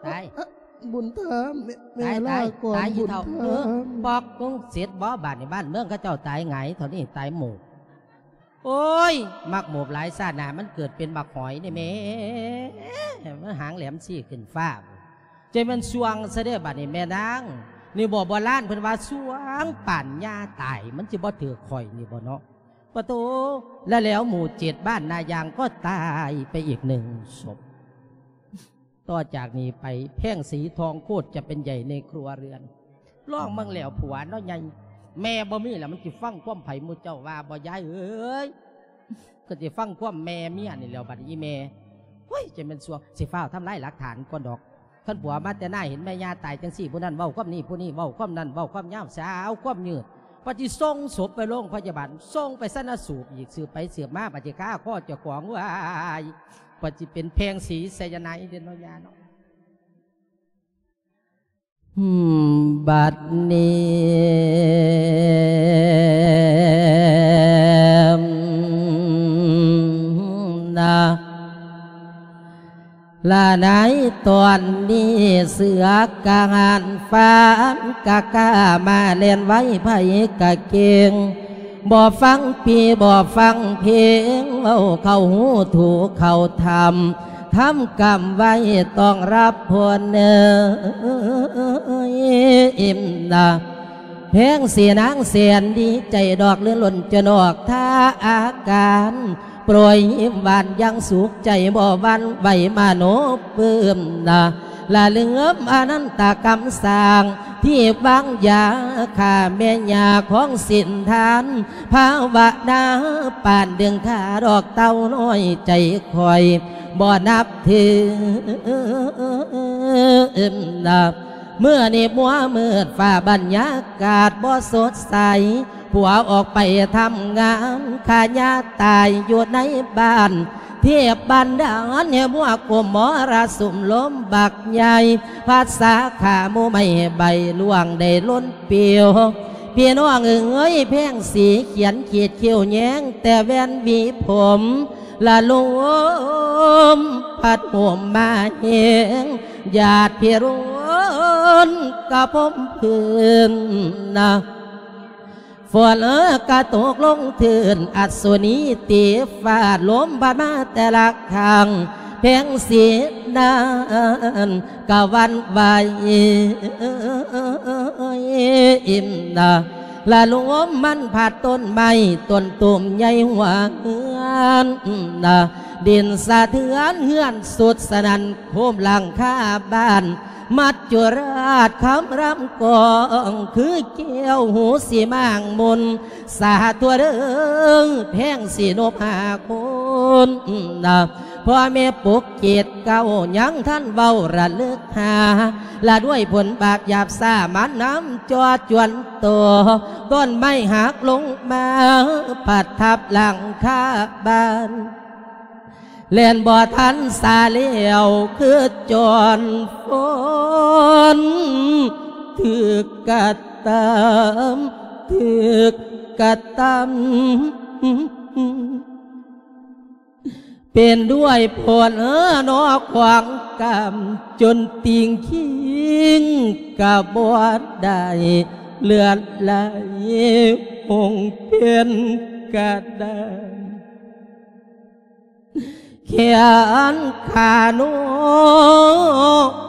ຕາຍ ບຸນທຳ ແມ່ ຕາຍ ຕາຍ ຕາຍ ອີ່ເຖົ້າ ບຸນທຳ ເອີ ປອກ ມຶງເສັດບໍ່? ບາດນີ້ບ້ານເມືອງເຂົາເຈົ້າຕາຍຫງາຍເທົ່ານີ້ ຕາຍໝູ່. ໂອ້ຍ ໝາກໂມບຫຼາຍຊາດໜ້າມັນເກີດເປັນໝາກຫອຍນີ້ແໝ່ ມັນຫາງແຫຼມຊີ້ຂຶ້ນຟ້າ ຈັ່ງແມ່ນຊ່ວງຊະເດ້ບາດນີ້ແມ່ນາງ. ນີ້ບໍ່ ໂບລານເພິ່ນວ່າຊ່ວງປານຍ່າຕາຍ ມັນຊິບໍ່ຖືກຂ້ອຍນີ້ບໍ່ເນາະ ປະໂຕ. ແລະແລ້ວໝູ່ເຈັດບ້ານນາຢາງກໍຕາຍໄປອີກໜຶ່ງສົບ. ຕໍ່ຈາກນີ້ໄປ ແພງສີທອງໂຄດຈະເປັນໃຫຍ່ໃນຄົວເຮືອນ. ລອງເບິ່ງແລ້ວຜົວເນາະໃຫຍ່ ແມ່ບໍ່ມີແລ້ວ ມັນຊິຟັງຄວາມໃຜໝູ່ເຈົ້າວ່າບໍ່ ຍາຍເອີຍ? ກໍຊິຟັງຄວາມແມ່ເມຍນີ້ແຫຼ້ວບັດນີ້ ອີ່ແມ່. ໂອ້ຍ ຈະແມ່ນຊົ່ວ ຊິຟ້າວທຳລາຍຫຼັກຖານກ່ອນດອກ. ຄັນຜົວມາແຕ່ໜ້າເຫັນແມ່ຍ່າຕາຍຈັ່ງຊີ້ ຜູ້ນັ້ນເວົ້າຄວາມນີ້ ຜູ້ນີ້ເວົ້າຄວາມນັ້ນ ເວົ້າຄວາມຍາວ ສາວຄວາມຍືດ. ບັດຊິສົ່ງສົບໄປໂລງພະຍາບານ ສົ່ງໄປຊັນນະສູບອີກ ສືບໄປສືບມາ ບັດຊິຄາຄໍເຈົ້າຂອງ ວ້າຍ ບັດຊິເປັນແພງສີໄຊຍາໄນເດ້ເນາະ ຍາເນາະ. ບັດນີ້ນະ ລະໃນຕອນນີ້ເສືອກະຫານຟານກະກ້າມາແລ່ນໄວ ໃຜກະເກັ່ງ ບໍ່ຟັງປີບໍ່ຟັງເພງ ເວົ້າເຂົ້າຫູຖືກເຂົ້າທຳ ທຳກຳໄວ້ຕ້ອງຮັບຜົນເອີຍ ອີ່ມນະ. ແພງສີນາງແສນດີໃຈດອກ ລື່ນລົ້ນຈະນອກທ່າອາການ ໂປຣຍຍິ້ມຫວານຢ່າງສຸກໃຈ ບໍ່ຫວັ່ນໄຫວມະໂນປຶ້ມນະ ລະລຶງເອີມອະນັນຕະກຳສ້າງ ທີ່ວາງຢາຂ້າແມ່ຍ່າຂອງສິນທານ ພາວະນາປານດຶງຂ້າດອກເຕົ້ານ້ອຍໃຈຂ້ອຍ ບໍ່ນັບຖືນະ. ມື້ນີ້ມົວມືດ ຟ້າບັນຍາກາດບໍ່ສົດໃສ ຜົວອອກໄປທຳງານ ຂ້າຍ່າຕາຍຢູ່ໃນບ້ານ ເທບບັນດານໃຫ້ມົວກຸມມໍລະສຸມລົມບັກໃຫຍ່ ພັດສາຂາໝູ່ໄມ້ໃບລ່ວງໄດ້ລົ້ນປິວ. ພີ່ນ້ອງເອີຍ ແພງສີຂຽນຂີດຄິ້ວແຍງແຕ່ແວ່ນຫວີຜົມ ລະລົມພັດໂຫມມາແຮງ ຢາດພິລຸນກະພົມພື້ນນະ ຝົນກະຕົກລົງທຶນ ອັດສຸນີຕີຟ້າ ລົມພັດມາແຕ່ລະຂ້າງ ແພງສີນັ້ນກະຫວັ່ນໄຫວ ອີ່ມນະ ລະລົມມັນພັດຕົ້ນໄມ້ຕົ້ນຕູມໃຫຍ່ຫົວເຮືອນນະ ດິນສະເທືອນເຮືອນສຸດສະໜັ່ນໂຄມຫຼັງຄາບ້ານ ມັດຈຸລາດຄຳລຳກອງ ຄືແກ້ວຫູສີມາງມົນ ສາທຸເດີ ແພງສີນົບຫ້າຄົນນະ ພໍ່ແມ່ປົກເກດເກົ້າ ຍັງທັນເວົ້າລະລຶກຫາ ລະດ້ວຍຜົນບາບຫຍາບຊ້າມານຳຈໍຈວນຕໍ່ ຕົ້ນໄມ້ຫັກລົງມາ ພັດທັບຫຼັງຄາບ້ານ ແລ່ນບໍ່ທັນສາແລ້ວ ຄືຈອນຝົນຖືກກະຕຳ ຖືກກະຕຳ ເປັນດ້ວຍຜົນເອີນອຂວາງກຳ ຈົນຕິ່ງຄີງກະບໍ່ໄດ້ ເລືອດໄຫຼຫົງເປັນກະດານ ແຂນຂາໂນ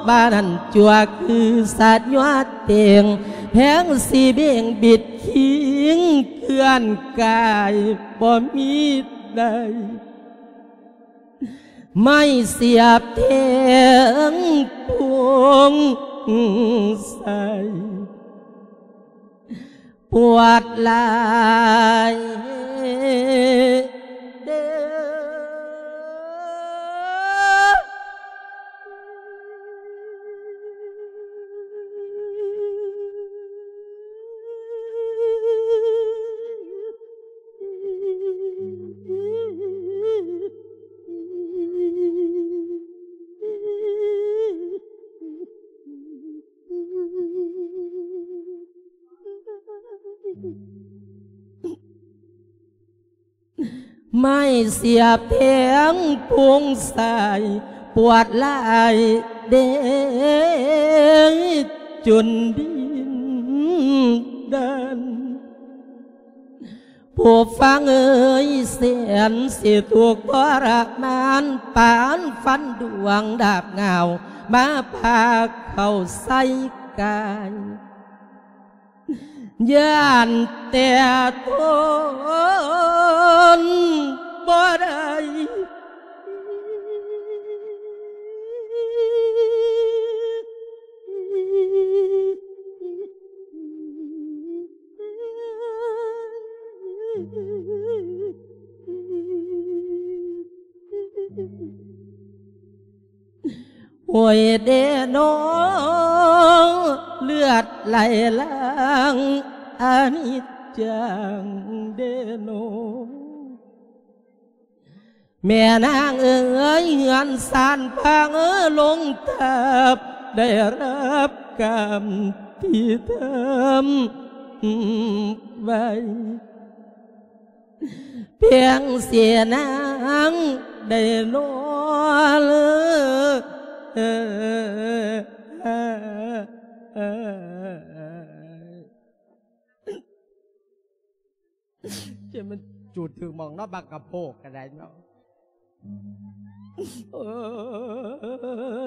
ບານນັ້ນຈົວຄືສະຍົວເຕັງ ແພງສີເບັງບິດຄີງເຄື່ອນກາຍບໍ່ມີໃດ ໄມ້ສຽບແທງປຸງໃສ່ ປວດຫຼາຍເດີ້. ໄມ້ສຽບແທງປຸງໃສ່ ປວດຫຼາຍເດ້ ຈົນດິນດັນ. ຜູ້ຟັງເອີຍ ແສນຊິທຸກທໍລະມານ ປານຟັນດວງດາບງາວ ມາພາເຂົ້າໃສ່ກາຍ ຢ້ານແຕ່ທົນບໍ່ໄດ້ ໂອ້ຍເດນໍ ເລືອດໄຫຼຫຼັງ ອະນິດຈັງເດນໍ ແມ່ນາງເອີຍ ເຮືອນຊານພັງລົງທັບ ໄດ້ຮັບກຳທີ່ທຳໄວ້ ພຽງເສຍນາງໄດ້ນອນ ຈະມັນຈູດຖືກໝ່ອງເນາະ ບັກກະໂພກກະໄດ້ເນາະ ໂອ້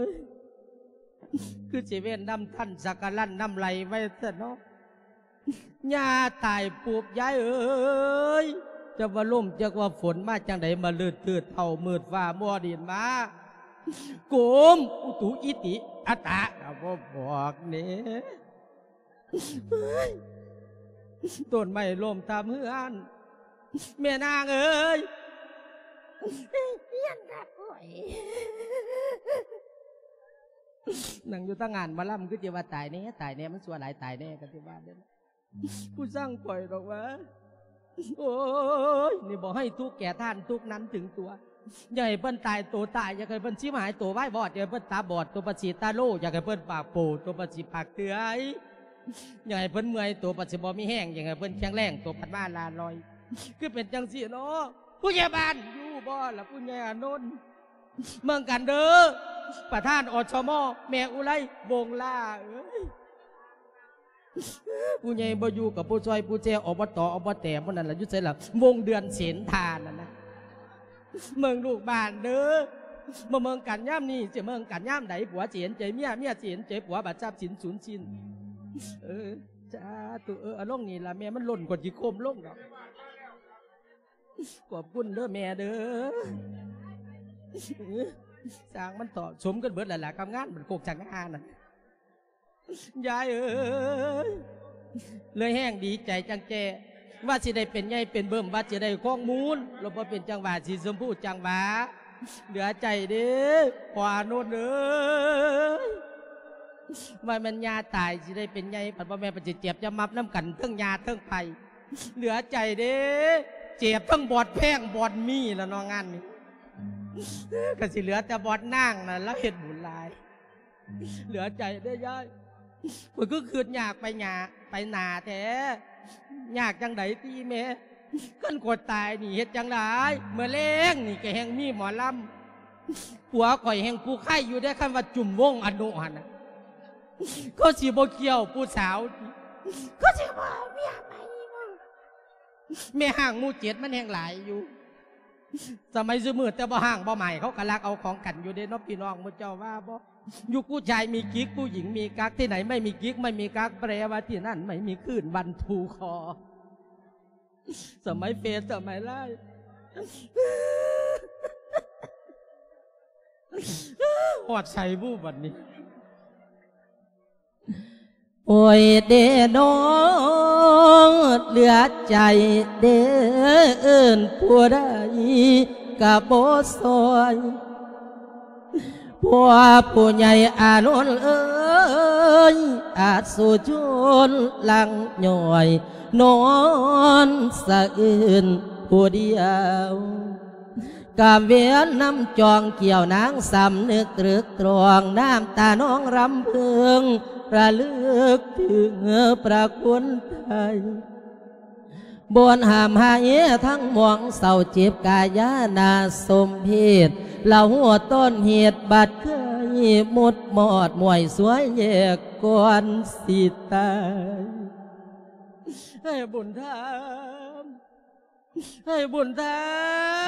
ຍ ຄືຊິເວນນຳທັນສັກກະລັນນຳໄຫຼໄວ້ຊະເນາະ ຍ່າຕາຍປຸບ ຍາຍເອີຍ ຈັກວ່າລົມ ຈັກວ່າຝົນມາຈັ່ງໃດ ມາລືດໆ ເທົ້າມືດຟ້າມົວດິນມາ ໂກມ ອຸຕຸ ອິຕິ ອັດຕະ ກະບໍ່ບອກເດ້. ເຮີ້ຍ ຕົ້ນໄມ້ລົ້ມທັບເຮືອນ ແມ່ນາງເອີຍ ເຮືອນທັບໂອ້ຍ ນັ່ງຢູ່ຕາງງານໝໍລຳ ຄືຊິວ່າຕາຍແນ່ ຕາຍແນ່ ມັນຊົ່ວຫຼາຍ ຕາຍແນ່ ກໍຊິວ່າເດ້ ຜູ້ຊ່າງຂ້ອຍດອກວ່າ ໂອ້ຍ ນີ້ບໍ່ໃຫ້ທຸກແກ່ທ່ານ ທຸກນັ້ນເຖິງຕົວ ຢ່າໃຫ້ເພິ່ນຕາຍໂຕຕາຍ ຢາກໃຫ້ເພິ່ນຊິມຫາຍໂຕວາຍວອດ ຢ່າໃຫ້ເພິ່ນຕາບອດ ຕົວປະສີຕາໂລ ຢາກໃຫ້ເພິ່ນປາກໂປ ຕົວປະສີປາກເຕືອຍ ຢາກໃຫ້ເພິ່ນເມື່ອຍ ຕົວປະສີບໍ່ມີແຮງ ຢາກໃຫ້ເພິ່ນແຂງແຮງ ຕົວພັດມາລາລອຍ ຄືເປັນຈັ່ງຊີ້ເນາະ ຜູ້ໃຫຍ່ບ້ານຢູ່ບໍ່ລະ ຜູ້ໃຫຍ່ອານົນ ເບິ່ງກັນເດີ ປະທານ ອສມ ແມ່ອຸໄລ ວົງລາເອີຍ. ຜູ້ໃຫຍ່ບໍ່ຢູ່ກໍຜູ້ຊ່ອຍຜູ້ແຈ ອບຕ ອບແຕ ໝູ່ນັ້ນລະ ຢູ່ໃສລະ ວົງເດືອນເສນທານັ້ນນະ ເບິ່ງລູກບ້ານເດີ ບໍ່ເບິ່ງກັນຍາມນີ້ ຊິເບິ່ງກັນຍາມໃດ ຜົວຊິເຫັນໃຈເມຍ ເມຍຊິເຫັນໃຈຜົວ ບັດຊັບສິນສູນສິ້ນ ເອີ ສາທຸ ເອີ ເອົາລົງນີ້ລະແມ່ ມັນຫຼົ່ນກວ່າຊິໂຄມລົງດອກ ຂອບຄຸນເດີແມ່ເດີ ຊ່າງມັນເຖາະ ສົມກັນເບິດແລ້ວລະກັບງານ ມັນໂຄກສະຫງ່ານັ້ນ. ຍາຍເອີຍ ເລີຍແຮງດີໃຈຈັ່ງແຈ້ ວ່າຊິໄດ້ເປັນໃຫຍ່ເປັນເບິ່ມ ວ່າຊິໄດ້ຄອງມູນ ລະບໍ່ເປັນຈັ່ງຫວາ ສີຊົມພູຈັ່ງຫວາ ເຫຼືອໃຈເດ້ ພໍ່ອານົນເອີຍ ວ່າແມ່ນຍ່າຕາຍຊິໄດ້ເປັນໃຫຍ່ ພັດບໍ່ແມ່ນ ພັດຊິເຈັບຈະມັບນຳກັນ ເທິງຍ່າເທິງໄພ ເຫຼືອໃຈເດ້ ເຈັບທັງບອດແພງບອດມີລະເນາະ ງານນີ້ ກໍຊິເຫຼືອແຕ່ບອດນາງນະ ລາວເຮັດບຸນຫຼາຍ. ເຫຼືອໃຈເດ້ຍາຍ ຂ້ອຍຄືຄຶດຍາກໄປຫຍ້າ ໄປໜ້າແທ້ ຍາກຈັ່ງໃດຕິແມ່ ຄັນຂ້ອຍຕາຍນີ້ເຮັດຈັ່ງໃດ ມື້ແລງນີ້ກໍແຮ່ງມີໝໍລຳ ຜົວຂ້ອຍແຮ່ງຜູ້ໄຄຢູ່ເດ້ ຄັນວ່າຈຸ້ມວົງອະນຸຫັ້ນນະ ເຂົາຊິບໍ່ຄ້ຽວຜູ້ສາວຕິ ເຂົາຊິບໍ່ເອົາເມຍໃໝ່ບໍ່ ແມ່ຮ້າງໝູ່ເຈັດມັນແຮ່ງຫຼາຍຢູ່ ສະໄໝຊຸມື້ແຕ່ບໍ່ຮ້າງບໍ່ໝ້າຍ ເຂົາກໍລັກເອົາຂອງກັນຢູ່ເດ້ເນາະ ພີ່ນ້ອງໝູ່ເຈົ້າວ່າບໍ່? ยุคผู้ชายมีกิ๊ก ผู้หญิงมีกั๊ก ที่ไหนไม่มีกิ๊กไม่มีกั๊ก แปลว่าที่นั่นไม่มีคลื่นวันทูคอ สมัยเฟซ สมัยไลน์ ฮอดไสบุบัดนี้ ໂອ້ຍເດນ້ອງ ເຫຼືອໃຈເດ້ ເອີ້ນຜູ້ໃດກະບໍ່ຊ່ອຍ ພວກຜູ້ໃຫຍ່ອານົນເອີຍ ອາສຸຊົນຫຼັ່ງຍ້ອຍ ນອນສະອື່ນຜູ້ດຽວ ກາເວນນຳຈອງກ່ຽວນາງ ສຳນຶກຕຕຶກຕຣອງ ນ້ຳຕານອງລຳເພິ່ງ ລະລຶກເຖິງພະຄຸນໄທ ບ່ອນຫ້າມຫາຍທັງໝວງເສົ້າເຈັບກາຍານາສົມເພດ ລະຫົວຕົ້ນເຫດບັດເຄີຍໝົດມອດໝວຍສວຍແຍກກ່ອນຊິຕາຍ ໃຫ້ບຸນທຳ ไอ้บุญธรร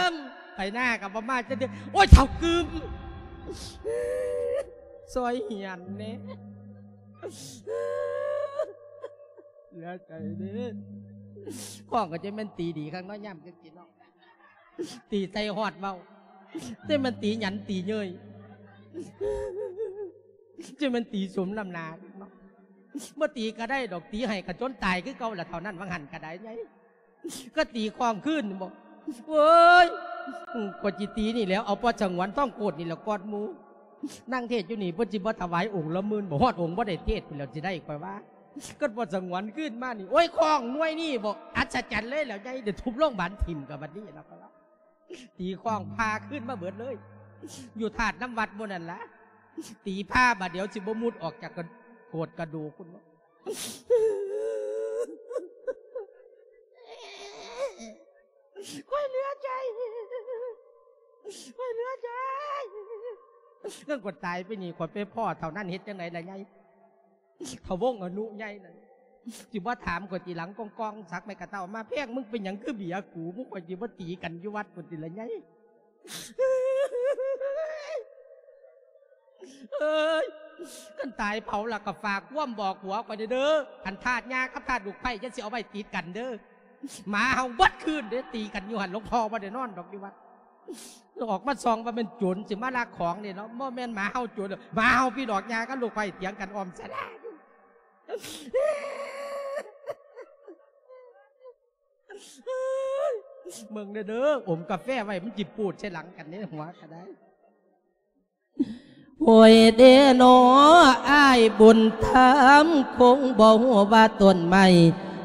ม ไปหน้ากับบ่มาจักเทื่อ โอ้ย เฒ่ากึม ซอยเหียนแหน่ เหลือใจเด้ ข้องก็จะแม่นตีดีคักเนาะ ยามจังซี่เนาะ ตีใส่ฮอดเว้า แต่มันตีหยันตีเย้ย จะมันตีสมน้ำหน้าเนาะ บ่ตีก็ได้ดอก ตีให้ก็จนตายคือเก่าล่ะ เท่านั้น ว่าหั่นก็ได้ไง ก็ตีข้องคืนบ่ โอ้ย ก็จิตีนี่แหล้ว เอาพ่อสงวนทองโคตรนี่แหละกอดหมู่ นั่งเทศน์อยู่นี่ เพิ่นสิบ่ถวายองค์ละหมื่นบ่ ฮอดองค์บ่ได้เทศน์พุ้นแหล้ว สิได้ข่อยว่า ก็พ่อสงวนคืนมานี่ โอ้ย ข้องหน่วยนี่บ่ อัศจรรย์เลยแหล้ว ใหญ่ เดี๋ยวทุบโรงบาลถิ่มกับบัดนี้แล้วก็ว่า ตีข้องพาคืนมาเบิดเลย อยู่ธาตุน้ำวัดหมู่นั่นล่ะ ตีพาบาดเดียวสิบ่มุดออกจากกระ โกดกระดูกพุ้นบ่ ข้อยเหลือใจ ข้อยเหลือใจ เรื่องกดตายไปนี่ ข้อยไปพ้อเท่านั้น เฮ็ดจังไดล่ะไง เฒ่าวงอนุใหญ่นั่น สิบ่ถามข้อยทีหลัง ก้องๆ สักไม้กระเต้ามา แพง มึงเป็นหยังคือเบียกู มึงข้อยสิบ่ตีกันอยู่วัดพุ้นติล่ะไง เอ้ย คันตายเผาแล้วก็ฝากความบอกผัวข้อยเด้อ อันธาตุย่ากับธาตุลูกไผ่อย่าสิเอาไว้ติดกันเด้อ หมาเห่าเบิดคืนเด้ ตีกันอยู่หั่น หลวงพ่อบ่ได้นอนดอกอยู่วัด ออกมาส่องว่าเป็นโจรสิมาลักของนี่เนาะ บ่แม่นหมาเห่าโจร หมาเห่าพี่ดอกย่ากับลูกไผ่เถียงกันอ้อมศาลา เบิ่งเด้อ เด้อ อมกาแฟไว้ มันจิปูดใส่หลังกันในหัวก็ได้ โอ้ยเด้นอ อ้ายบุญธรรม คงบ่ฮู้ว่าต้นไม้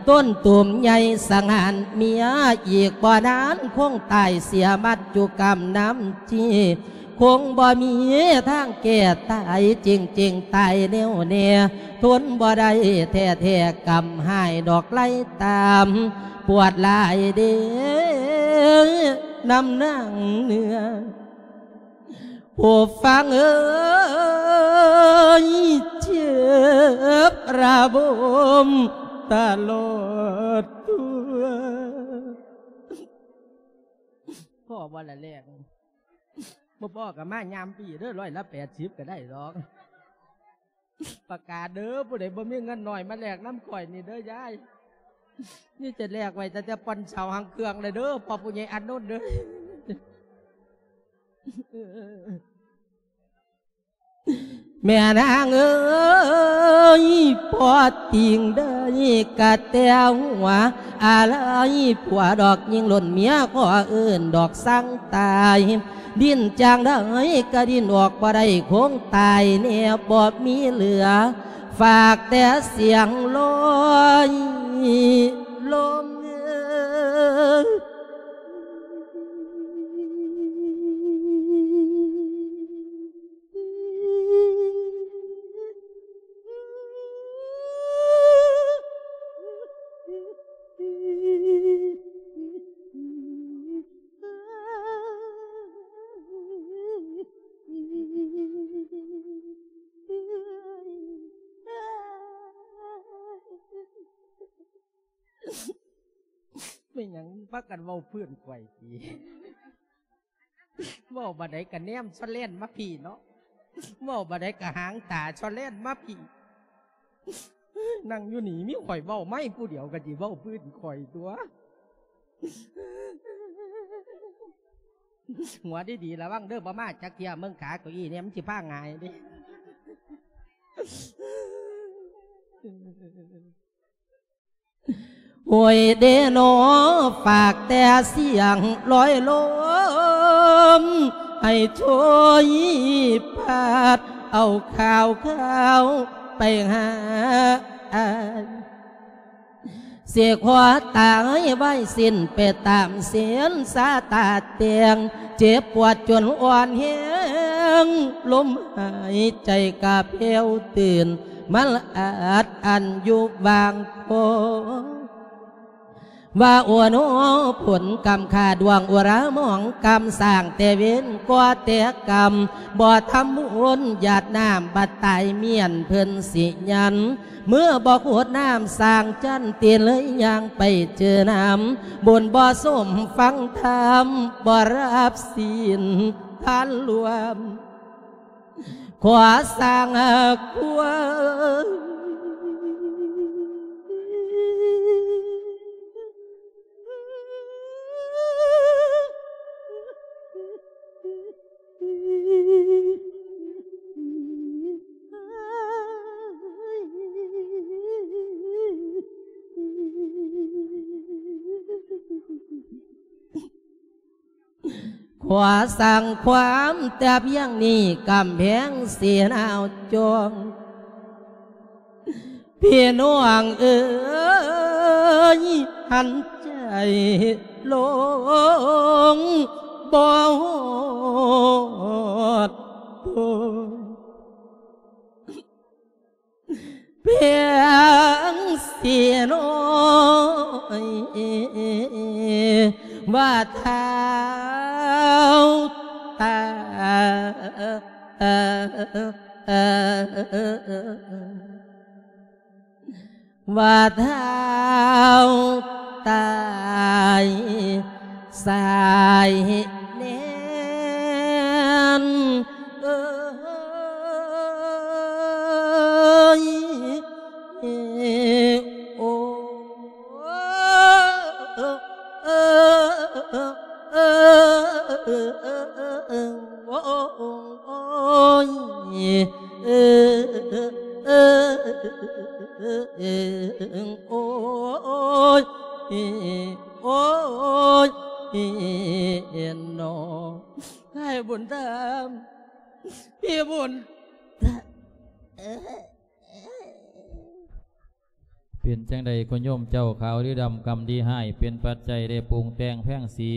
ต้นตูมใหญ่สังหารเมีย อีกบ่นานคงตายเสียมัจจุกรรมนำที คงบ่มีทางแก้ตาย จริงๆ ตายแน่วแน่ ทนบ่ได้แท้ๆ กรรมฮ้ายดอกไล่ตาม ปวดหลายเด้ นำนางเนื้อ ผู้ฟังเอ๋ย เจ็บระบมตลอดตัว พ้อบ่ล่ะแลก บ่พ้อก็มายามปีเด้อ ร้อยละแปดสิบก็ได้ดอก ประกาศเด้อ ผู้ใดบ่มีเงินน้อยมาแลกนำข้อยนี่เด้อยาย นี่จะแลกไว้ตั้งแต่ป่อนเสาหางเครื่องเลยเด้อ พ่อผู้ใหญ่อานนท์เด้อ แม่นางเอ๋ย พ่อติ่งได้กะแต่หัว อาลัยผัวดอกยิงล้นเมียขอเอิ้นดอกสั่งตาย ดิ้นจั่งใดกะดิ้นออกบ่ได้ คงตายแน่บ่มีเหลือ ฝากแต่เสียงลอยลม แม่นหยังพากันเว้าพื้นข่อยติ เว้าบาดใดก็แนมซอแล่นมาพี้เนาะ เว้าบาดใดก็หางตาซอแล่นมาพี้ นั่งอยู่นี่มีข่อยเว้าไม้ผู้เดียวก็สิเว้าพื้นข่อยตั่ว หัวดีๆ ระวังเด้อ บ่มาจักเที่ย เบิ่งขาเก้าอี้เนี่ยมันสิพาหงายเด้ โอ้ยเด้นอ ฝากแต่เสียงลอยลม ให้ช่วยพัดเอาข่าวๆ ไปหาอ้าย สิขอตายไว้สิ้นไปตามเส้นสาตาแต่ง เจ็บปวดจนอ่อนแฮง ลมหายใจกะแผ่วตื่น มันอัดอั้นอยู่บางคอ ว่าโอโน ผลกรรมข้าดวงอุรามองกรรมสร้างแต่เวรก่อแต่กรรม บ่ทำบุ ຄົນຢາດນ້ຳບັດຕາຍມ້ຽນເພິ່ນຊິຍັນ ເມື່ອບໍ່ໂຄດນ້ຳສ້າງຈັນຕີເລີຍຍ່າງໄປເຈີນ້ຳ ບຸນບໍ່ສົມຟັງທຳ ບໍ່ຮັບສິນທານລວມ ຂໍສ້າງຄວາມ ຂໍສ້າງຄວາມແຕ່ພຽງນີ້ ກຳແພງເສນາວຈອງ ພີ່ນ້ອງເອີຍ ຫັນໃຈລົງບໍ່ຮອດໂຕ ພຽງຊິນ້ອຍວ່າທ້າວຕາ ວ່າທ້າວຕາຍສາຍແນນເອີຍ ໂອ້ ໂອ້ຍ ໂອ້ຍ ໂອ້ຍ ເນາະ ອ້າຍບຸນທຳ ພີ່ບຸນ ເປັນຈັ່ງໃດ ຄຸນໂຍມເຈົ້າ ຂາວຫຼືດຳ ກຳດີຮ້າຍ ເປັນປັດໄຈໄດ້ປຸງແຕ່ງແພງສີ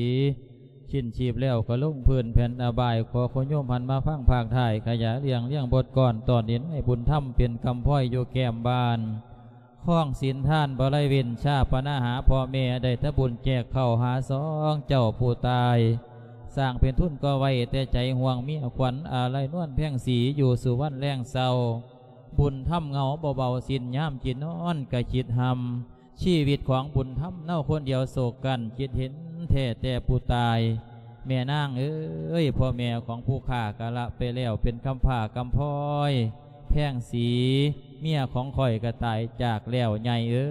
ສິ້ນຊີບແລ້ວກໍລົງພື້ນແຜ່ນອະບາຍ ຂໍຄຸນໂຍມຫັນມາຟັງພາກທ້າຍ ຂະຫຍາຍລຽງ ລຽງບົດກອນ ຕອນນີ້ນາຍບຸນທຳ ເປັນກຳພ້ອຍຢູ່ແກ້ມບ້ານ ຄອງສິນທານບໍ່ໄດ້ເວັ້ນ ຊາປະນະຫາພໍ່ແມ່ ໄດ້ແຕ່ບຸນແຈກເຂົ້າຫາສອງເຈົ້າຜູ້ຕາຍ ສ້າງເປັນທຶນກໍໄວ້ແຕ່ໃຈ ຫ່ວງເມຍຂວັນອາໄລນວນແພງສີ ຢູ່ສູ່ວັນແລງເຊົາ ບຸນທຳເຫງົາບໍ່ເບົາ ສິ້ນຍາມກິນນອນກະຄິດຮ່ຳ ຊີວິດຂອງບຸນທຳເນົາຄົນດຽວໂສກກັນ ຄິດເຫັນແທ້ແຕ່ຜູ້ຕາຍ ແມ່ນາງເອີຍ ພໍ່ແມ່ຂອງຜູ້ຂ້າກະລະໄປແລ້ວ ເປັນກຳພ້າກຳພ້ອຍ ແພງສີ ເມຍຂອງຂ້ອຍກະຕາຍຈາກແລ້ວ ໃຫຍ່ເອີ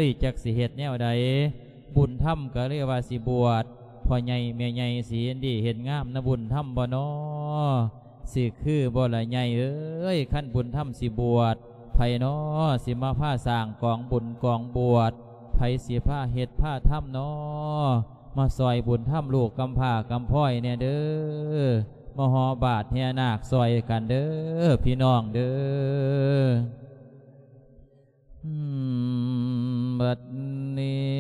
ຍ ຈັກຊິເຮັດແນວໃດ ບຸນທຳກະເລີຍວ່າຊິບວດ ພໍ່ໃຫຍ່ແມ່ໃຫຍ່ຊິເຫັນດີເຫັນງາມນຳບຸນທຳບໍ່ນໍ ຊິຄືບໍ່ລະໃຫຍ່ເອີຍ ຄັນບຸນທຳຊິບວດ ໃຜນໍຊິມາພາສ້າງກອງບຸນກອງບວດ ໃຜຊິພາເຮັດພາທຳນໍ ມາຊ່ອຍບຸນທຳລູກກຳພ້າກຳພ້ອຍແດ່ເດີ ມາຫໍ່ບາດແຫ່ນາກຊ່ອຍກັນເດີ ພີ່ນ້ອງເດີ. ບັດນີ້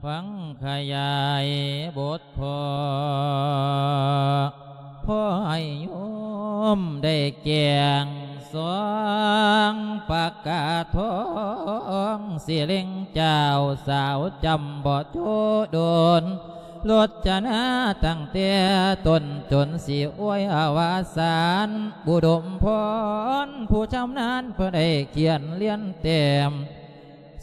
ຟັງຂະຫຍາຍບົດພໍ ພໍໃຫ້ໂຍມໄດ້ແຈ້ງສອງ ປະກາດທອງ ສິເລັງເຈົ້າສາວ ຈຳບໍ່ໂຈໂດນ ລົດຈະນາຕັ້ງແຕ່ຕົ້ນຈົນຊິອວຍອະວະສານ ອຸດົມພອນ ຜູ້ຊຳນານເພິ່ນໄດ້ຂຽນລຽນແຕ້ມ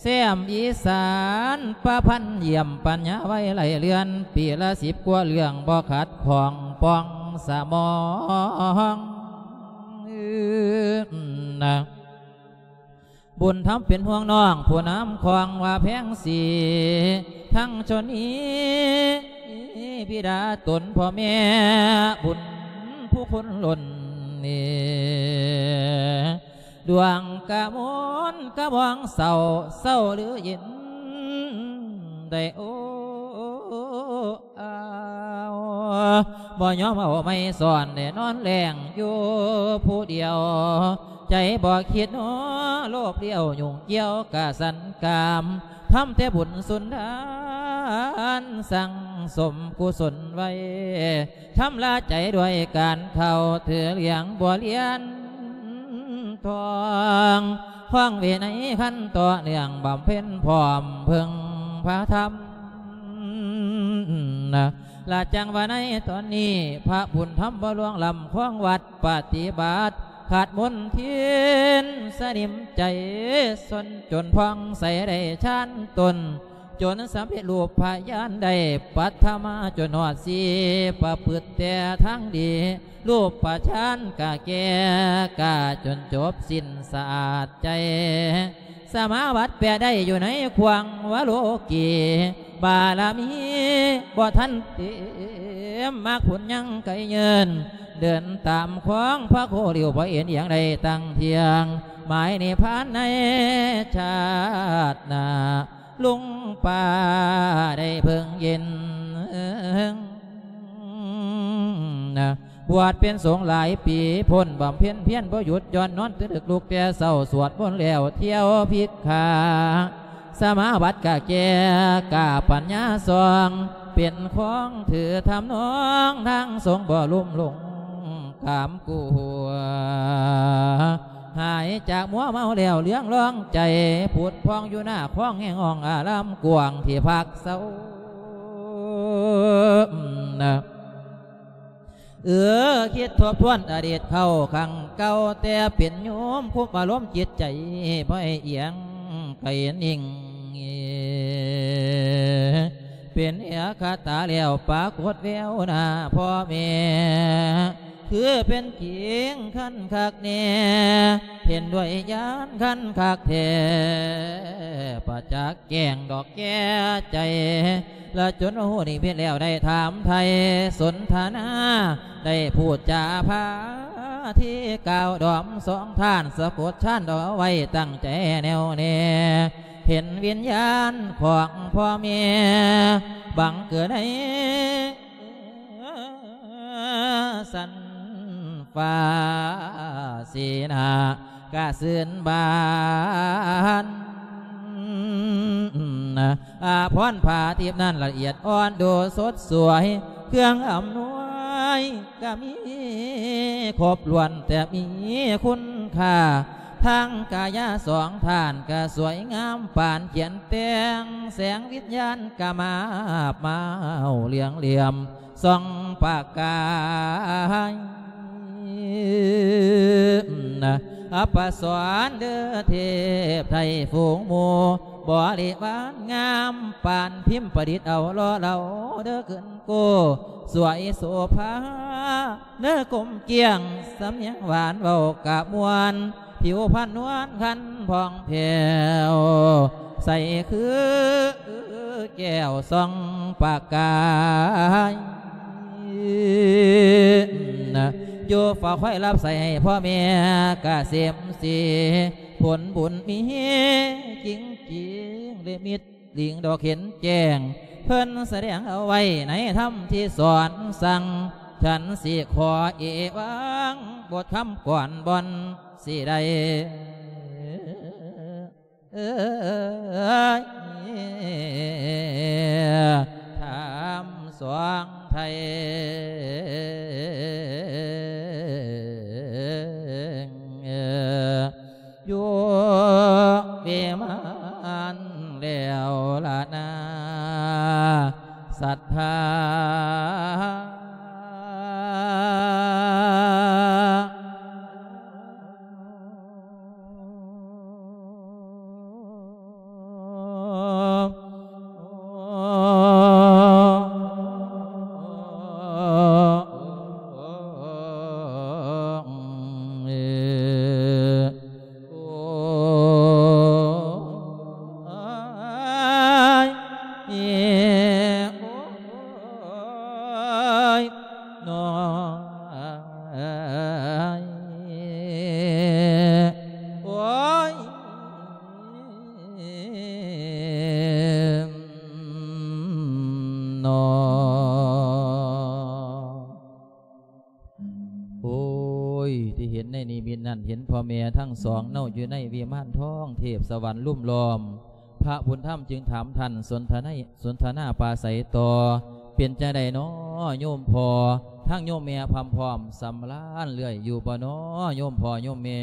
ແຊມອີສານ ປະພັນຢ້ຽມປັນຍາໄວໄລ່ເລື່ອນ ປີລະສິບກວ່າເລື່ອງ ບໍ່ຂັດຂ້ອງປ່ອງສະໝອງ ນະ. ບຸນທຳເປັນຫ່ວງນ້ອງຜູ້ນຳຂອງວ່າແພງສີ ທັງຊົນນີ້ ບິດາຕົນພໍ່ແມ່ບຸນຜູ້ຄົນລົ້ນນີ້ ດວງກະມົນກະບອງເສົ້າ ເສົ້າຫຼືເຢັນໄດ້ໂອ້ ອ້າວ ບໍ່ຍອມເອົາໄມ້ສອນ ໄດ້ນອນແລ້ງຢູ່ຜູ້ດຽວ ໃຈບໍ່ຄິດເນາະໂລບລ້ຽວ ຫຍຸ້ງກ່ຽວກະສັນກາມ ທຳແຕ່ບຸນສຸນທານ ສັ່ງສົມກຸສົນໄວ້ ຊຳລະໃຈດ້ວຍການເຂົ້າ ຖືຫຼຽງບົວລຽນທອງ ຄອງວິໄນຄັນຕໍ່ເນື່ອງ ບຳເພັນພ້ອມເພິ່ງ ພະທຳນະ ລະຈັ່ງວ່າໃນຕອນນີ້ ພະບຸນທຳບໍ່ລ່ວງລ້ຳຄອງວັດປະຕິບັດ ຂາດມົນທິນສະໜິມໃຈ ຊົນຈົນຜ່ອງໃສໄດ້ຊານຕົນ ຈົນສຳເລັດຮູບພະຍານໄດ້ປັດຖະມາ ຈົນຮອດສີ່ປະພຶດແຕ່ທາງດີ ຮູບປະຊານກະແກ່ກາຈົນຈົບສິ້ນສະອາດໃຈ ສະມາບັດແປໄດ້ຢູ່ໃນຂວາງວະໂລກີ ບາລະມີບໍ່ທັນເຕັມ ມັກຜົນຍັງໄກເຍີນ ເດີນຕາມຂອງພະໂຄລິວ ບໍ່ເອັນອີຍງໃດຕັ້ງທ່ຽງ ໝາຍນິບພານໃນຊາດໜ້າ ລຸງປ້າໄດ້ເພິ່ງເຢັນ ບວດເປັນສົງຫຼາຍປີ ພົ້ນບຳເພັນພຽນບໍ່ຢຸດຢ່ອນ ນອນຕື່ນດຶກລຸກແຕ່ເຊົ້າ ສວດມົນແລ້ວທ່ຽວພິກຂາ ສະມາບັດກະແກ່ກາປັນຍາສ່ອງ ເປັນຂອງຖືທຳນອງທາງສົງ ບໍ່ລຸ່ມຫຼົງກາມກົວ ຫາຍຈາກມົວເມົາແລ້ວເຫຼືອງລອງໃຈ ຜຸດຜ່ອງຢູ່ໜ້າຄອງແຫ່ງຫ້ອງອາລາມກວ້າງທີ່ພັກເຊົາ ເອີ ຄິດທົບທວນອະດີດເກົ່າຄັ້ງເກົ່າ ແຕ່ເປັນໂຍມຄຸມອາລົມຈິດໃຈ ບໍ່ໃຫ້ອຽງໄກນິ່ງ ເປັນເອກະຕາແລ້ວປາກົດແວວໜ້າພໍ່ແມ່ ຄືເປັນຈິງຄັນຄັກແນ່ ເຫັນດ້ວຍຍານຄັນຄັກແທ້ ປະຈັກແຈ້ງດອກແກ່ໃຈ ລະຈົນຮູ້ນິມິດແລ້ວໄດ້ຖາມໄຖ່ສົນທະນາ ໄດ້ພູດຈາພາທີ່ກ່າວດອມສອງທ່ານ ສະກົດຊານເອົາໄວ້ຕັ້ງໃຈແນ່ວແນ່ ເຫັນວິນຍານຂອງພໍ່ແມ່ ບັງເກີດໃນ ສັນຟ້າສີໜ້າກະຊື່ນບານ ອາພອນຜ້າທິບນັ້ນລະອຽດອ່ອນດູສົດສວຍ ເຄື່ອງອຳນວຍກະມີຄົບຖ້ວນ ແຕ່ມີຄຸນຄ່າ ທັງກາຍາສອງທ່ານກະສວຍງາມປານ ຂຽນແຕ່ງແສງວິນຍານກະມາບມາວເຫຼືອງຫຼ່ຽມ ສ່ອງປະກາຍ ອັບປະສອນເດີເທບໄທຝູງໝູ່ ບໍລິວານງາມປານພິມປະດິດເອົາຫຼໍ່ເລົ່າເດີຂຶ້ນ ໂກສວຍໂສພາ ເນີກົມກ້ຽງ ສຳນຽງຫວານເວົ້າກະມ່ວນ ຜິວພັນນວນຄັນຜ່ອງແຜ້ວ ໃສຄືແກ້ວສ່ອງປະກາຍ ຢູ່ເຝົ້າຄອຍຮັບໃຊ້ໃຫ້ພໍ່ແມ່ກະເສມສີ ຜົນບຸນມີຈິງຈິງ ລິມິດ ລິງດອກເຫັນແຈ້ງ ເພິ່ນສະແດງເອົາໄວ້ໃນທຳທີ່ສອນສັ່ງ ສັນຊິຂໍເອວັງບົດຄຳກ່ອນບ່ອນຊິໄດ້ ເອີຍ ຖາມສອງໄທ ຢູ່ວິມານແລ້ວລະນາ ສັດທາ. ໂອ້ຍ ທີ່ເຫັນໃນນິມິດນັ້ນ ເຫັນພໍ່ແມ່ທັງສອງເນົາະ ຢູ່ໃນວິມານທອງເທບສະຫວັນລຸມລ້ອມ. ພະບຸນທຳຈຶ່ງຖາມທ່ານສົນທະໄນ ສົນທະນາປາໄສຕໍ່, ເປັນຈັ່ງໃດນໍໂຍມພໍ່? ທັງໂຍມແມ່ພ້ອມພ້ອມສຳລານເລື້ອຍຢູ່ບໍ່ນໍໂຍມພໍ່ໂຍມແມ່?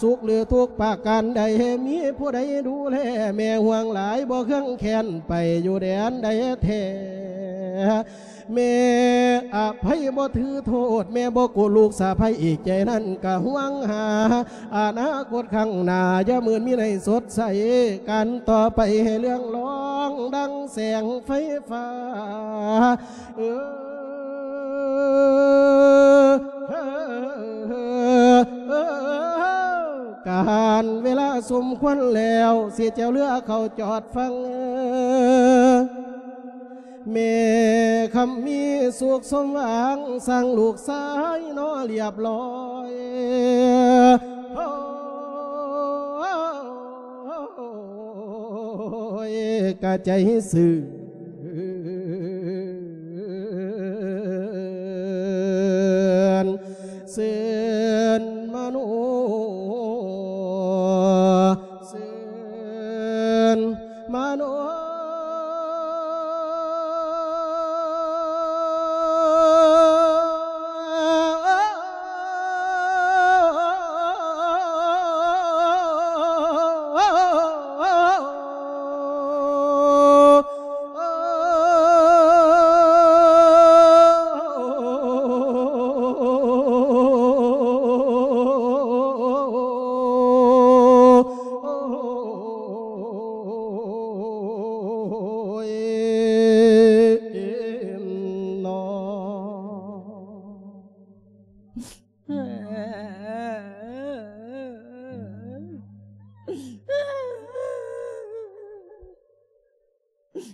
ສຸກຫຼືທຸກປະການໃດ ມີຜູ້ໃດດູແລແມ່ຫ່ວງຫຼາຍ ບໍ່ເຄືອງແຄ້ນໄປຢູ່ແດນໃດແທ້. ແມ່ອະໄພບໍ່ຖືໂທດ ແມ່ບໍ່ໂກດລູກສະໃພ້ອີກ ໃຈນັ້ນກະຫວງຫາອະນາຄົດຂ້າງໜ້າ ຢ່າມື່ນມີໃນສົດໃສ ການຕໍ່ໄປໃຫ້ເລື່ອງລອງດັ່ງແສງໄຟຟ້າ ເອີ ການເວລາສົມຄວນແລ້ວ ຊິແຈວເຮືອເຂົ້າຈອດຝັ່ງ ແມ່ຄຳມີສຸກສົມຫວັງ ສ້າງລູກຊາຍໜໍລຽບລ້ອຍ ໂອ້ຍ ກະໃຈຊື່ນ ຊື່ນມະໂນ ຊື່ນມະໂນ.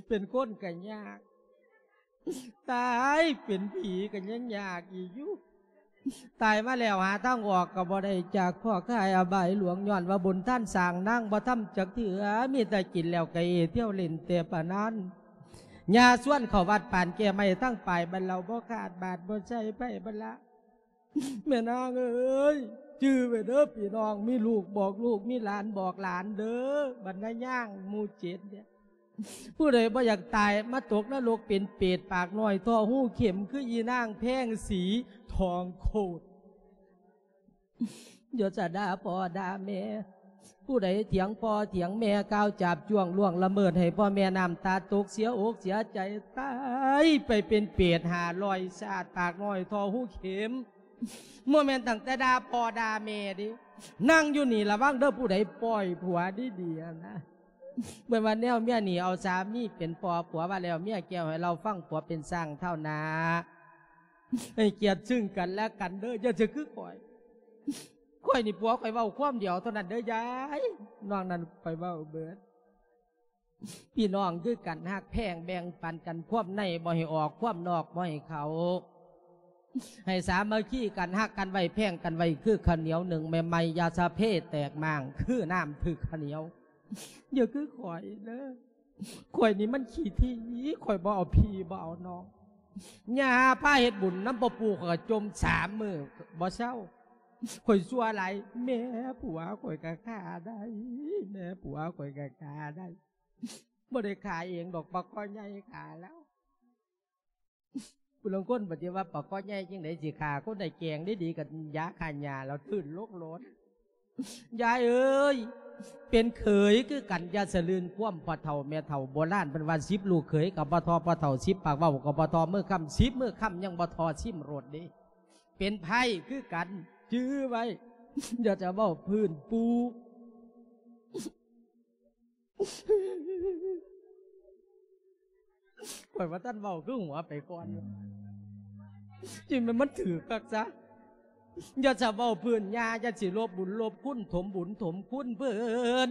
ເປັນຄົນກະຍາກ ຕາຍເປັນຜີກະຍັງຍາກອີກຢູ່ ຕາຍມາແລ້ວຫາທາງອອກກະບໍ່ໄດ້ ຈາກຄອກຄາຍອະບາຍຫຼວງ ຍ້ອນວ່າບຸນທານສ້າງນາງບໍ່ທຳຈັກເທື່ອ ມີແຕ່ກິນແລ້ວກະເອ ທ່ຽວຫຼິ້ນແຕ່ປານນັ້ນ ຍ່າຊວນເຂົ້າວັດປານແກ້ໄມ້ ທັງປາຍບັນເລົາບໍ່ຂາດບາດບໍ່ໃສ່ໄຜບັນລະ. ແມ່ນາງເອີຍ ຈື່ໄວ້ເດີພີ່ນ້ອງ ມີລູກບອກລູກ ມີຫຼານບອກຫຼານເດີ ບັນນາຍ່າງໝູ່ເຈັດເນຍ ຜູ້ໃດບໍ່ຢາກຕາຍ ມາຕົກນະລົກເປັນເປດ ປາກນ້ອຍທໍ່ຮູເຂັມ ຄືອີນາງແພງສີທອງໂຄດ. ຢ່າຈະດ່າພໍ່ດ່າແມ່ ຜູ້ໃດຖຽງພໍ່ຖຽງແມ່ ກ່າວຈາບຈ້ວງລ່ວງລະເມີດ ໃຫ້ພໍ່ແມ່ນ້ຳຕາຕົກ ເສຍອົກເສຍໃຈ ຕາຍໄປເປັນເປດຫ້າຮ້ອຍຊາດ ປາກນ້ອຍທໍ່ຮູເຂັມ. ບໍ່ແມ່ນຕັ້ງແຕ່ດ່າພໍ່ດ່າແມ່ເດ້ ນັ່ງຢູ່ນີ້ລະວັງເດີ ຜູ້ໃດປ່ອຍຜົວດີໆນະ ເບິ່ງວ່າແນວເມຍນີ້ເອົາສາມີເປັນພໍ່ ຜົວວ່າແລ້ວເມຍແກ້ວໃຫ້ເລົ່າຟັງ ຜົວເປັນຊ້າງທ້າວໜ້າ ໃຫ້ກຽດຊຶ່ງກັນແລະກັນເດີ ຢ່າຈະຄືຂ້ອຍ ຂ້ອຍນີ້ຜົວຂ້ອຍເວົ້າຄວາມດຽວເທົ່ານັ້ນເດີຍາຍ ນອກນັ້ນຂ້ອຍເວົ້າເບິດ. ພີ່ນ້ອງຄືກັນ ຮັກແພງແບ່ງປັນກັນ ຄວາມໃນບໍ່ໃຫ້ອອກ ຄວາມນອກບໍ່ໃຫ້ເຂົ້າ ໃຫ້ສາມັກຄີກັນ ຮັກກັນໄວ້ ແພງກັນໄວ້ ຄືເຂົ້າໜຽວໜຶ້ງໃໝ່ໆ ຢ່າສະເພແຕກມ້າງ ຄືນ້ຳຖືກເຂົ້າໜຽວ. ຢ່າຄືຂ້ອຍເດີ ຂ້ອຍນີ້ມັນຂີ້ຖີ່ ຂ້ອຍບໍ່ເອົາພີ່ບໍ່ເອົານ້ອງ ຍ່າພາເຮັດບຸນນຳພໍ່ປູ່ ຂ້ອຍກໍຈົ່ມສາມມື້ບໍ່ເຊົາ ຂ້ອຍຊົ່ວຫຼາຍ ແມ່ຜົວຂ້ອຍກໍຂ້າໄດ້ ແມ່ຜົວຂ້ອຍກໍຂ້າໄດ້ ບໍ່ໄດ້ຂ້າເອງດອກ ປາຄໍໃຫຍ່ຂ້າແລ້ວ. ຜູ້ລາງຄົນປະຕິວ່າປາຄໍໃຫຍ່ຈັ່ງໃດຊິຂ້າຄົນໄດ້ ແກງດີໆກັບຢາຂ້າຫຍ້າແລ້ວຕື່ນລົງໂລດ. ຍາຍເອີຍ ເປັນເຂີຍຄືກັນ ຢ່າສະລື່ນຄວາມພໍ່ເຖົ້າແມ່ເຖົ້າ ໂບລານເພິ່ນວ່າ ສິບລູກເຂີຍກໍບໍ່ທໍ່ພໍ່ເຖົ້າ ສິບປາກເວົ້າກໍບໍ່ທໍ່ມືຄຳ ສິບມືຄຳຍັງບໍ່ທໍ່ຊິມລົດເດ້. ເປັນໃພ້ຄືກັນ ຈື່ໄວ້ ຢ່າຈະເວົ້າພື້ນປູ່. ຂ້ອຍວ່າທ່ານເວົ້າຄືຫົວໄປກ່ອນຢູ່ ຈິງແມ່ນມັນຖືກຄັກຊະ. ຢ່າສະເວົ້າພື້ນຍ່າ ຢ່າຊິລົບບຸນລົບຄຸນ ຖົມບຸນຖົມຄຸນເພິ່ນ.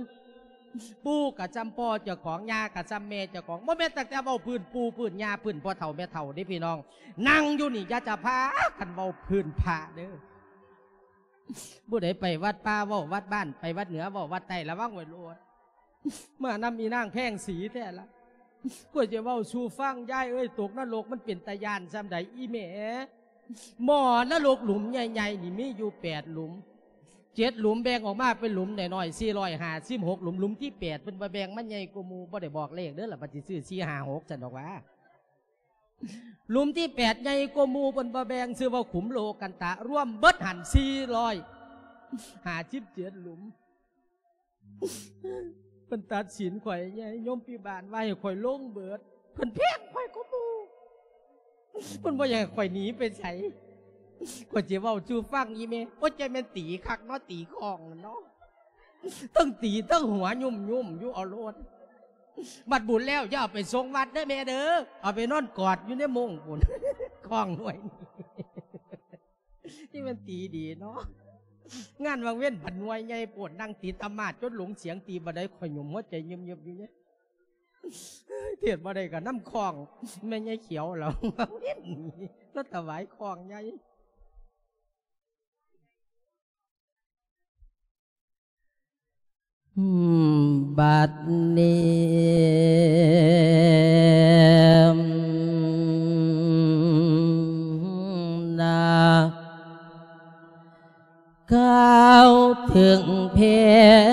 ປູ່ກະຊ່ຳພໍ່ເຈົ້າຂອງ ຍ່າກະຊ່ຳແມ່ເຈົ້າຂອງ. ບໍ່ແມ່ນຕັ້ງແຕ່ເວົ້າພື້ນປູ່ພື້ນຍ່າ ພື້ນພໍ່ເຖົ້າແມ່ເຖົ້າເດ້ພີ່ນ້ອງ. ນັ່ງຢູ່ນີ້ຢ່າຈະພາກັນເວົ້າພື້ນພະເດີ. ຜູ້ໃດໄປວັດປ່າເວົ້າວັດບ້ານ ໄປວັດເໜືອເວົ້າວັດໃຕ້ ລະວັງໄວ້ໂລດ. ມານຳອີນາງແພງສີແທ້ລະ. ຂ້ອຍຈະເວົ້າສູ່ຟັງ ຍາຍເອີຍ ຕົກນະລົກມັນເປັນຕາຢ້ານສ່ຳໃດອີແມ່. ໝໍ້ນະລົກຫຼຸມໃຫຍ່ໆນີ້ມີຢູ່ແປດຫຼຸມ ເຈັດຫຼຸມ ແບ່ງອອກມາເປັນຫຼຸມນ້ອຍໆ ສີ່ຮ້ອຍຫ້າສິບຫົກຫຼຸມ. ຫຼຸມທີແປດເພິ່ນບໍ່ແບ່ງ ມັນໃຫຍ່ກວ່າໝູ່. ບໍ່ໄດ້ບອກເລກເດີລະ ວ່າຊິຊື້ສີ່ຫ້າຫົກຊັ້ນດອກຫວາ. ຫຼຸມທີແປດໃຫຍ່ກວ່າໝູ່ ເພິ່ນບໍ່ແບ່ງ ຊື່ວ່າຂຸມໂລກັນຕະ ລວມເບິດຫັ້ນສີ່ຮ້ອຍຫ້າສິບເຈັດຫຼຸມ. ເພິ່ນຕັດສິນຂ້ອຍໃຫຍ່ ໂຍມພິບານວ່າໃຫ້ຂ້ອຍລົງເບີດ ເພິ່ນແພງຂ້ອຍກວ່າໝູ່. ເພິ່ນບໍ່ຢາກໃຫ້ຂ້ອຍໜີໄປໃສ. ຂ້ອຍຊິເວົ້າສູ່ຟັງອີ່ແມ່. ໂອ້ຍ ໃຈແມ່ນຕີຄັກເນາະ ຕີຄ້ອງນັ້ນເນາະ. ເທິງຕີເທິງຫົວຫຍຸ່ມໆຢູ່ເອົາໂລດ. ບັດບຸນແລ້ວຢ່າເອົາໄປສົ່ງວັດເດີແມ່ເດີ. ເອົາໄປນອນກອດຢູ່ໃນໂມງພຸ້ນ. ຄ້ອງໜ່ວຍນີ້ ທີ່ແມ່ນຕີດີເນາະ. ງານວັງເວັນພັດໜ່ວຍໃຫຍ່ໂພດ ນັ່ງຕີຕະໝາດຈົນຫຼົງສຽງ ຕີບັນໄດຂ້ອຍຫຍຸ່ມຫົວໃຈເງືອບໆຢູ່ເດ້. ເທດບໍ່ໄດ້ກໍນຳຄ້ອງແມ່ໃຫຍ່ຂຽວລາວ ວັງເວັນນີ້ລາວຖວາຍຄ້ອງໃຫຍ່. ບັດນີ້ນະ ກ່າວເຖິງແພ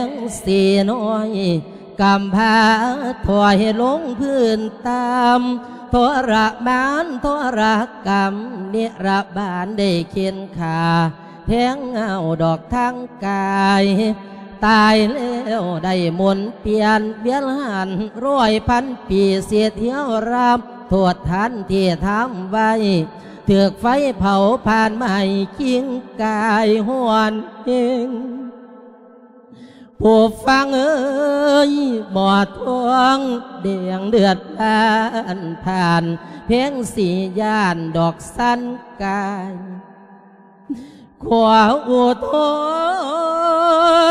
ງສີນ້ອຍ ກຳພ້າຖອຍລົງພື້ນຕາມ ທໍລະມານທໍລະກຳ ນິລະບານໄດ້ເຂັນຂ້າ ແທງເອົາດອກທາງກາຍ ຕາຍແລ້ວໄດ້ໝູນປ່ຽນ ວຽນຫັນຮ້ອຍພັນປີ ສິດເຫຍວລາບ ໂທດທ່ານທີ່ທຳໄວ້ ຖືກໄຟເຜົາຜ່ານໄໝ້ ກິ່ງກາຍຮ້ອນແຮງ. ຜູ້ຟັງເອີຍ ໝໍທອງແດງເລືອດຜ່ານ ແພງສີຢ້ານດອກສັນກາຍ ຂໍອຸທົ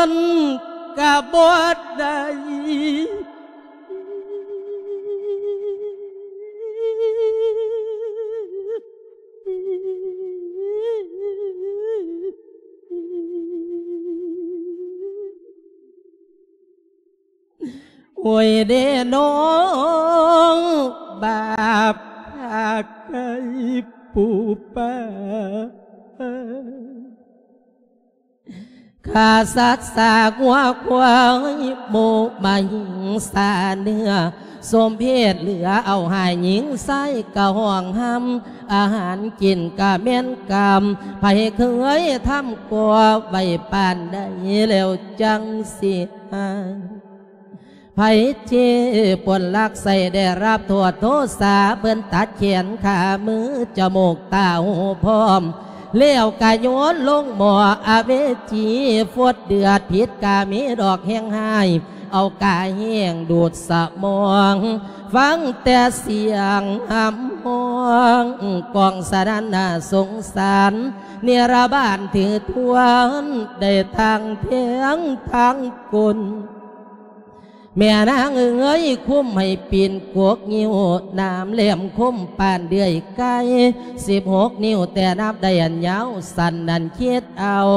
ນກະບໍ່ໄດ້. ໂອ້ຍເດ້ນ້ອງ ບາບພາກໄກ່ປູປາ ຂ້າສັດສາງົວຄວາຍ ໝູໝາຫິງສາເນື້ອ ສົມເພດເຫຼືອເອົາໃຫ້ ຍິງຊາຍກະຫ້ອງຮຳ ອາຫານກິນກະແມ່ນກຳ ໃຜເຄີຍທຳກໍໄວ້ປານໃດ ແລ້ວຈັ່ງຊິໃຫ້ ໃຜເຈປົນລັກໄສ້ໄດ້ຮັບໂທດໂທສາ ເພິ່ນຕັດແຂນຂາມືຈະມູກຕາຫູພ້ອມ ແລ້ວກະໂຍນລົງໝໍ້ອະເວຈີ ຟົດເດືອດພິດກະມີດອກແຮງຮ້າຍ ເອົາກະແຫ້ງດູດສະໝອງ ຟັງແຕ່ສຽງຮຳຮ້ອງ ກ້ອງສະໜັ່ນໜ້າສົງສານ ນິລະບານຖືທວນ ໄດ້ທັງແທງທັງກົນ. ແມ່ນາງເອີຍ ຄຸມໃຫ້ປີນກົກງິ້ວ ໜາມແຫຼມຄົມປານເດືອຍໄກ່ ສິບຫົກນິ້ວແຕ່ນັບໄດ້ອັນຍາວ ສັ້ນນັ້ນຄິດເອົາ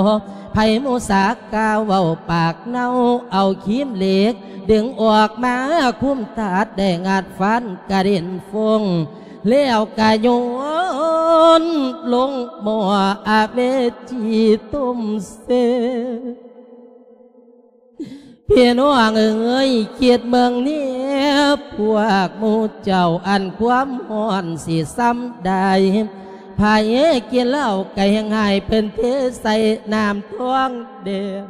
ໃຜມຸສາກ່າວເວົ້າປາກເນົ່າ ເອົາຄີມເຫຼັກດຶງອອກມາ ຄຸມຕັດໄດ້ງັດຟັນກະເດັນຟົ້ງ ແລ້ວກະໂຍນລົງໝໍ້ອະເວຈີຕຸ້ມເຊ. ພີ່ນ້ອງເອີຍ ຄິດເບິ່ງແດ່ພວກໝູ່ເຈົ້າ ອັນຄວາມຮ້ອນຊິສ່ຳໃດ ໃຜກິນເຫຼົ້າກະແຮງຮ້າຍ ເພິ່ນເທໃສ່ນ້ຳທອງແດງ.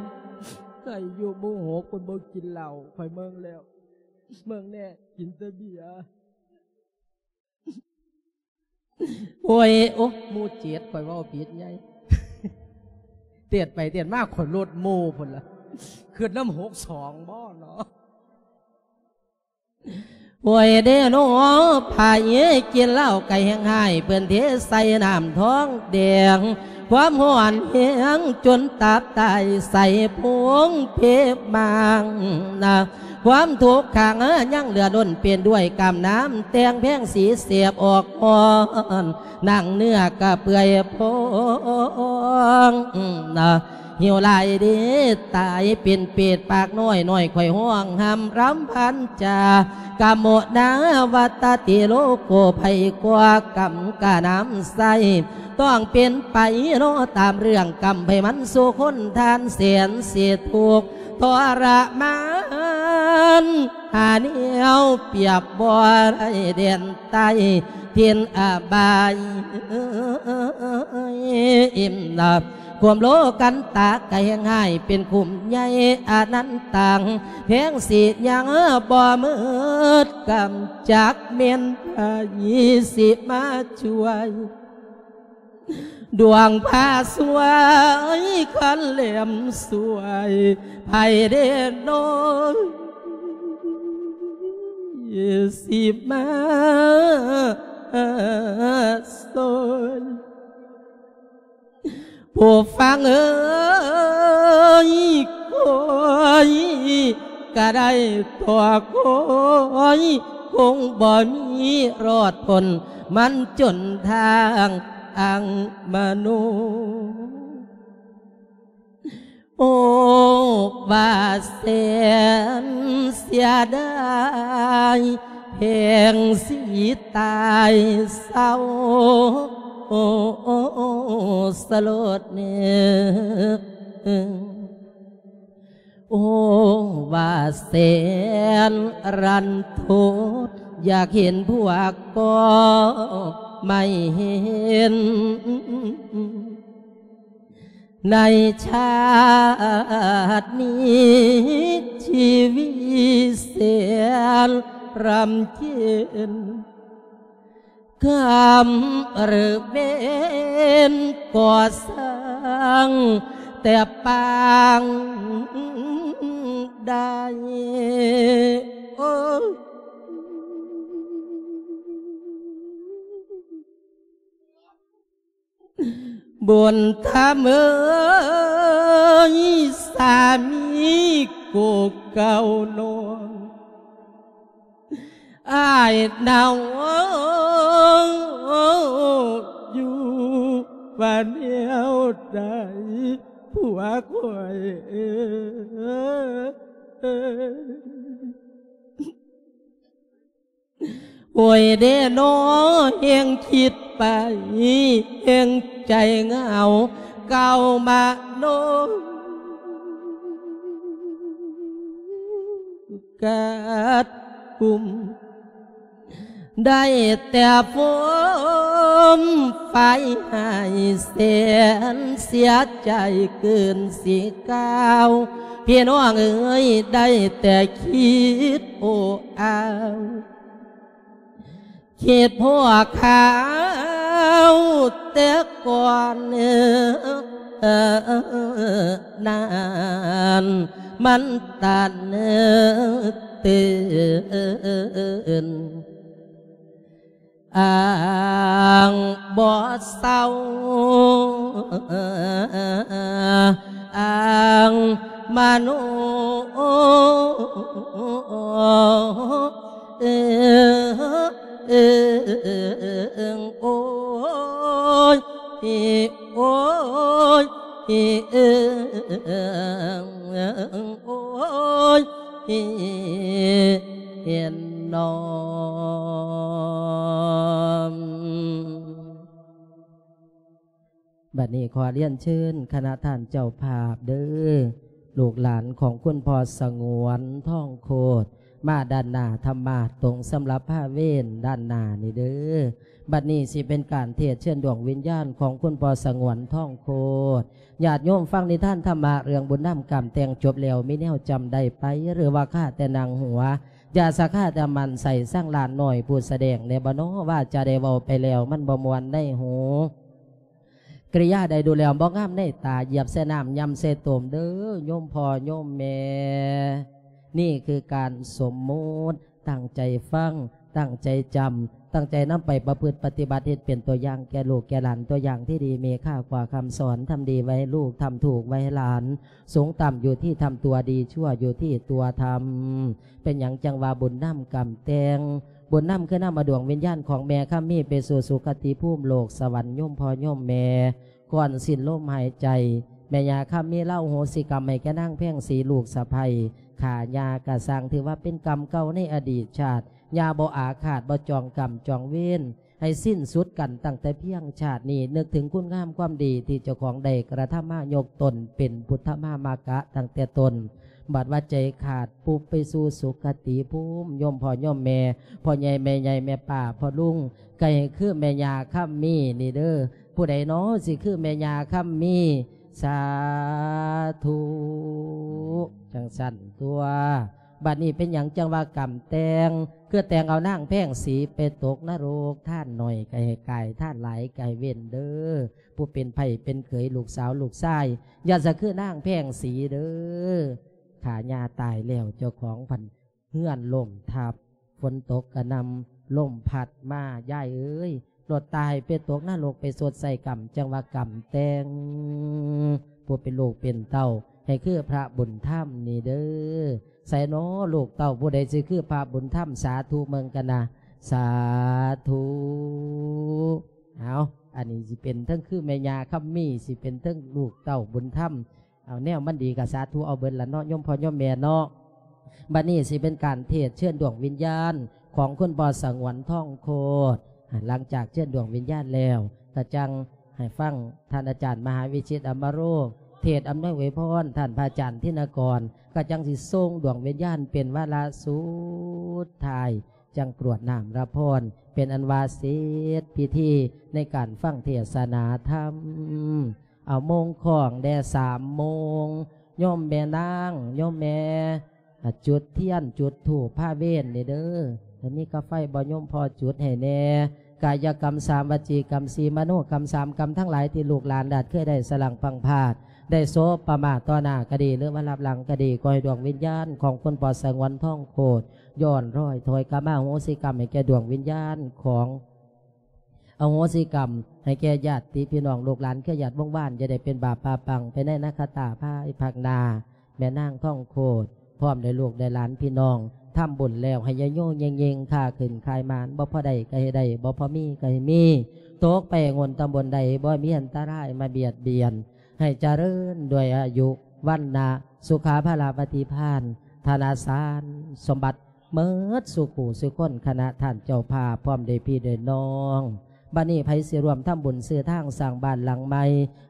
ໃຜຢູ່ໝູ່ຫົກເພິ່ນບໍ່ກິນເຫຼົ້າ ຂ້ອຍເບິ່ງແລ້ວ ເບິ່ງແດ່ ກິນແຕ່ເບຍ. ໂອ້ຍ ໂອ້ ໝູ່ເຈັດ ຂ້ອຍເວົ້າຜິດໃຫຍ່ ເຕດໄປເຕດມາ ຂ້ອຍລົດໝູ່ພຸ້ນລະ ຄຶດນຳຫົກສອງບໍ່ເນາະ. ໂອ້ຍເດ້ເນາະ ໃຜກິນເຫຼົ້າກະແຮງຮ້າຍ ເພິ່ນເທໃສ່ນ້ຳທອງແດງ ຄວາມຮ້ອນແຮງຈົນຕັບຕາຍ ໃສ່ໂພງເພມາງນະ ຄວາມທຸກຂັງຍັງເຫຼືອລົ້ນ ເປັນດ້ວຍກຳນ້ຳແຕ່ງແພງສີແສບອອກຮ້ອນ ໜັງເນື້ອກະເປື່ອຍພອງນະ ຫິວຫຼາຍເດ້ຕາຍເປັນເປດປາກນ້ອຍ ນ້ອຍຂ້ອຍຮ້ອງຮຳລຳພັນຈາ ກະໂມນາວັດຕະຕິໂລໂກ ໃຜກໍກຳກະນຳໃຊ້ ຕ້ອງເປັນໄປເນາະຕາມເລື່ອງກຳ ໃຜມັນສູ່ຄົນທ່ານແສນຊິທຸກ ທໍລະມານ ຫາແນວປຽບບໍ່ໄດ້ແດນໃຕ້ຖິ່ນອະບາຍ ອີ່ມນະ ຄວາມໂລກັນຕາກະແຮງຮ້າຍ ເປັນຂຸມໃຫຍ່ອະນັນຕັງ ແພງສິຍັງບໍ່ໝົດກຳ ຈັກແມ່ນ ໃຜຊິມາຊ່ວຍ ດວງພາຊ່ວຍຄັນແຫຼມຊ່ວຍ ໃຜເດ້ນ້ອຍຊິມາຊ່ວຍ ຜູ້ຟັງເອີຍ ຄອຍກະໄດ້ຕໍ່ຄອຍ ຄົງບໍ່ມີລອດພົ້ນ ມັນຈົນທາງອັງມະໂນ. ໂອ້ ວ່າແສນເສຍດາຍ ແພງຊິຕາຍເສົ້າ ໂອ້ ສະໂລດເນີ ໂອ້ ວ່າແສນລັນທົດ ຢາກເຫັນພວກກໍໄມ່ເຫັນ ໃນຊາດນີ້ ຊີວິດແສນລຳເຄັນ ກຳເລິບເວນກໍ່ສ້າງແຕ່ປາງໄດ້ ໂອ້ ບຸນທຳເອີຍ ສາມີໂກເກົ່ານ້ອງ ອ້າຍໜາວຢູ່ວ່າແນວໃດ ຜົວຂ້ອຍເອີຍ. ໂອ້ຍເດນໍ ແຮງຄິດໄປ ແຮງໃຈເຫງົາ ເກົ່າມະໂນກັດກຸມ ໄດ້ແຕ່ຟົມໄຟໃຫ້ແສນ ເສຍໃຈເກີນຊິກ່າວ ພີ່ນ້ອງເອີຍ ໄດ້ແຕ່ຄິດໂອ້ອາວ ຄິດພໍຄາວແຕ່ກ່ອນນັ້ນ ມັນຕັນຕື່ນ ອ້າງບໍ່ເຊົາ ອ້າງມະໂນ ເອີ ເອີ ໂອ້ຍ ໂອ້ຍ ເອີ ໂອ້ຍ ເຫັນນອມ. ບັດນີ້ຂໍລຽນເຊີນຄະນະທ່ານເຈົ້າພາບເດີ້ ລູກຫຼານຂອງຄຸນພໍ່ສະຫງວນ ທອງໂຄດ ມາດ້ານໜ້າທຳມາດຕົງສຳລັບພາເວນດ້ານໜ້ານີ້ເດີ້. ບັດນີ້ຊິເປັນການເທດເຊີນດວງວິນຍານຂອງຄຸນພໍ່ສະຫງວນ ທອງໂຄດ. ຍາດໂຍມຟັງນິທານທຳມະເລື່ອງບຸນນຳກຳແຕ່ງຈົບແລ້ວ ມີແນວຈຳໄດ້ໄປ ຫຼືວ່າຄາແຕ່ໜັງຫົວ ຢ່າສະຄາແຕ່ໝັ້ນໃສ່ສັງຫຼານນ້ອຍຜູ້ສະແດງແດ່ບໍ່ນໍ ວ່າຈະໄດ້ເວົ້າໄປແລ້ວມັນບໍ່ມ່ວນໃນຫູ. ກິລິຍາໃດດູແລ້ວບໍ່ງາມໃນຕາ ຢຽບໃສ່ນ້ຳ ຫຍ້ຳໃສ່ຕົມເດີ້ ໂຍມພໍ່ໂຍມແມ່. ນີ້ຄືການສົມມຸດ ຕັ້ງໃຈຟັງ ຕັ້ງໃຈຈຳ ຕັ້ງໃຈນຳໄປປະພຶດປະຕິບັດ ເຮັດເປັນຕົວຢ່າງແກ່ລູກແກ່ຫຼານ ຕົວຢ່າງທີ່ດີມີຄ່າກວ່າຄຳສອນ ທຳດີໄວ້ໃຫ້ລູກ ທຳຖືກໄວ້ໃຫ້ຫຼານ ສູງຕ່ຳຢູ່ທີ່ທຳຕົວ ດີຊົ່ວຢູ່ທີ່ຕົວທຳ. ເປັນຫຍັງຈັ່ງວ່າບຸນນຳກຳແຕ່ງ? ບຸນນຳຄືນຳເອົາດວງວິນຍານຂອງແມ່ຄຳມີໄປສູ່ສຸຄະຕິພູມໂລກສະຫວັນ ໂຍມພໍ່ໂຍມແມ່ ກ່ອນສິ້ນລົມຫາຍໃຈ. ແມ່ຍ່າຄຳມີລາວໂຫສິກຳໃຫ້ແກ່ນາງແພງສີ ລູກສະໃພ້ຂ້າຍ່າກະຊ່າງ ຖືວ່າເປັນກຳເກົ່າໃນອະດີດຊາດ. ຍ່າບໍ່ອາຄາດ ບໍ່ຈອງກຳຈອງເວນ ໃຫ້ສິ້ນສຸດກັນຕັ້ງແຕ່ພຽງຊາດນີ້. ນຶກເຖິງຄຸນງາມຄວາມດີທີ່ເຈົ້າຂອງໄດ້ກະທຳມາ ຍົກຕົນເປັນພຸດທະມາມະກະຕັ້ງແຕ່ຕົ້ນ. ບັດວ່າໃຈຂາດປຸບໄປສູ່ສຸຄະຕິພູມ ໂຍມພໍ່ໂຍມແມ່ ພໍ່ໃຫຍ່ແມ່ໃຫຍ່ ແມ່ປ້າພໍ່ລຸງ ໃຫ້ຄືແມ່ຍ່າຄຳມີນີ້ເດີ້. ຜູ້ໃດນໍຊິຄືແມ່ຍ່າຄຳມີ? ສາທຸ ຈັ່ງຊັ້ນຕົວະ. ບັດນີ້ເປັນຫຍັງຈັ່ງວ່າກຳແຕ່ງ? ຄືແຕ່ງເອົານາງແພງສີໄປຕົກນະລົກ, ທານໜ້ອຍກໍໃຫ້ກາຍ, ທານຫຼາຍກໍໃຫ້ເວັ້ນເດີ້. ຜູ້ເປັນໃພ້ເປັນເຂີຍ, ລູກສາວລູກຊາຍ, ຢ່າສະຄືນາງແພງສີເດີ້. ຖ້າຍ່າຕາຍແລ້ວ ເຈົ້າຂອງພັນ ເຮືອນລົ້ມທັບ, ຝົນຕົກກະໜ່ຳ, ລົມພັດມາ, ຍາຍເອີຍ, ໂລດຕາຍໄປຕົກນະລົກ, ໄປຊົດໃຊ້ກຳ, ຈັ່ງວ່າກຳແຕ່ງ. ຜູ້ເປັນລູກເປັນເຕົ້າ, ໃຫ້ຄືພະບຸນທຳນີ້ເດີ້. ໃສນໍລູກເຕົ້າຜູ້ໃດຊິຄືພະບຸນທຳ? ສາທຸເບິ່ງກັນນະ, ສາທຸ. ເອົາ, ອັນນີ້ຊິເປັນເທິງຄືແມ່ຍ່າຄຳມີ, ຊິເປັນເທິງລູກເຕົ້າບຸນທຳ. ເອົາແນວມັນດີກໍສາທຸເອົາເບິດລະເນາະ ໂຍມພໍ່ໂຍມແມ່ເນາະ. ບັດນີ້ຊິເປັນການເທດເຊີນດວງວິນຍານຂອງຄຸນພໍ່ສະຫງວນທອງໂຄດ. ຫຼັງຈາກເຊີນດວງວິນຍານແລ້ວ ກໍຈັ່ງໃຫ້ຟັງທ່ານອາຈານມະຫາວິຊິດ ອຳມະໂລ ເທດອຳນວຍອວຍພອນ, ທ່ານພະອາຈານທິນະກອນ ກໍຈັ່ງຊິສົ່ງດວງວິນຍານເປັນວາລະສຸດທ້າຍ, ຈັ່ງກວດນ້ຳລະພອນ ເປັນອັນວ່າເສັດພິທີໃນການຟັງເທດສະໜາທຳ. ເອົາໂມງຄ້ອງແດ່ ສາມໂມງ, ໂຍມແມ່ນາງ ໂຍມແມ່ ອາ ຈຸດທຽນ ຈຸດທູບພາເວັນນີ້ເດີ້. ແລ້ວມີກາໄຟບໍ່ໂຍມພໍ່ ຈຸດໃຫ້ແດ່. ກາຍະກຳສາມ ວະຈີກຳສີ່ ມະໂນກຳສາມ ກຳທັງຫຼາຍທີ່ລູກຫຼານລາດເຄີຍໄດ້ສະຫຼັງພັງພາດ ໄດ້ໂສປະມາດຕໍ່ໜ້າກໍດີ ຫຼືວ່າລັບຫຼັງກໍດີ, ຂໍໃຫ້ດວງວິນຍານຂອງຄຸນພໍ່ສະຫງວນທອງໂຄດ ຍ້ອນລອຍຖອຍກັບມາອະໂຫສິກຳໃຫ້ແກ່ດວງວິນຍານຂອງ ອະໂຫສິກຳໃຫ້ແກ່ຍາດຕິພີ່ນ້ອງ ລູກຫຼານເຄືອຍາດວົງວານ, ຢ່າໄດ້ເປັນບາບປະປັງໄປໃນອະນາຄົດພາຍພາກໜ້າ. ແມ່ນາງທອງໂຄດ ພ້ອມດ້ວຍລູກດ້ວຍຫຼານພີ່ນ້ອງ ທຳບຸນແລ້ວໃຫ້ຍະໂຍເຍງໆ, ຄ້າຂຶ້ນຂາຍໝານ, ບໍ່ພໍໄດ້ກໍໃຫ້ໄດ້, ບໍ່ພໍມີກໍໃຫ້ມີ, ຕົກໄປງົນຕຳບົນໃດ ບໍ່ມີອັນຕະລາຍມາບຽດບຽນ, ໃຫ້ຈະເລີນດ້ວຍອາຍຸ ວັນນະ ສຸຂາພະລາ ປະຕິພານ ທະນະສານ ສົມບັດ ເໝິດສູ່ຜູ້ສູ່ຄົນ ຄະນະທ່ານເຈົ້າພາບ ພ້ອມດ້ວຍພີ່ດ້ວຍນ້ອງ. ບັດນີ້ໃຜຊິຮ່ວມທຳບຸນຊື້ທາງສ້າງບ້ານຫຼັງໃໝ່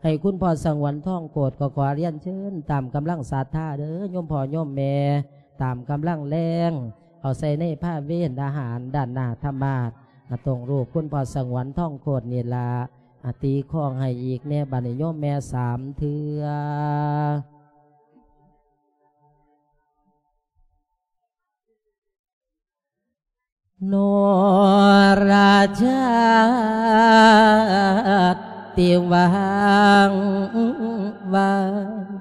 ໃຫ້ຄຸນພໍ່ສະຫງວນທອງໂຄດ ກໍຂໍລຽນເຊີນຕາມກຳລັງສັດທາເດີ້ ໂຍມພໍ່ໂຍມແມ່, ຕາມກຳລັງແລງ ເອົາໃສ່ໃນພາເວນອາຫານດ້ານໜ້າທຳມາດ ອາ ຕົງຮູບຄຸນພໍ່ສະຫງວນທອງໂຄດນີ້ລະ. ອາ ຕີຄອງໃຫ້ອີກແດ່ ບັດນີ້ໂຍມແມ່ ສາມເທື່ອ. ໂນລະຈັກຕິວັງວັນ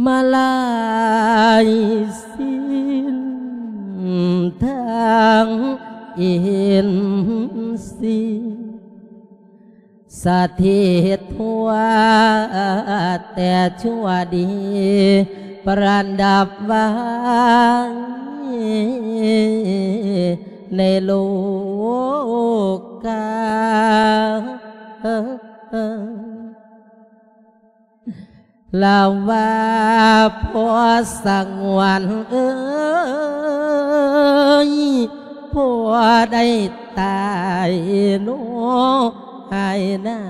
ມາລາຍສິນທັງອິນຊີ ສະຖິດທົ່ວແຕ່ຊົ່ວດີ ປະດັບໄວ້ໃນໂລກາ. ລາວວ່າ ພໍ່ສະຫງວນເອີຍ ພໍ່ໄດ້ຕາຍໂນຫາຍນາ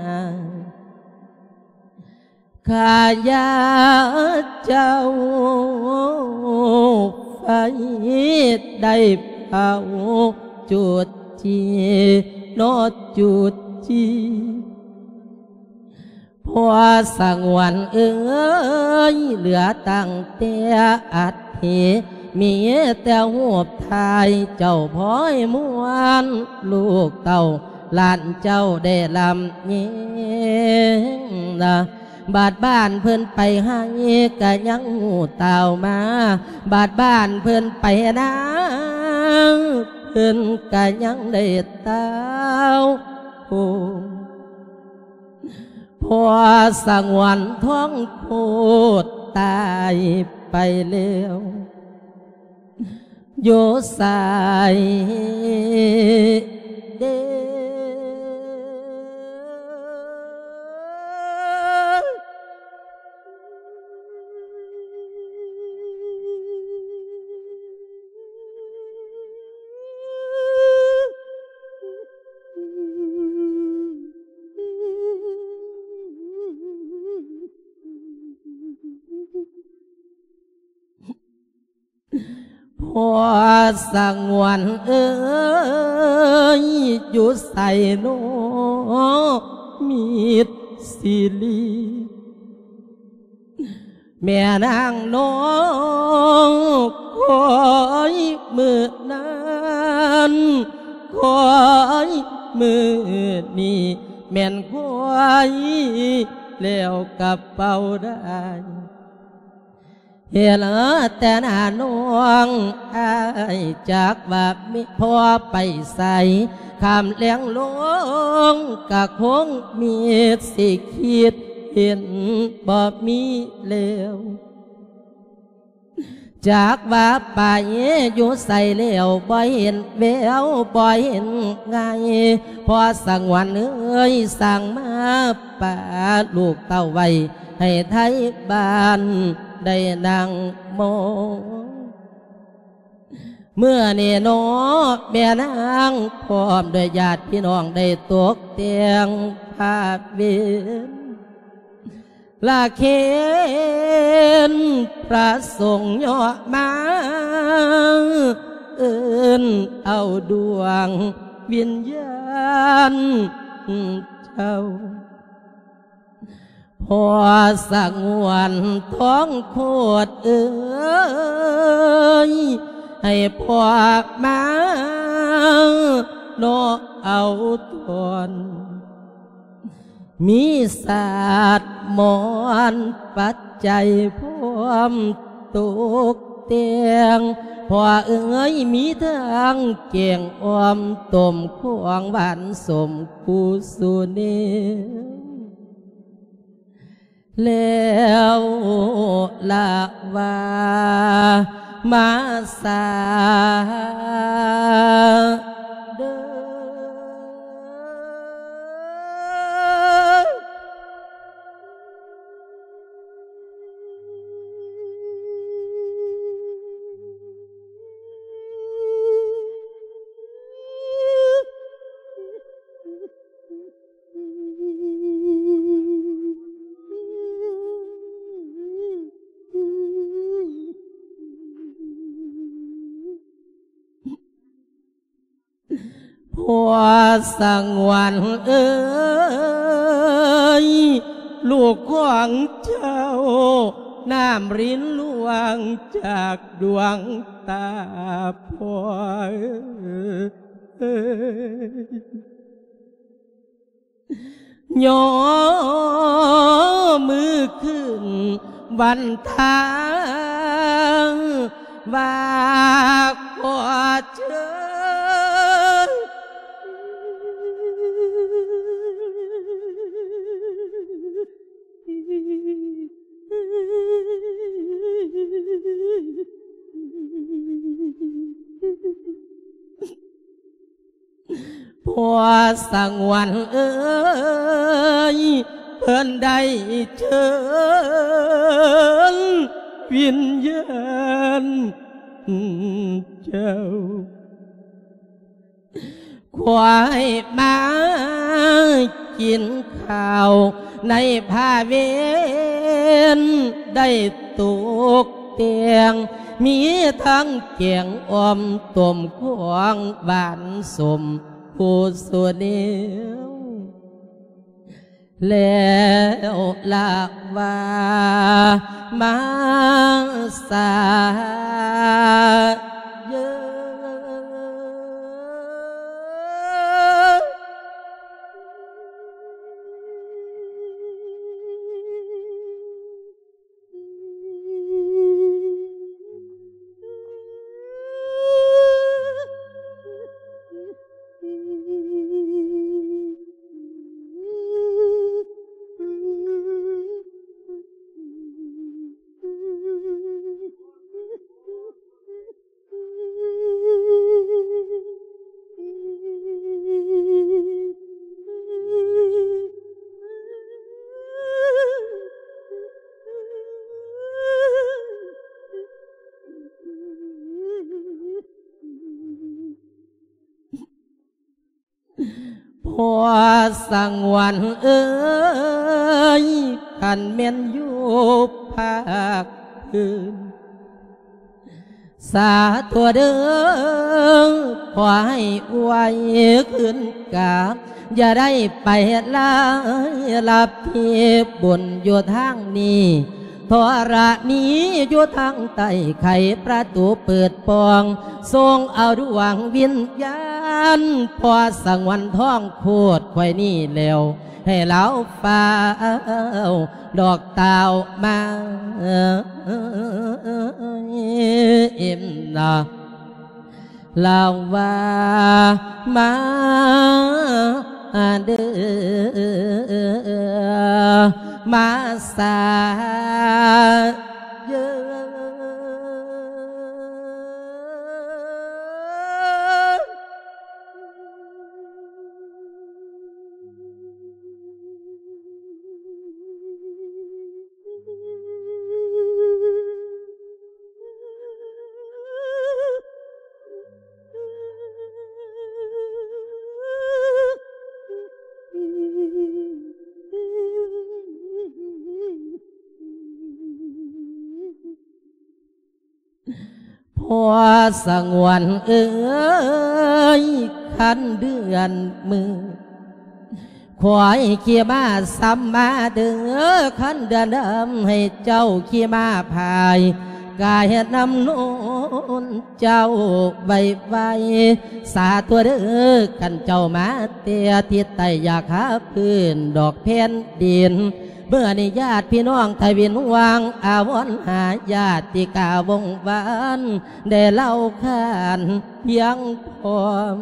ຂ້າຢາເຈົ້າໄຟໄດ້ເຜົາຈຸດຈີ ເນາະຈຸດຈີ. ພໍ່ສະຫງວນເອີຍ ເຫຼືອຕັ້ງແຕ່ອັດຖິ ມີແຕ່ຮູບຖ່າຍເຈົ້າພ້ອຍມ່ວນ ລູກເຕົ້າຫຼານເຈົ້າໄດ້ລຳຍິງນະ. ບາດບ້ານເພິ່ນໄປໄຮ່ກະຍັງຮູ້ຕ່າວມາ ບາດບ້ານເພິ່ນໄປນາ ເພິ່ນກະຍັງໄດ້ຕ່າວໂຮມ. ພໍ່ສະຫງວນທອງໂຄດຕາຍໄປແລ້ວ ຢູ່ໃສເດ? ພໍ່ສະຫງວນເອີຍ ຢູ່ໃສໂນມິດຊີຣີ? ແມ່ນາງນ້ອງຄອຍມື້ນັ້ນ ຄອຍມື້ນີ້ ແມ່ນຄວຍແລ້ວກະເປົ່າໄດ້ ເຫັນແຕ່ໜ້ານ້ອງອ້າຍ ຈັກວ່າມີພໍ່ໄປໃສ ຄ່ຳແລງລົງກະຄົງມີ ຊິຄິດເຫັນບໍ່ມີແລ້ວ ຈັກວ່າໄປຢູ່ໃສແລ້ວ ບໍ່ເຫັນແວວ ບໍ່ເຫັນໄງ ພໍ່ສະຫງວນເອີຍ ສັ່ງມາປະລູກເຕົ້າໄວ້ ໃຫ້ໄທບ້ານໄດ້ນັ່ງມອງ ມື້ນີ້ເນາະແມ່ນາງ ພ້ອມດ້ວຍຍາດພີ່ນ້ອງ ໄດ້ຕົກແຕ່ງພາເວັນ ລະເຄນພະສົງຍໍ້ມາ ເອີ້ນເອົາດວງວິນຍານເຈົ້າ ພໍ່ສະຫງວນທອງໂຄດເອີຍ ໃຫ້ພໍ່ມາເນາະເອົາຕອນ ມີສາດໝອນປັດໄຈພ້ອມຕົກແຕ່ງ ພໍ່ເອີຍ ມີທັງແກງອ່ອມ ຕົ້ມຂອງຫວານສົ້ມ ຄູສູ່ແນວ ແລ້ວລະວ່າມາສາເດີ. ພໍ່ສະຫງວນເອີຍ ລູກຂອງເຈົ້າ ນ້ຳລິນລ່ວງຈາກດວງຕາພໍ່ເອີຍ. ຍໍມືຂຶ້ນວັນທາ ວ່າຂໍເຊີນ ພໍ່ສະຫງວນເອີຍ ເພິ່ນໄດ້ເຊີນວິນຍານເຈົ້າ ຄວາຍມາກິນເຂົ້າໃນພາເວັນ ໄດ້ຕົກແຕ່ງ ມີທັງແກງອ່ອມ ຕົ້ມຂອງຫວານສົ້ມ ຜູ້ສູ່ແນວ ແລ້ວລະວ່າມາສາເຢີ. ພໍ່ສະຫງວນເອີຍ ຄັນແມ່ນຢູ່ພາກພື້ນ ສາທຸເດີ ຂໍໃຫ້ອວຍຄືນກັບ ຢ່າໄດ້ໄປລາຍລັບທີ່ບຸນຢູ່ທາງນີ້ ທໍລະນີຢູ່ທາງໃຕ້ ໄຂປະຕູເປີດປ່ອງ ສົ່ງເອົາດວງວິນຍານ ພໍ່ສະຫງວນທອງໂຄດຂ້ອຍນີ້ແລ້ວ ໃຫ້ລາວຟ້າວດອກຕ່າວມາ ເອັມນະ ລາວວ່າມາເດີ ມາສາເດີ. ພໍ່ສະຫງວນເອີຍ ຄັນເດືອນມື້ ຂ້ອຍຂີ່ມ້າສ່ຳມາເດີ ຄັນເດືອນດຳໃຫ້ເຈົ້າຂີ່ມ້າພາຍ ກາຍນຳໂນນເຈົ້າໄວໆ ສາທຸເດີ ຄັນເຈົ້າມາແຕ່ທິດໃຕ້ ຢາກຫາພື້ນດອກແຜ່ນດິນ ເມື່ອນີ້ຍາດພີ່ນ້ອງໄທວິນຫວັງ ອາວອນຫາຍາດຕິກາວົງວານ ໄດ້ເລົ່າຂານພຽງພ້ອມ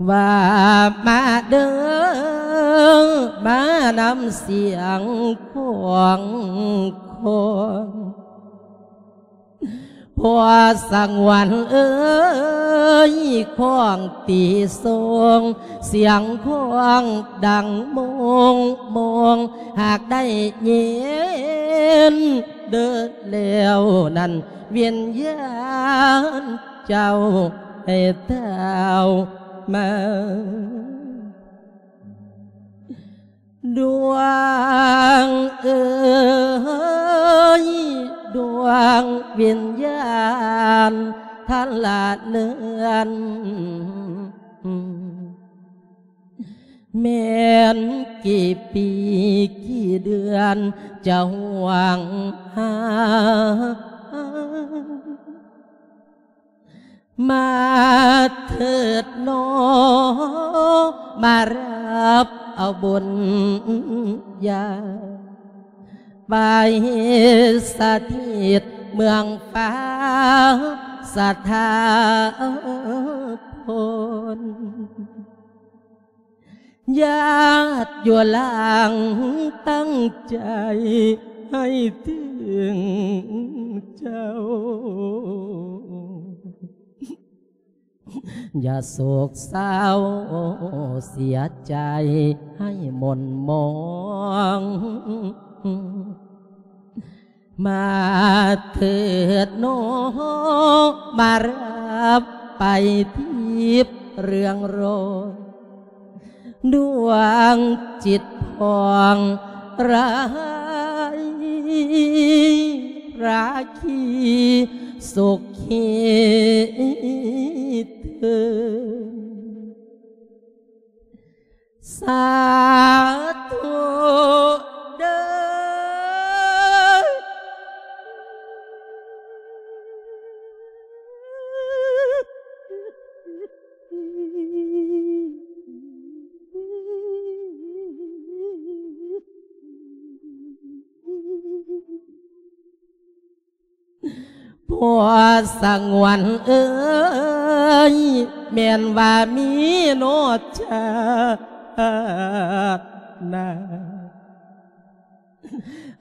ວ່າມາເດີ ມານຳສຽງຂອງຄອງ ພໍ່ສະຫງວນເອີຍ ຄອງຕີຊົງ ສຽງຄອງດັງໂມງໂມງ ຫາກໄດ້ຍິນເດີແລ້ວນັ້ນ ວິນຍານເຈົ້າໃຫ້ທ້າວມາ. ດວງເອີຍ ດວງວິນຍານທັນລະເລື່ອນ ແມ່ນກີ່ປີກີ່ເດືອນຈະຫວງຫາ ມາເທີດໜໍ ມາຮັບເອົາບຸນຍາ ໄປສະຖິດເມືອງຟ້າສະຖາພົນ. ຍາດຢູ່ຫຼັງຕັ້ງໃຈໃຫ້ເຖິງເຈົ້າ ຢ່າໂສກເສົ້າເສຍໃຈໃຫ້ໝົ່ນໝອງ. ມາເທີດໜໍ ມາຮັບໄປທິບເຮືອງໂລດ ດວງຈິດຜ່ອງລາຍ ລາຄີສຸຂີເທີນ. ສາທຸເດີ. ພໍ່ສະຫງວນເອີຍ ແມ່ນວ່າມີໂນດຊາດໜ້າ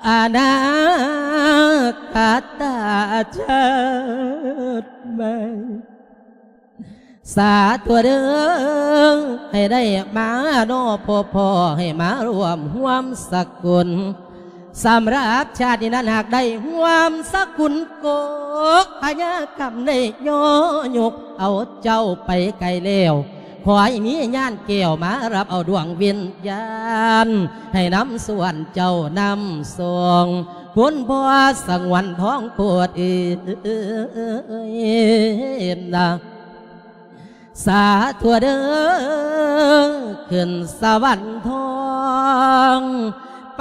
ອະນາຄະຕະຊາດໃໝ່ ສາທຸເດີ ໃຫ້ໄດ້ມາເນາະ ພໍ່ພໍ່ ໃຫ້ມາຮ່ວມຮ່ວມສະກຸນ ສຳລັບຊາດນີ້ນັ້ນ ຫາກໄດ້ຮ່ວມສະກຸນ ກົກພະຍາຄຳໄດ້ຍໍຍົກເອົາເຈົ້າໄປໄກແລ້ວ ຂໍໃຫ້ມີຍານແກ້ວມາຮັບເອົາດວງວິນຍານ ໃຫ້ນຳສ່ວນເຈົ້ານຳສົ່ງ ຄຸນພໍ່ສະຫງວນທອງໂພດເອີຍນະ. ສາທຸເດີ ຂຶ້ນສະຫວັນທອງ ໄປ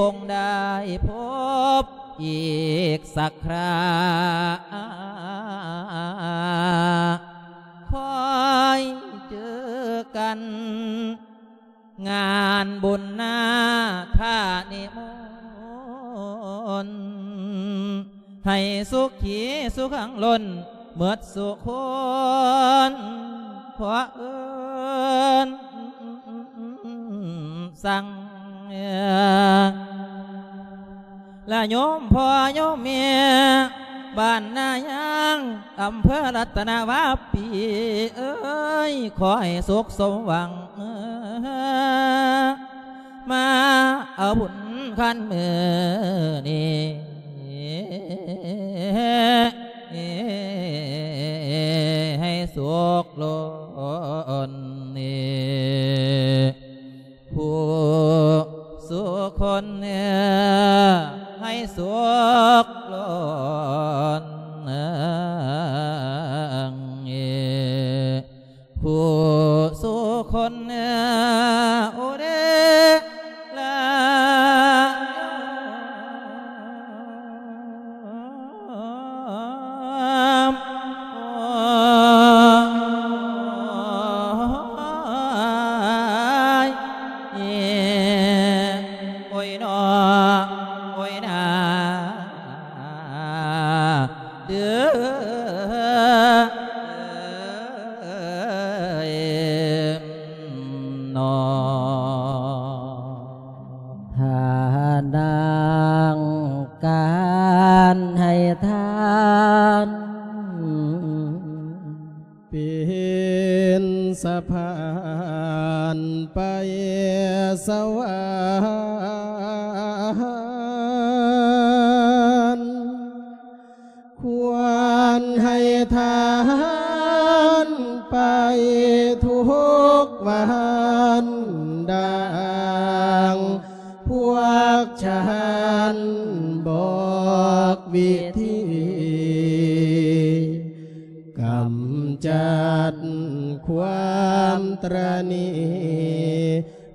ຄົງໄດ້ພົບອີກສັກຄຣາ ຄ່ອຍເຈີກັນ ງານບຸນນາຄະນິມົນ ໃຫ້ສຸຂີສຸຂັງລົ້ນ ໝົດສູ່ຄົນ ຂໍເອີ້ນສັ່ງ ລະໂຍມພໍ່ໂຍມແມ່ ບ້ານນາຍາງ ອຳເພີລັດຕະນະວາປີເອີຍ ຂໍໃຫ້ສຸກສົມຫວັງ ມາເອົາບຸນຄັນມື້ນີ້ ໃຫ້ສຸກລົ້ນ ຜູ້ສູ່ຄົນ ໃຫ້ສຸກລົ້ນ ຜູ້ສູ່ຄົນ ໂອເດລາ ໂອ້ຍ ໂອ້ຍເນາະ ໂອ້ຍນາ ເດີ ເອີຍເນາະ. ທ່ານນາງການໃຫ້ທານ ເປັນສະພານໄປສະຫວັນ ຄວນໃຫ້ທານໄປທຸກວັນ ດັ່ງພວກຊານບອກວິທີ ກຳຈັດຄວາມຕຣະໜີ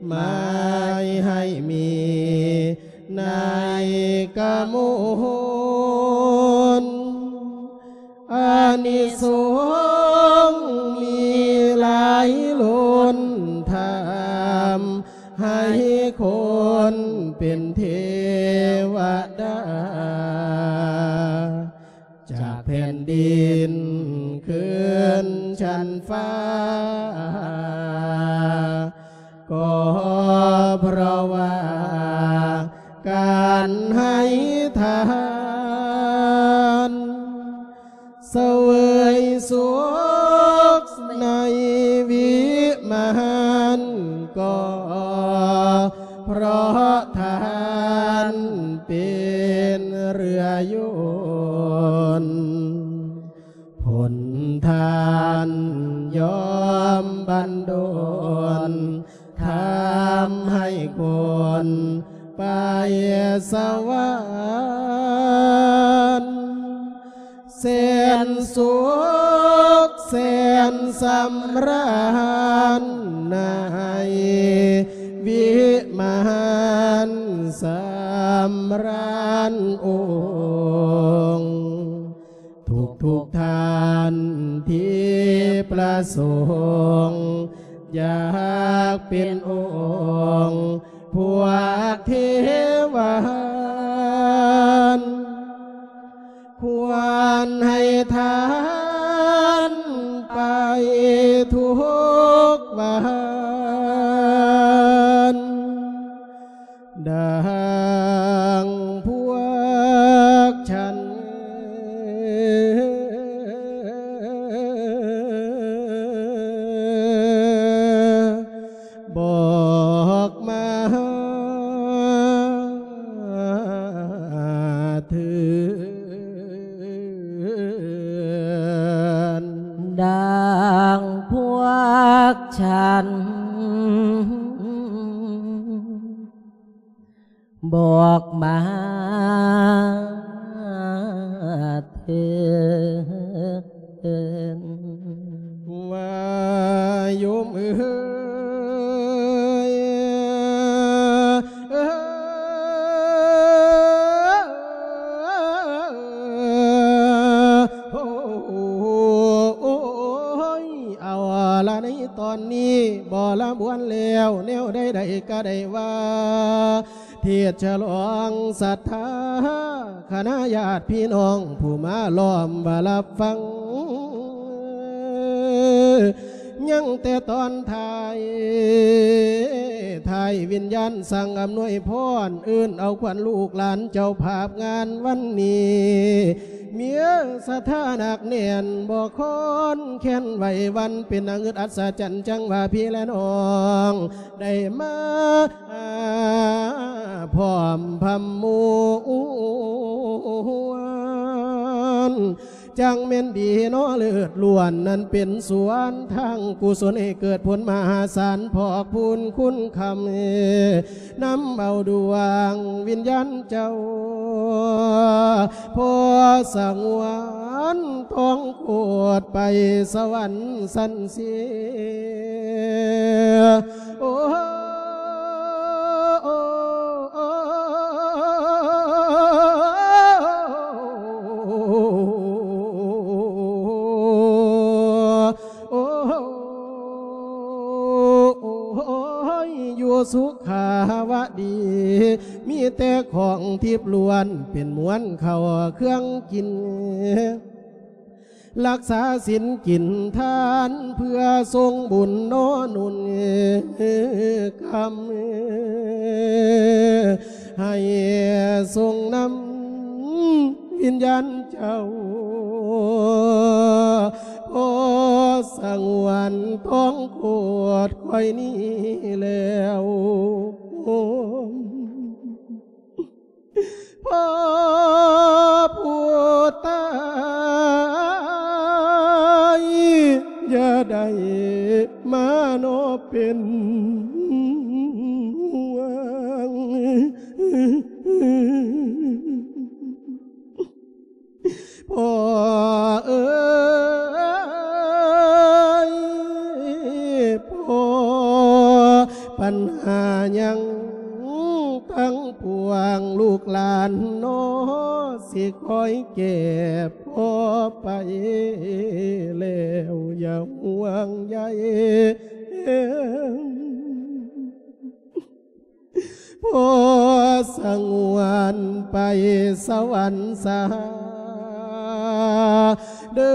ໝາຍໃຫ້ມີໃນກະມົນ ອານິສົງມີຫຼາຍລົ້ນ ທຳໃຫ້ຄົນເປັນເທວະດາ ຈາກແຜ່ນດິນຂຶ້ນຊັ້ນຟ້າ ກໍເພາະວ່າການໃຫ້ທານ ສະເຫວີຍສຸກໃນວິມານ ກໍເພາະທານເປັນເຮືອຍົນ ຜົນທານຍອມບັນດົນ ທຳໃຫ້ຄົນໄປສະຫວັນ ແສນສຸກແສນສຳລານ ໃນວິມານສຳລານອົງ ທຸກໆທ່ານທີ່ປະສົງ ຢາກເປັນອົງພວກເທວານ ຄວນໃຫ້ທານໄປທຸກວັນ ດັ່ງພວກຊານບອກມາເທີ້ນ ດັ່ງພວກຊານບອກມາເທີ້ນ ວ່າໂຍມເອີຍ ເອີຍ ລະໃນຕອນນີ້ບໍລະບວນແລ້ວ ແນວໃດໆກະໄດ້ວ່າ ເທດສະຫຼອງສັດທາ ຄະນະຍາດພີ່ນ້ອງຜູ້ມາລ້ອມວ່າຮັບຟັງ ຍັງແຕ່ຕອນທ້າຍ ທ້າຍວິນຍານສັ່ງອຳນວຍພອນ ເອີ້ນເອົາຂວັນລູກຫຼານເຈົ້າພາບງານວັນນີ້ ມີສະຖານະໜັກແໜ້ນ ບໍ່ຄອນແຄ້ນໄຫວຫວັ່ນ ເປັນໜ້າອຶດອັດສະຈັນ ຈັ່ງວ່າພີ່ແລະນ້ອງ ໄດ້ມາພ້ອມພຳມວນ ຈັ່ງແມ່ນດີເນາະ ເລີດລ້ວນນັ້ນເປັນສວນທາງກຸສົນ ໃຫ້ເກີດຜົນມະຫາສານ ພອກພູນຄຸນຄຳ ນຳເອົາດວງວິນຍານເຈົ້າ ພໍ່ສະຫງວນທອງໂຄດ ໄປສະຫວັນຊັ້ນເສຍ ໂອ້ ໂອ້ຍ ຢູ່ສຸຂາວະດີ ມີແຕ່ຂອງທິບລ້ວນ ເປັນມວນເຂົ້າເຄື່ອງກິນ ລັກສາສິນກິນທານ ເພື່ອສົ່ງບຸນໜໍ່ນຸ່ນກຳ ໃຫ້ສົ່ງນຳວິນຍານເຈົ້າ ພໍ່ສະຫງວນທອງໂຄດຂ້ອຍນີ້ແລ້ວ ພໍ່ຜູ້ຕາຍ ຢ່າໄດ້ມາເນາະເປັນຫ່ວງ ພໍ່ເອີຍ ພໍ່ ບັນຫາຍັງທັງປວງ ລູກຫຼານເນາະ ຊິຄອຍແກ່ພໍ່ໄປແລ້ວ ຢ່າຫ່ວງໃຍ ພໍ່ສະຫງວນໄປສະຫວັນສາເດີ.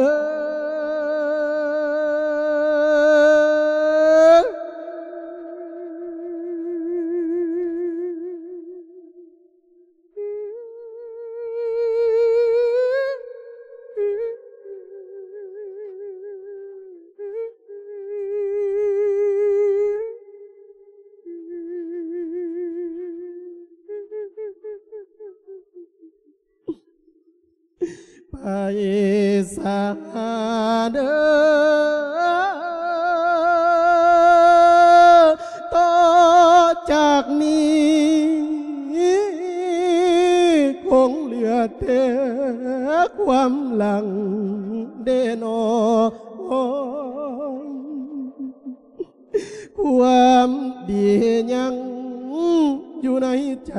ໄປສາເດີ ຕໍ່ຈາກນີ້ ຄົງເຫຼືອແຕ່ຄວາມຫຼັງເດນໍ ຄວາມດີຍັງຢູ່ໃນໃຈ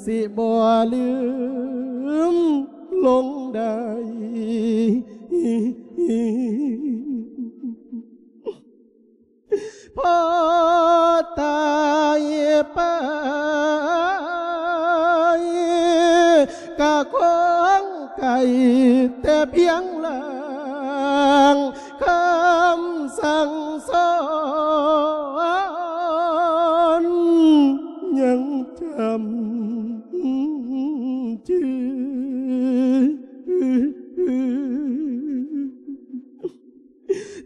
ຊິບໍ່ລືມລົງໄດ້. ພໍຕາຍໄປ ກະຄົງໄກແຕ່ພຽງລາງ ຄຳສັ່ງສອນຍັງຈຳຈື່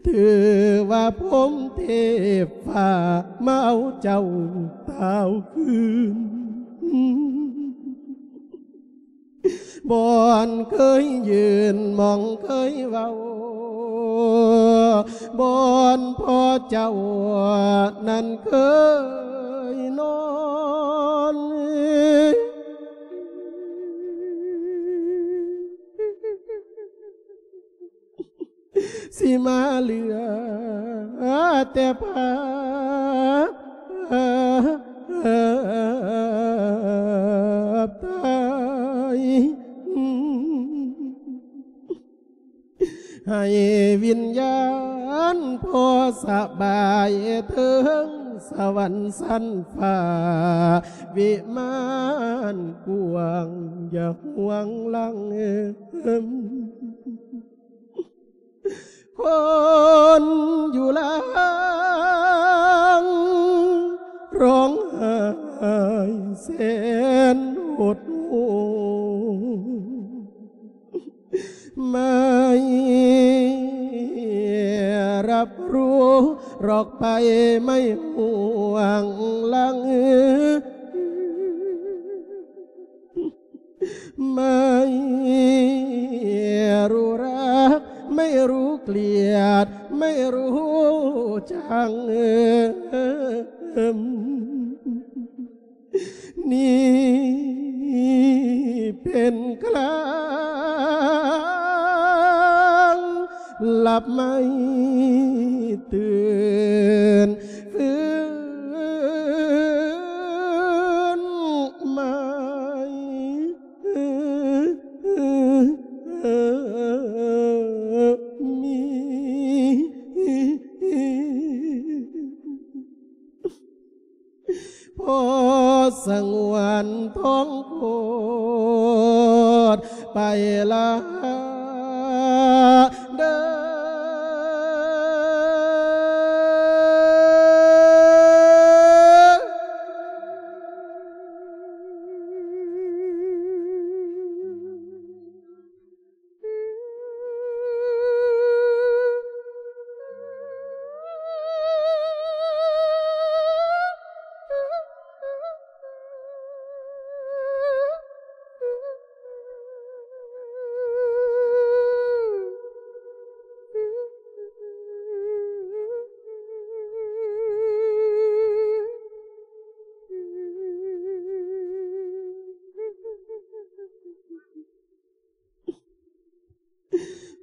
ຖືວ່າພົມເທບຟ້າມາເອົາເຈົ້າຕາວຄືນ ບ່ອນເຄີຍຢືນ ໝ່ອງເຄີຍເວົ້າ ບ່ອນພໍ່ເຈົ້ານັ້ນເຄີຍນອນ ຊິມາເຫຼືອແຕ່ພາບຖ່າຍ ໃຫ້ວິນຍາ ອັນພໍສະບາຍເທິງສະຫວັນຊັ້ນຟ້າ ວິມານກວ້າງຢ່າຫ່ວງຫຼັງ. ຄົນຢູ່ຫຼັງຮ້ອງໄຫ້ແສນຫົດຫູ່ ໄມ່ຮັບຮູ້ ລອກໄປໄມ່ຫ່ວງຫຼັງ. ໄມ່ຮູ້ຮັກ ໄມ່ຮູ້ກລຽດ ໄມ່ຮູ້ຈັງ ນີ້ເປັນການຫຼັບໄມ້ຕື່ນຟື້ນໃໝ່. ມີ ພໍສະຫງວນທອງໂຄດໄປລະເດີ.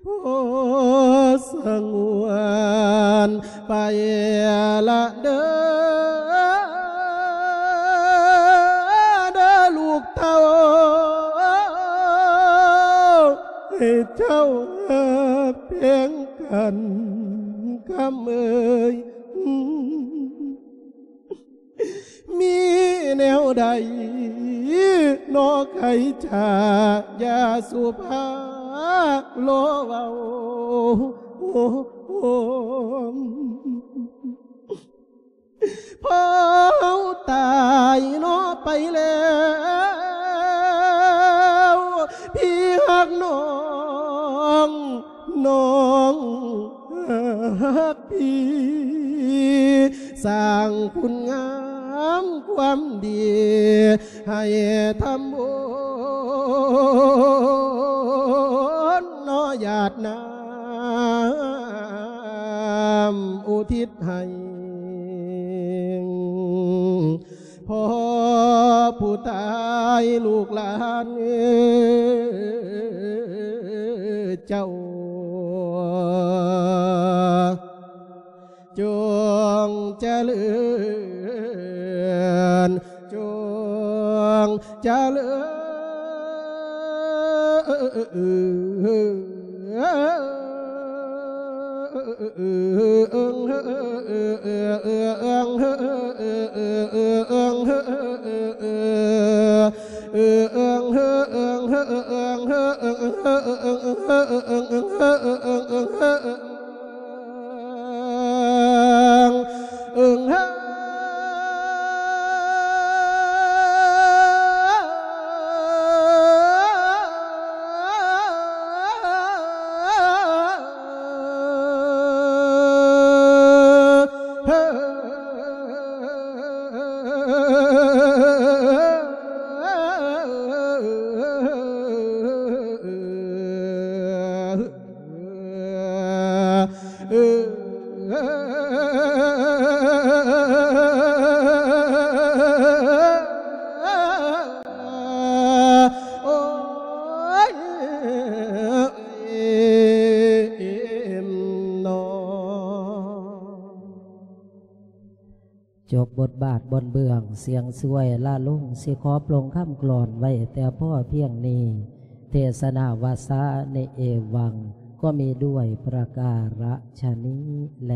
ພໍສະຫງວນໄປລະເດີ ເດີລູກເຕົ້າ ໃຫ້ເຈົ້າຮັກແພງກັນຄຳເອີຍ. ມີແນວໃດໜໍ ໄຂຈາ ຢ່າສຸພາລໍເວົ້າ. ພໍເຮົາຕາຍໜໍ ໄປແລ້ວ ພີ່ຮັກນ້ອງ ນ້ອງຮັກພີ່ ສ້າງຄຸນງາມຄວາມດີ ໃຫ້ທຳບຸນເນາະ ຫຍາດນ້ຳອຸທິດໃຫ້ ພໍ່ຜູ້ຕາຍລູກຫຼານເຈົ້າ ຈົ່ງຈະເລີນ ຈົ່ງຈະເລີນ. ຈົບບົດບາດບົດເບື້ອງ ສຽງສວຍລະລົງ ຊິຂໍປລົງຄຳກລອນໄວ້ແຕ່ພໍພຽງນີ້. ເທສະນາວາສານິເອວັງ. ກໍມີດ້ວຍປະກາລະຊະນີ້ແລ